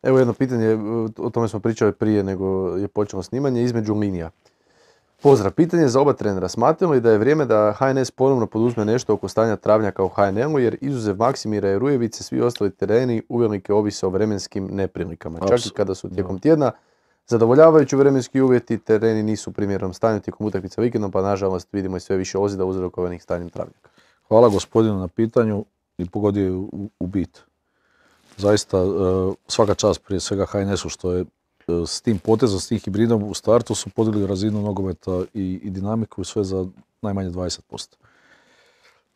Evo jedno pitanje, o tome smo pričali prije nego je počelo snimanje, između linija. Pozdrav, pitanje za oba trenera. Smatramo li da je vrijeme da HNS ponovno poduzme nešto oko stanja travnjaka u HNL-u, jer izuzev Maksimira i Rujevice, svi ostali tereni uvelike ovise o vremenskim neprilikama. Čak i kada su tijekom tjedna zadovoljavajući vremenski uvjeti, tereni nisu u primjernom stanju tijekom utakmica vikendom, pa nažalost vidimo i sve više ozljeda uzrokovanih stanjem travnjaka. Hvala gospodinu na pitanju i pogodio je u bit. Zaista svaka čast prije svega HNS-u što je s tim potezom, s tim hibridom u startu su podigli razinu nogometa i dinamiku i sve za najmanje 20%.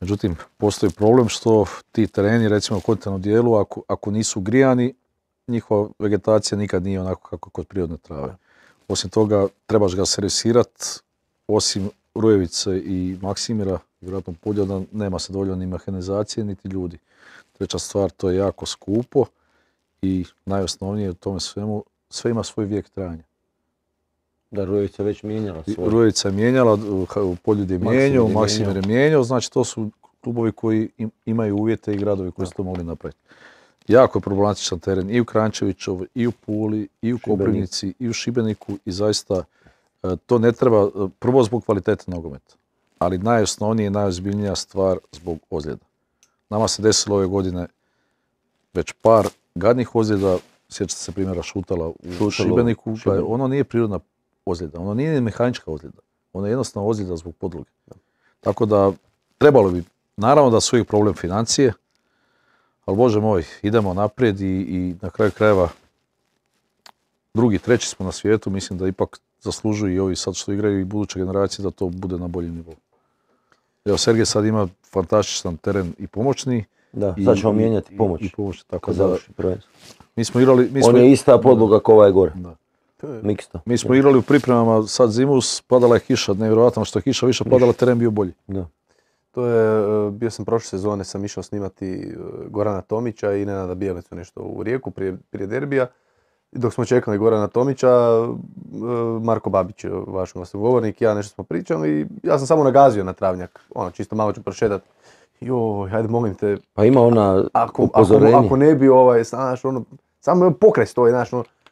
Međutim, postoji problem što ti tereni, recimo u kontinentalnom dijelu, ako nisu grijani, njihova vegetacija nikad nije onako kako kod prirodne trave. Osim toga, trebaš ga servisirati, osim Rujevice i Maksimira, vjerojatno Poljuda, nema se dovoljno ni mehanizacije, niti ljudi. Treća stvar, to je jako skupo i najosnovnije u tome svemu, sve ima svoj vijek trajanja. Da, Rujevica je već mijenjala svoj. Rujevica je mijenjala, Poljud je mijenjao, Maksimir je mijenjao, znači to su klubovi koji imaju uvjete i gradovi koji su to mogli napraviti. Jako je problematičan teren i u Kranjčevićevoj, i u Puli, i u Koprivnici, i u Šibeniku i zaista to ne treba, prvo zbog kvalitete nogometa, ali najosnovnija i najozbiljnija stvar zbog ozljeda. Nama se desilo ove godine već par gadnih ozljeda, sjećate se primjera Šutala u Šibeniku, ono nije prirodna ozljeda, ono nije mehanička ozljeda, ono je jednostavno ozljeda zbog podloge. Tako da trebalo bi, naravno da su uvijek problem financije, ali Bože moj, idemo naprijed i na kraju krajeva drugi, treći smo na svijetu, mislim da ipak zaslužuju i ovi sad što igraju i buduće generacije da to bude na boljem nivou. Evo, Sergej sad ima fantastičan teren i pomoćni. Da, sad ćemo mijenjati pomoć. I pomoć, tako kad da, završi prvenstvo. mi smo igrali... On je ista podloga kao ovaj gore. Da. Miksta. Mi smo igrali u pripremama sad zimu, padala je kiša, nevjerojatno što je kiša više padala, teren bio bolji. Da. To je, bio sam prošle sezone, sam išao snimati Gorana Tomića i Nenada Bijelicu nešto u Rijeku prije derbija. Dok smo čekali Gorana Tomića, Marko Babić, vaš glasnogovornik, ja nešto smo pričali i ja sam samo nagazio na travnjak, čisto malo ću prošetati. Joj, hajde molim te, Pa ima ona upozorenje. ako ne bi znaš, samo pokraj stoji, znaš,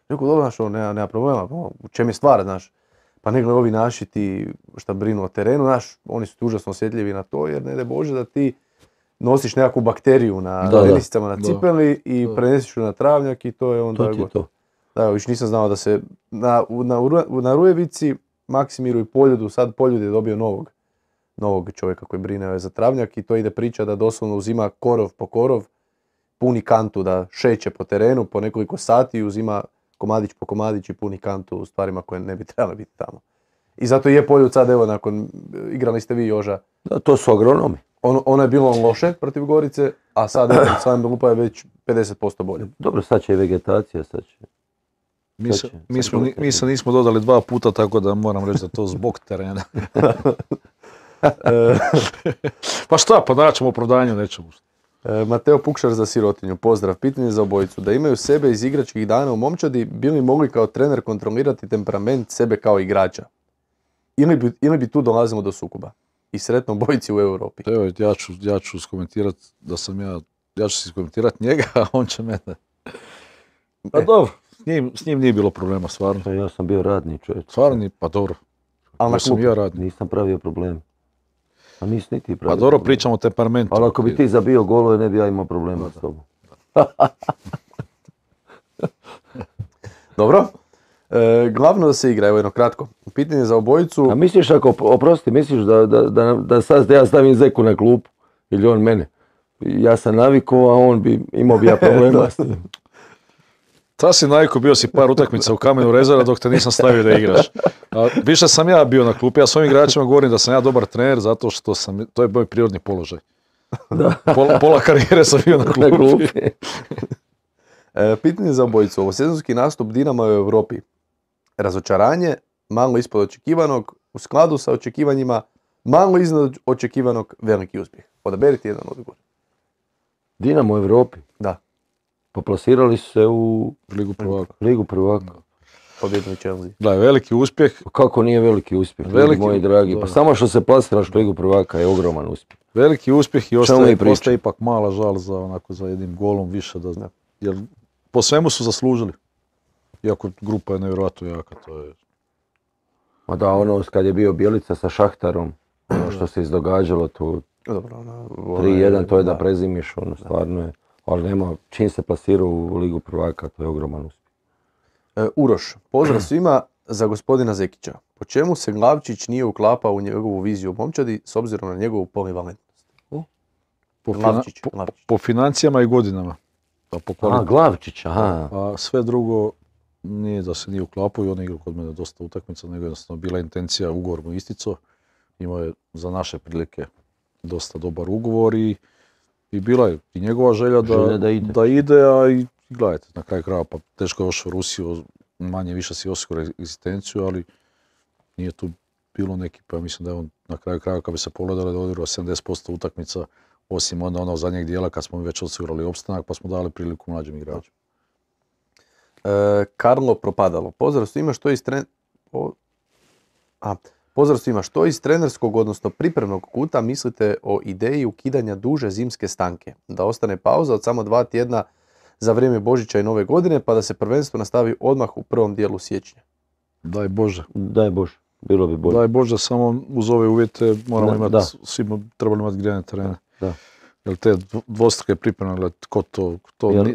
rekao, dobro, znaš, nema problema, u čem je stvar, znaš. Pa ne gledaj ovi naši ti šta brinu o terenu, znaš, oni su užasno osjetljivi na to, jer ne daj Bože da ti nosiš nekakvu bakteriju na tenisicama, na cipeli i prenesiš ju na travnjak i to je onda gotovo. Da, još nisam znao da se na Rujevici, Maksimiru i Poljudu, sad Poljud je dobio novog čovjeka koji brine za travnjak i to ide priča da doslovno uzima korov po korov, puni kantu da šeće po terenu po nekoliko sati i uzima komadić po komadić i puni kantu u stvarima koje ne bi trebale biti tamo. I zato je Poljud sad, evo, nakon, igrali ste vi Joža. Da, to su agronomi. Ono je bilo loše protiv Gorice, a sad Slavim Lupa je već 50% bolje. Dobro, sad će i vegetacija, sad će. Mi se nismo dodali 2 puta, tako da moram reći da to zbog terena. Pa šta, pa naćemo opravdanje nečemu. Mateo Pukšar za sirotinju, pozdrav, pitanje za obojicu. Da imaju sebe iz igračkih dana u momčadi, bi li mogli kao trener kontrolirati temperament sebe kao igrača? Ili bi tu dolazimo do sukoba? I sretno obojici u Europi. Evo, ja ću skomentirati da sam ja ću si skomentirati njega, a on će mene. Pa dobro, s njim nije bilo problema, stvarno. Pa ja sam bio radni čovjek. Stvarno, pa dobro. Ali na Ja sam klupi. ja radni. Nisam pravio problem. A nisi ni ti Pa pravio dobro, problem. pričamo o temperamentu. Ali ako bi ti zabio golove, ne bi ja imao problema s tobom. Dobro. Glavno da se igra, evo jedno kratko. Pitanje za obojicu. A misliš misliš da sad ja stavim Zeku na klupu? Ili on mene? Ja sam navikao, a on imao bi ja problema s tim. Ta si naviku, bio si par utakmica u Kamenu Rezera dok te nisam stavio da igraš. A više sam ja bio na klupi, ja s ovim igračima govorim da sam ja dobar trener zato što to je moj prirodni položaj. Pola karijere sam bio na klupi. Pitanje za obojicu. Ovosezonski nastup Dinama u Europi. Razočaranje, malo ispod očekivanog, u skladu sa očekivanjima, malo iznad očekivanog, veliki uspjeh. Odaberite jedan odgovor. Dinamo u Europi. Da, Poplasirali su se u Ligu prvaka. pobjedili Chelsea. Da, veliki uspjeh. Kako nije veliki uspjeh, Veliki, moji dragi. da. Pa samo što se plasiraš u Ligu prvaka je ogroman uspjeh. Veliki uspjeh i mi ostaje pričamo? ipak mala žal za jednim golom više. Jer po svemu su zaslužili. Iako grupa je nevjerojatno jaka, to je... Ma da, ono kad je bio Bjelica sa Šahtarom, ono što se izdogađalo tu, Dobro, 3-1, to je da prezimiš, ono stvarno je. Ali nema, čim se plasirao u Ligu prvaka, to je ogroman uspjeh. Uroš, pozdrav svima za gospodina Zekića. Po čemu se Glavčić nije uklapao u njegovu viziju u momčadi s obzirom na njegovu polivalentnost? Glavčić. Po financijama i godinama. A po kvaliteti. Glavčić, aha. A sve drugo nije da se nije uklapao i on igra kod mene dosta utakmica, nego jednostavno bila intencija, ugovor mu isticao. Imao je za naše prilike dosta dobar ugovor i bila je i njegova želja da ide, a i gledajte, na kraju krajeva, pa teško je ošao u Rusiju, manje više si osigurao egzistenciju, ali nije tu bilo neki, pa mislim da je on na kraju krajeva kad bi se pogledali da odigrao 70% utakmica, osim onda onog zadnjeg dijela kad smo već osigurali opstanak pa smo dali priliku mlađim igračima. Karlo Propadalo. Pozdrav svima, pozdrav svima, što iz trenerskog, odnosno pripremnog kuta mislite o ideji ukidanja duže zimske stanke? Da ostane pauza od samo 2 tjedna za vrijeme Božića i Nove godine, pa da se prvenstvo nastavi odmah u prvom dijelu siječnja. Daj Bože. Daj Bože, bilo bi bolje. Daj Bože, samo uz ove uvjete moramo imati, svi trebali imati grijane terene. Da. Jer te dvostruke pripreme,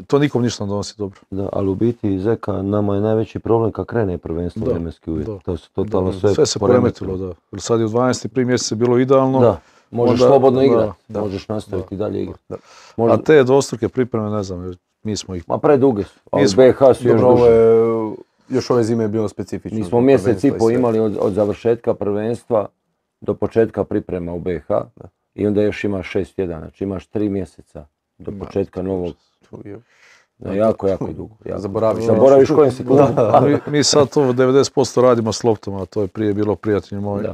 to nikom ništa ne donosi dobro. Da, ali u biti Zeka, nama je najveći problem kad krene prvenstvo vremenski uvjet. To se totalno sve se poremetilo, da. Jer sad je u 12. prvi mjesec bilo idealno. Da, možeš slobodno igrati, možeš nastaviti dalje igrati. A te dvostruke pripreme, ne znam, mi smo ih... Ma preduge su, ali BiH su još duže. Još ove zime je bilo specifično. Mi smo mjesec i po imali od završetka prvenstva do početka priprema u BiH. I onda još imaš 6 tjedana, znači imaš 3 mjeseca do početka novog. Jako dugo. Zaboraviš kojem si klubu. Mi sad to 90% radimo s loptama, to je prije bilo prijatelji moji.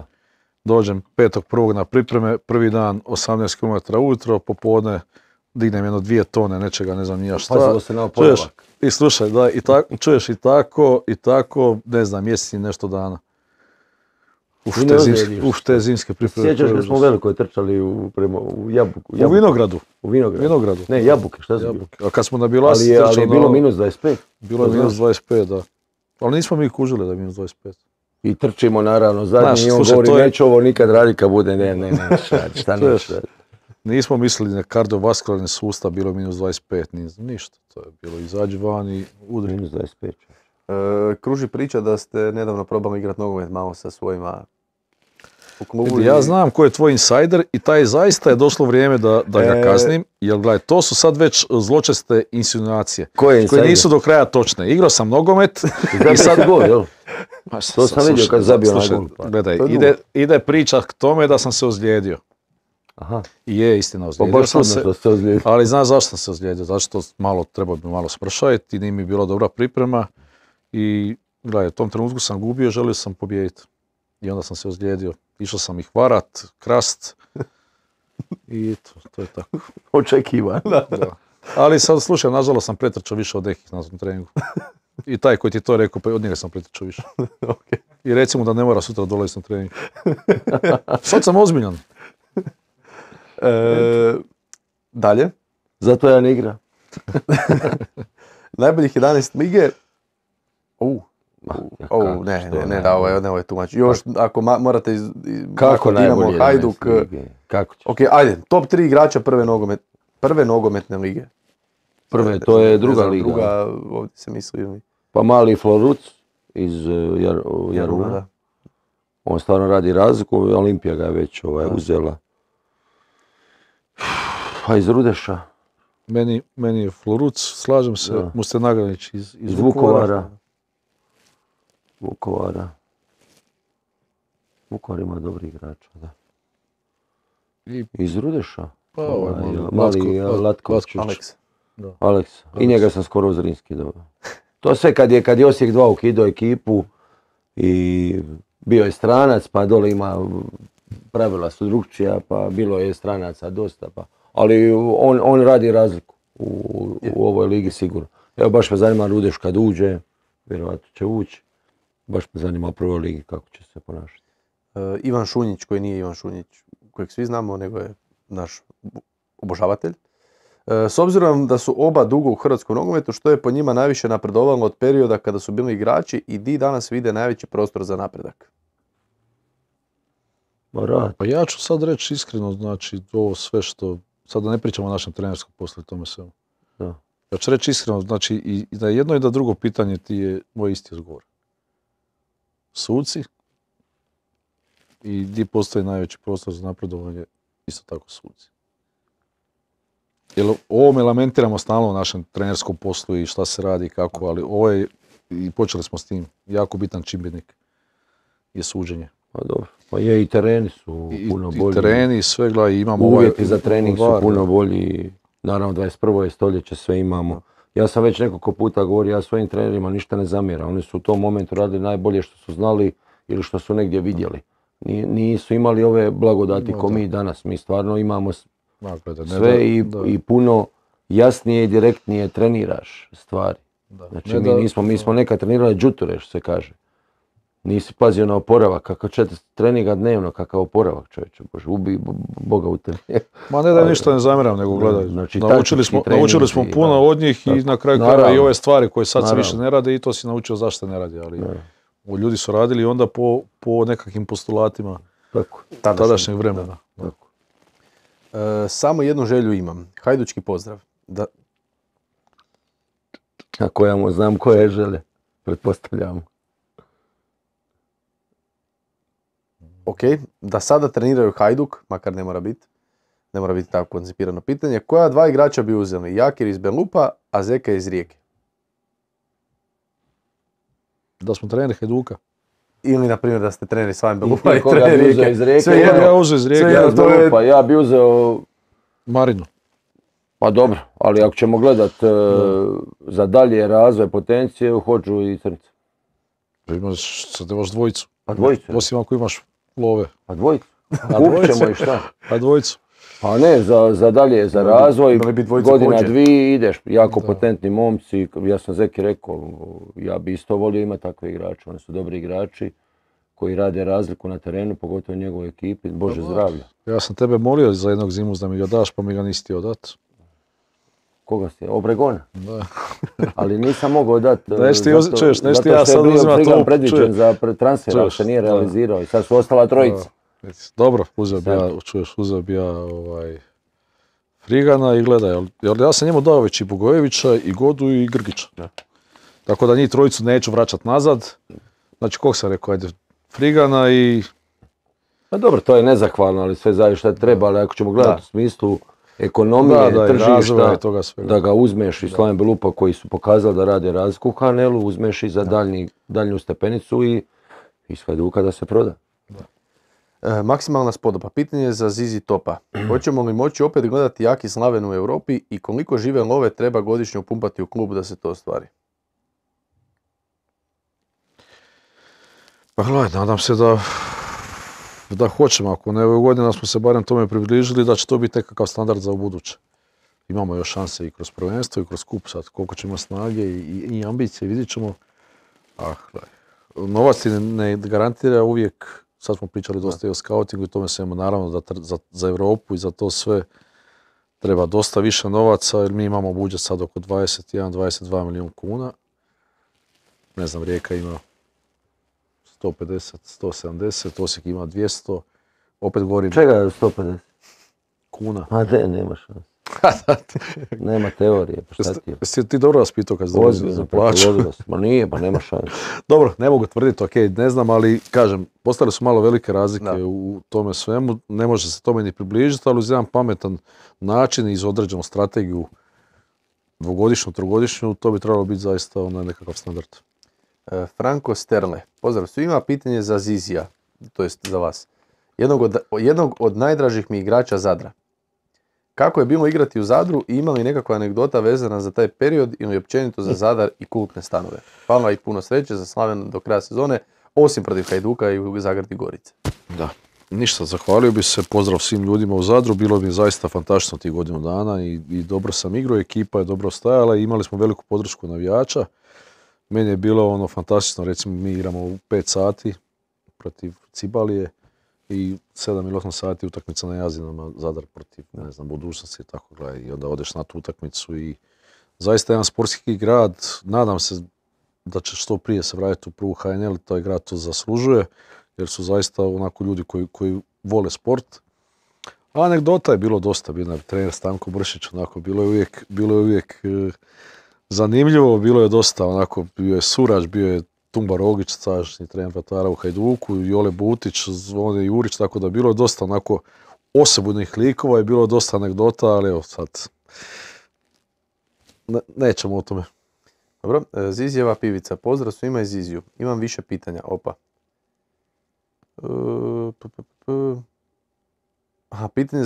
Dođem 5.1. na pripreme, prvi dan 18 km ujutro, popodne dignem 2 tone nečega, ne znam ni ja šta. Pazilo se na oporavak. I slušaj, da, čuješ i tako, ne znam, mjesec i nešto dana. Te zimske pripreme. Sjećaš da smo veliko trčali u Jabuku? U Vinogradu. U Vinogradu. Ne, Jabuke, šta su bilo? A kad smo na Bilasi ali je bilo minus 25. Bilo je minus 25, da. Ali nismo mi kužili da je minus 25. I trčimo naravno zadnji i on govori neću ovo nikad raditi kad bude, ne, šta neću. Nismo mislili na kardiovaskularni sustav, bilo je minus 25, ništa. To je bilo izađi van i udri. Minus 25. Kruži priča da ste nedavno probali igrati nogomet malo sa svojima u klubu. Ja znam ko je tvoj insajder i taj zaista je došlo vrijeme da ga kaznim, jer gledaj, to su sad već zločeste insinuacije koje nisu do kraja točne. Igrao sam nogomet i sad gol, jel? To sam vidio kad zabio na gol. Gledaj, ide priča k tome da sam se ozlijedio. Aha. I je istina, ozlijedio sam se, ali znaš zašto sam se ozlijedio, zato što treba bi malo smršaviti i nije mi bila dobra priprema I gledaj, u tom trenutku sam gubio, želio sam pobijediti. I onda sam se ozlijedio. Išao sam ih varat, krast. I to je tako. Očekivan. Da. Ali sad slušaj, nažalost sam pretrčao više od nekih na tom treningu. I taj koji ti je to rekao, pa od njega sam pretrčao više. Okay. I recimo da ne mora sutra dolaziti na trening. Sad sam ozbiljan. Dalje. Zato ja ne igram. Najboljih 11 lige. Ne, ovo je tumač. Još ako morate Kako Dinamo, najbolje Hajduk. 11 lige? Kako ćeš? Ok, ajde, top 3 igrača prve nogometne lige. Prve, to je druga liga. Druga, ovdje se misli. Pa mali Floruc iz Jaruna. Da. On stvarno radi razliku, Olimpija ga je već uzela. Pa iz Rudeša. Meni je Floruc, slažem se, Da. Muste Nagranić iz Iz Vukovara. Vukovar ima dobri igrača, da. I Iz Rudeša. Pa, Mali Latković. Aleks. I njega sam skoro u Zrinski dobio. To sve kad je Osijek 2 ukidao ekipu i bio je stranac, pa dole ima pravila su drukčija, pa bilo je stranaca dosta. Ali on radi razliku u ovoj ligi sigurno. Evo baš me zanima Rudeš kad uđe, vjerojatno će ući. Baš me zanima u prvoj ligi kako će se ponašati. Ivan Šunjić, koji nije Ivan Šunjić kojeg svi znamo, nego je naš obožavatelj. S obzirom da su oba dugo u hrvatskom nogometu, što je po njima najviše napredovalo od perioda kada su bili igrači i di danas vide najveći prostor za napredak? Pa ja ću sad reći iskreno, znači ovo sve što, sad da ne pričamo o našem trenerskom poslu i tome svemu. Da. Ja ću reći iskreno, znači i da jedno i da drugo pitanje ti je moj isti odgovor. Suci i gdje postoji najveći prostor za napredovanje, isto tako suci. Jer ovom lamentiramo stalno u našem trenerskom poslu i šta se radi i kako, ali ovo je, i počeli smo s tim, jako bitan čimbenik je suđenje. Pa dobro. Pa je i tereni su puno bolji. I tereni i sve, gledaj, imamo uvjeti za trening su puno bolji. Naravno, 21. je stoljeće, sve imamo. Ja sam već nekoliko puta govorio, ja svojim trenerima ništa ne zamjeram. Oni su u tom momentu radili najbolje što su znali ili što su negdje vidjeli. Nisu imali ove blagodati ko mi danas. Mi stvarno imamo sve i puno jasnije i direktnije treniraš stvari. Znači mi smo nekad trenirali džuture, što se kaže. Nisi pazio na oporavak, kakav treninga dnevno, kakav oporavak, čovječe, Bože, ubi Boga u tebi. Ma ne da ništa ne zamjeram, nego gledaj, znači, naučili smo puno od njih i na kraju krajeva i ove stvari koje sad se više ne rade i to si naučio zašto ne radi, ali ljudi su radili onda po nekakvim postulatima tadašnjeg vremena. Tako. Samo jednu želju imam, hajdučki pozdrav. Ako ja mu znam koje žele, pretpostavljamo. Ok, da sada treniraju Hajduk, makar ne mora biti tako koncipirano pitanje. Koja dva igrača bi uzeli? Jakir iz Belupa, a Zeka iz Rijeke? Da smo treneri Hajduka. Ili, na primjer, da ste treneri s vami Belupa i treneri Rijeke. Iz Rijeke. Ja uzeo iz Rijeke. Ja bi uzeo Marinu. Pa dobro, ali ako ćemo gledat za dalje razvoj potencije, hoću i Crnce. Sad imaš dvojicu. Pa dvojicu? Osim ako imaš love. Pa dvojicu. Kupit ćemo i šta? Pa dvojicu. Pa ne, za dalje, za razvoj, godina dvije ideš, jako potentni momci. Ja sam Zeki rekao, ja bi isto volio imati takve igrače, oni su dobri igrači koji rade razliku na terenu, pogotovo u njegovoj ekipi, Bože zdravlja. Ja sam tebe molio za jednog Zimus da mi ga daš, pa mi ga nisi htio dati. Koga si? Obregona? Da. Ali nisam mogao dati, zato što je bio Frigan predviđen za transfer, ali se nije realizirao i sad su ostala trojica. Dobro, uzeo bi ja Frigana i gledaj, jer ja sam njemu dao već i Bogojevića, i Godu i Grgića. Tako da njih trojicu neću vraćati nazad. Znači, kog sam rekao, ajde, Frigana i... Pa dobro, to je nezahvalno, ali sve zajedno šta treba, ali ako ćemo gledati u smislu ekonomije, tržišta, da ga uzmeš iz Slaven Belupa koji su pokazali da rade razliku u HNL-u, uzmeš i za daljnju stepenicu i iz Hajduka da se proda. Maksimalna spodoba. Pitanje je za Zizi Topa. Hoćemo li moći opet gledati jaki Slaven u Europi i koliko žive love treba godišnje upumpati u klub da se to ostvari? Pa gledaj, nadam se da hoćemo, ako ne ove godine, da smo se barem tome približili, da će to biti nekakav standard za ubuduće. Imamo još šanse i kroz prvenstvo i kroz kup sad, koliko ćemo snage i ambicije, vidjet ćemo. Gledaj, novac ti ne garantira uvijek, sad smo pričali dosta i o skautingu i tome svemu, naravno da za Europu i za to sve treba dosta više novaca, jer mi imamo budžet sad oko 21-22 milijuna kuna. Ne znam, Rijeka ima 150, 170, Osijek ima 200, opet govorim... Čega je 150? Kuna. A ne, nema šanse. Nema teorije, pa šta ti je? Jesi ti dobro vas pitao kad dolazili za plaću? Ma nije, pa nema šanse. Dobro, ne mogu tvrditi, ok, ne znam, ali kažem, postale su malo velike razlike u tome svemu, ne može se tome ni približiti, ali uz jedan pametan način i iz određenu strategiju dvogodišnju, trogodišnju, to bi trebalo biti zaista nekakav standard. Franko Sterle, pozdrav svima, pitanje za Zizija, to jest za vas. Jednog od najdražih mi igrača Zadra. Kako je bilo igrati u Zadru i ima li nekakva anegdota vezana za taj period ili općenito za Zadar i kultne stanove? Hvala i puno sreće za Slaven do kraja sezone, osim protiv Hajduka i u Zagradi Gorice. Da, ništa, zahvalio bi se, pozdrav svim ljudima u Zadru, bilo mi zaista fantastično tih godinu dana i dobro sam igrao, ekipa je dobro stajala i imali smo veliku podršku navijača. Meni je bilo fantastično, recimo mi igramo u 5 sati protiv Cibalije i 7 ili 8 sati utakmica na Jazinama, Zadar protiv, ne znam, Budućnosti i tako gledaj. I onda odeš na tu utakmicu i zaista jedan sportski grad, nadam se da će što prije se vratiti u prvu HNL, taj grad to zaslužuje, jer su zaista onako ljudi koji vole sport. A anegdota je bilo dosta, bio je trener Stanko Bršić, onako, bilo je uvijek zanimljivo, bilo je dosta, onako, bio je Surač, bio je Tumba Rogić, sadašnji trener vratara u Hajduku, Jole Butić, Zvone Jurić, tako da bilo je dosta onako osobnih likova i bilo je dosta anegdota, ali evo sad, nećemo o tome. Dobro, Zizijeva pivica, pozdrav svima iz Ziziju. Imam više pitanja, opa. Pitanje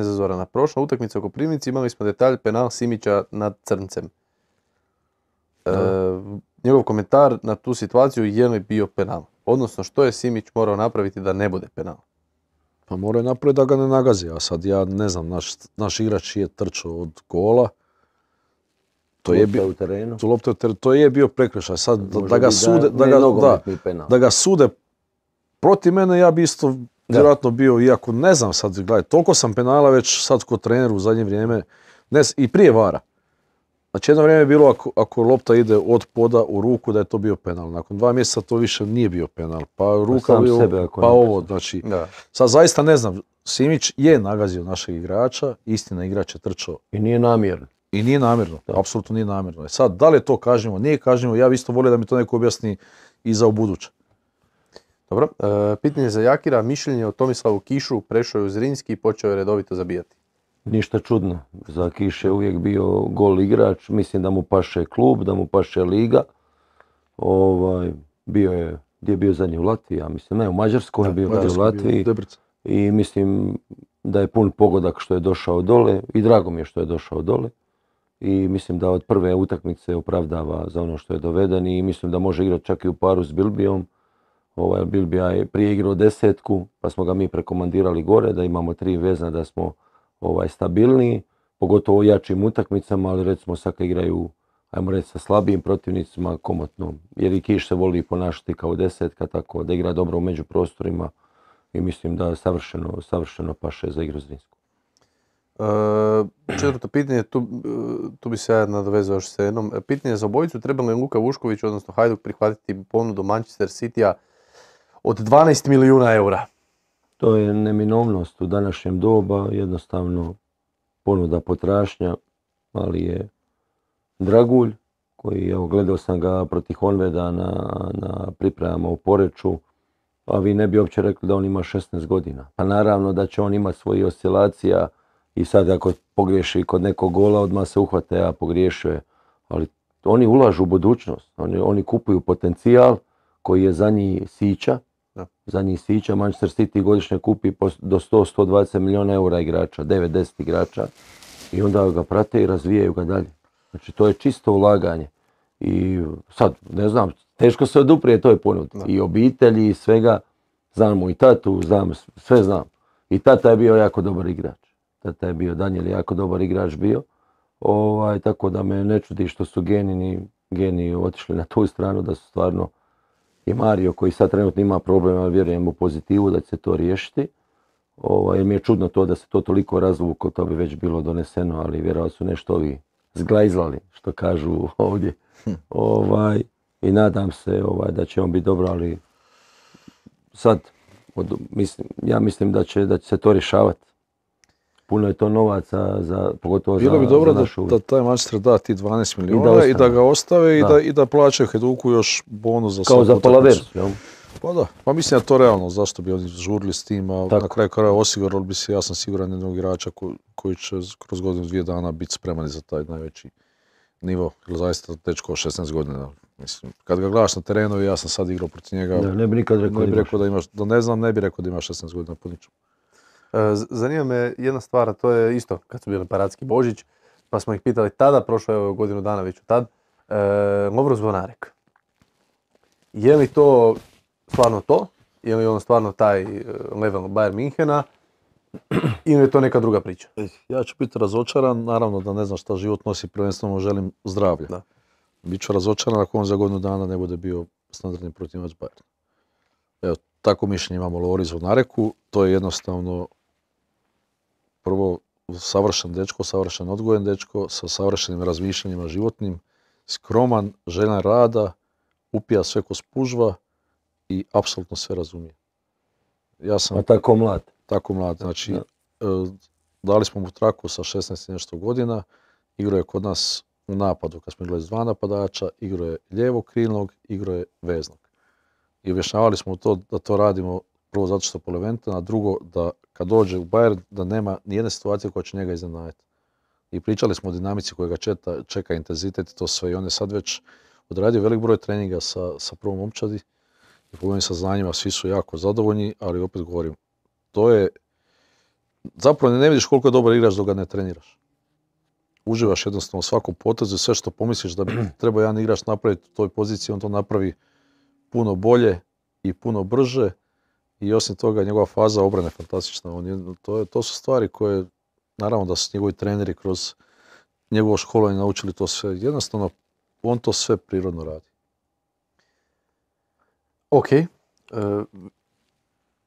za Zorana. Prošla utakmica u Koprivnici imali smo detalj penal Simića nad Crncem. Njegov komentar na tu situaciju je li bio penal. Odnosno što je Simić morao napraviti da ne bude penal? Pa morao je napraviti da ga ne nagazi, a sad ja ne znam, naš igrač je trčao od gola. To je bio prekršaj. Sad da ga sude protiv mene, ja bi isto vjerojatno bio, iako ne znam sad, gledaj, toliko sam penala već sad kod treneru u zadnje vrijeme, i prije VAR-a. Znači jedno vrijeme je bilo ako lopta ide od poda u ruku da je to bio penal. Nakon 2 mjeseca to više nije bio penal. Pa ruka bio, pa ovo. Znači, sad zaista ne znam, Simić je nagazio našeg igrača, istina igrač je trčao. I nije namjerno. Apsolutno nije namjerno. Sad, da li je to kažnjivo, nije kažnjivo, ja bi isto volio da mi to neko objasni i za ubuduće. Dobro, pitanje za Jakira, mišljenje o Tomislavu Kišu, prešao je u Zrinski i počeo je redovito zabijati. Ništa čudno, za Kiš je uvijek bio gol igrač, mislim da mu paše klub, da mu paše liga. Gdje je bio zadnji u Latviji, ja mislim, ne, u Mađarskoj je bio u Latviji. I mislim da je pun pogodak što je došao dole i drago mi je što je došao dole. I mislim da od prve utakmice opravdava za ono što je doveden i mislim da može igrati čak i u paru s Bilbijom. Bilbija je prije igrao 10, pa smo ga mi prekomandirali gore, da imamo 3 vezna, da smo stabilniji, pogotovo u jačim utakmicama, ali recimo sad kad igraju, ajmo reći, sa slabijim protivnicima, komotno. Jer i Kiš se voli ponašati kao 10, tako da igra dobro u međuprostorima i mislim da savršeno paše za igru Zrinsku. Četvrto pitanje, tu bi se ja nadovezao još s jednom. Pitanje za obojicu, treba li Luka Vušković, odnosno Hajduk, prihvatiti ponudu Manchester City-a od 12 milijuna eura? To je neminovnost u današnjem doba, jednostavno ponuda potražnja, ali je Dragulj, koji, evo, gledao sam ga protiv Honveda na pripremama u Poreču, a vi ne bi uopće rekli da on ima 16 godina. Pa naravno da će on imati svojih oscilacija i sad ako pogriješi kod nekog gola, odmah se uhvate, a pogriješio je. Ali oni ulažu u budućnost, oni kupuju potencijal koji je za njih sića. Manchester City godišnje kupi do 100-120 milijuna eura igrača, 9-10 igrača i onda ga prate i razvijaju ga dalje. Znači to je čisto ulaganje. I sad, ne znam, teško se oduprije toj ponudi. Da. I obitelji i svega. Znamo i tatu, sve znam. I tata je bio jako dobar igrač. Tata je bio, Danijel je jako dobar igrač bio. Tako da me ne čudi što su geni otišli na tu stranu, da su stvarno i Mario koji sad trenutno ima problema, ali vjerujem u pozitivu da će se to riješiti. Jer mi je čudno to da se to toliko razvuklo, to bi već bilo doneseno, ali vjerojatno su nešto ovi zglajzlali, što kažu ovdje. I nadam se da će on biti dobro, ali sad ja mislim da će se to rješavati. Puno je to novaca, pogotovo Bilo bi za dobro našu... da taj Manchester da ti 12 milijuna i da ga ostave i da plaćaju Hajduku još bonus za kao za Palaversu, jel? Pa da, pa mislim da je to realno, zašto bi oni žurili s tim, a na kraju krajeva osigurali bi se, ja sam siguran, jednog igrača koji će kroz godinu 2 dana biti spreman za taj najveći nivo, jer zaista dečko 16 godina. Mislim, kad ga gledaš na terenu, ja sam sad igrao protiv njega, ne bi nikad rekao da imaš, da ne znam, ne bi rekao da ima 16 godina po ničemu. Zanima me jedna stvar, a to je isto kad su bili Paradski Božić, pa smo ih pitali tada, prošlo je godinu dana već od tad, Lovro Zvonarek. Je li to stvarno to? Je li on stvarno taj level Bayern Minhena? Ili je to neka druga priča? Ja ću biti razočaran, naravno da ne znam šta život nosi, prvenstveno želim zdravlje. Da. Biću razočaran ako on za godinu dana ne bude bio standardni protivac Bayern. Evo, tako mišljenje imamo o Lovri Zvonareku, to je jednostavno prvo savršen dečko, savršen odgojen dečko, sa savršenim razmišljanjima životnim, skroman, željan rada, upija sve ko spužva i apsolutno sve razumije. Ja sam... A tako mlad. Tako mlad, znači dali smo mu traku sa 16 i nešto godina, igrao je kod nas u napadu kad smo igrali s 2 napadača, igrao je lijevog krilnog, igrao je veznog. I objašnjavali smo to da to radimo prvo zato što je polivalentan, a drugo da kad dođe u Bayern da nema nijedne situacije koja će njega iznenaditi. I pričali smo o dinamici koja ga čeka intenzitet i to sve. I on je sad već odradio velik broj treninga sa prvom momčadi i po mojim saznanjima svi su jako zadovoljni, ali opet govorim, to je, zapravo ne vidiš koliko je dobar igrač dok ga ne treniraš. Uživaš jednostavno u svakom potezu i sve što pomisliš da bi trebao jedan igrač napraviti u toj poziciji, on to napravi puno bolje i puno brže i osim toga njegova faza obrane je fantastična. To su stvari koje, naravno da su njegovi treneri kroz njegovo školovanje naučili to sve. Jednostavno, on to sve prirodno radi. Ok.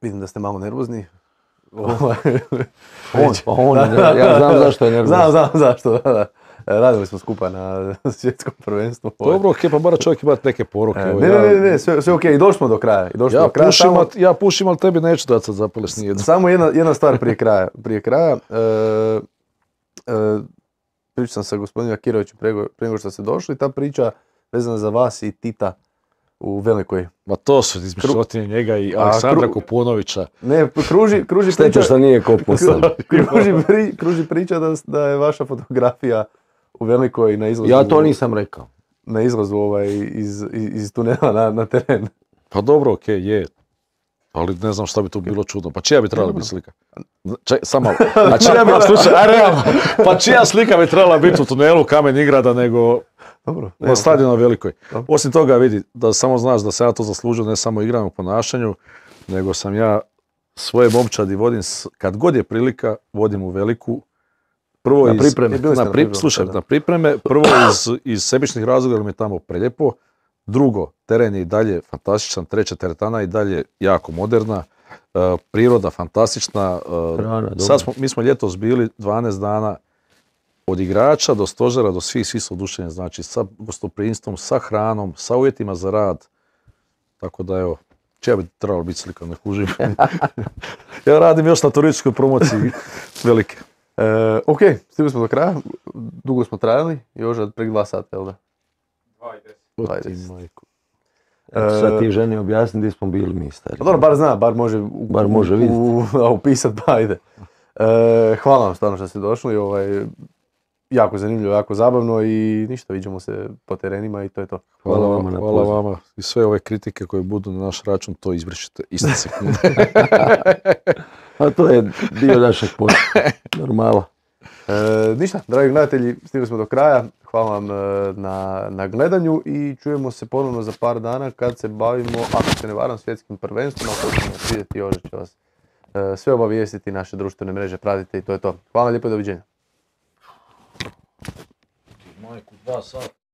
Vidim da ste malo nervozni. Ja znam zašto je nervozan. Znam zašto, da. Radili smo skupa na svjetskom prvenstvu. Dobro, ok, pa mora čovjek imati neke poruke. Ne, sve ok, i došli smo do kraja. Ja pušim, ali tebi neću dati sad zapaleš nijedno. Samo jedna stvar prije kraja. Pričao sam sa gospodinom Akirovićem prije nego što ste došli. Ta priča vezana za vas i Tita u Velikoj. Ma to su izmišljotine njega i Aleksandra Kupunovića. Ne, kruži priča... Šteta što nije Kopusan. Kruži priča da je vaša fotografija u Velikoj na izlazu... Ja to nisam rekao. Na izlazu iz tunela na teren. Pa dobro, ok, je. Ali ne znam šta bi tu bilo čudno. Pa čija bi trebala biti slika? Samo malo. A čija bi, slušaj, realno. Pa čija slika bi trebala biti u tunelu Kamen Ingrada nego na stadionu na Velikoj. Osim toga vidi, da samo znaš da sam ja to zaslužio ne samo igranju ponašanju, nego sam ja svoje momčadi vodim, kad god je prilika, vodim u Veliku. Prvo na pripreme. Na pripreme. Prvo iz sebičnih razloga, jer mi je tamo prelijepo. Drugo, teren je i dalje fantastičan, treća teretana je i dalje jako moderna, priroda fantastična. Mi smo ljetos bili 12 dana od igrača do stožera, do svi su oduševljeni, znači sa gostoprimstvom, sa hranom, sa uvjetima za rad. Tako da evo, čija bi trebalo biti slika, ne kužim. Ja radim još na turističkoj promociji Velike. Ok, stigli smo do kraja, dugo smo trajali, još prek 2 sata, jel da? 2:10. Sad ti ženi objasni gdje smo bili mi stari. Dobro, bar zna, bar može vidjeti. Upisat, pa ajde. Hvala vam stvarno što ste došli, jako zanimljivo, jako zabavno i ništa, vidimo se po terenima i to je to. Hvala vama i sve ove kritike koje budu na naš račun, to izbrišite iste sekunde. A to je dio našeg posla, normala. Ništa, dragi gledatelji, stigli smo do kraja. Hvala vam na gledanju i čujemo se ponovno za par dana kad se bavimo, ako se ne varam, svjetskim prvenstvom. Ako ćemo vidjeti, Jože će vas sve obavijestiti, naše društvene mreže pratite i to je to. Hvala lijepo i doviđenja. Majku, 2 sata.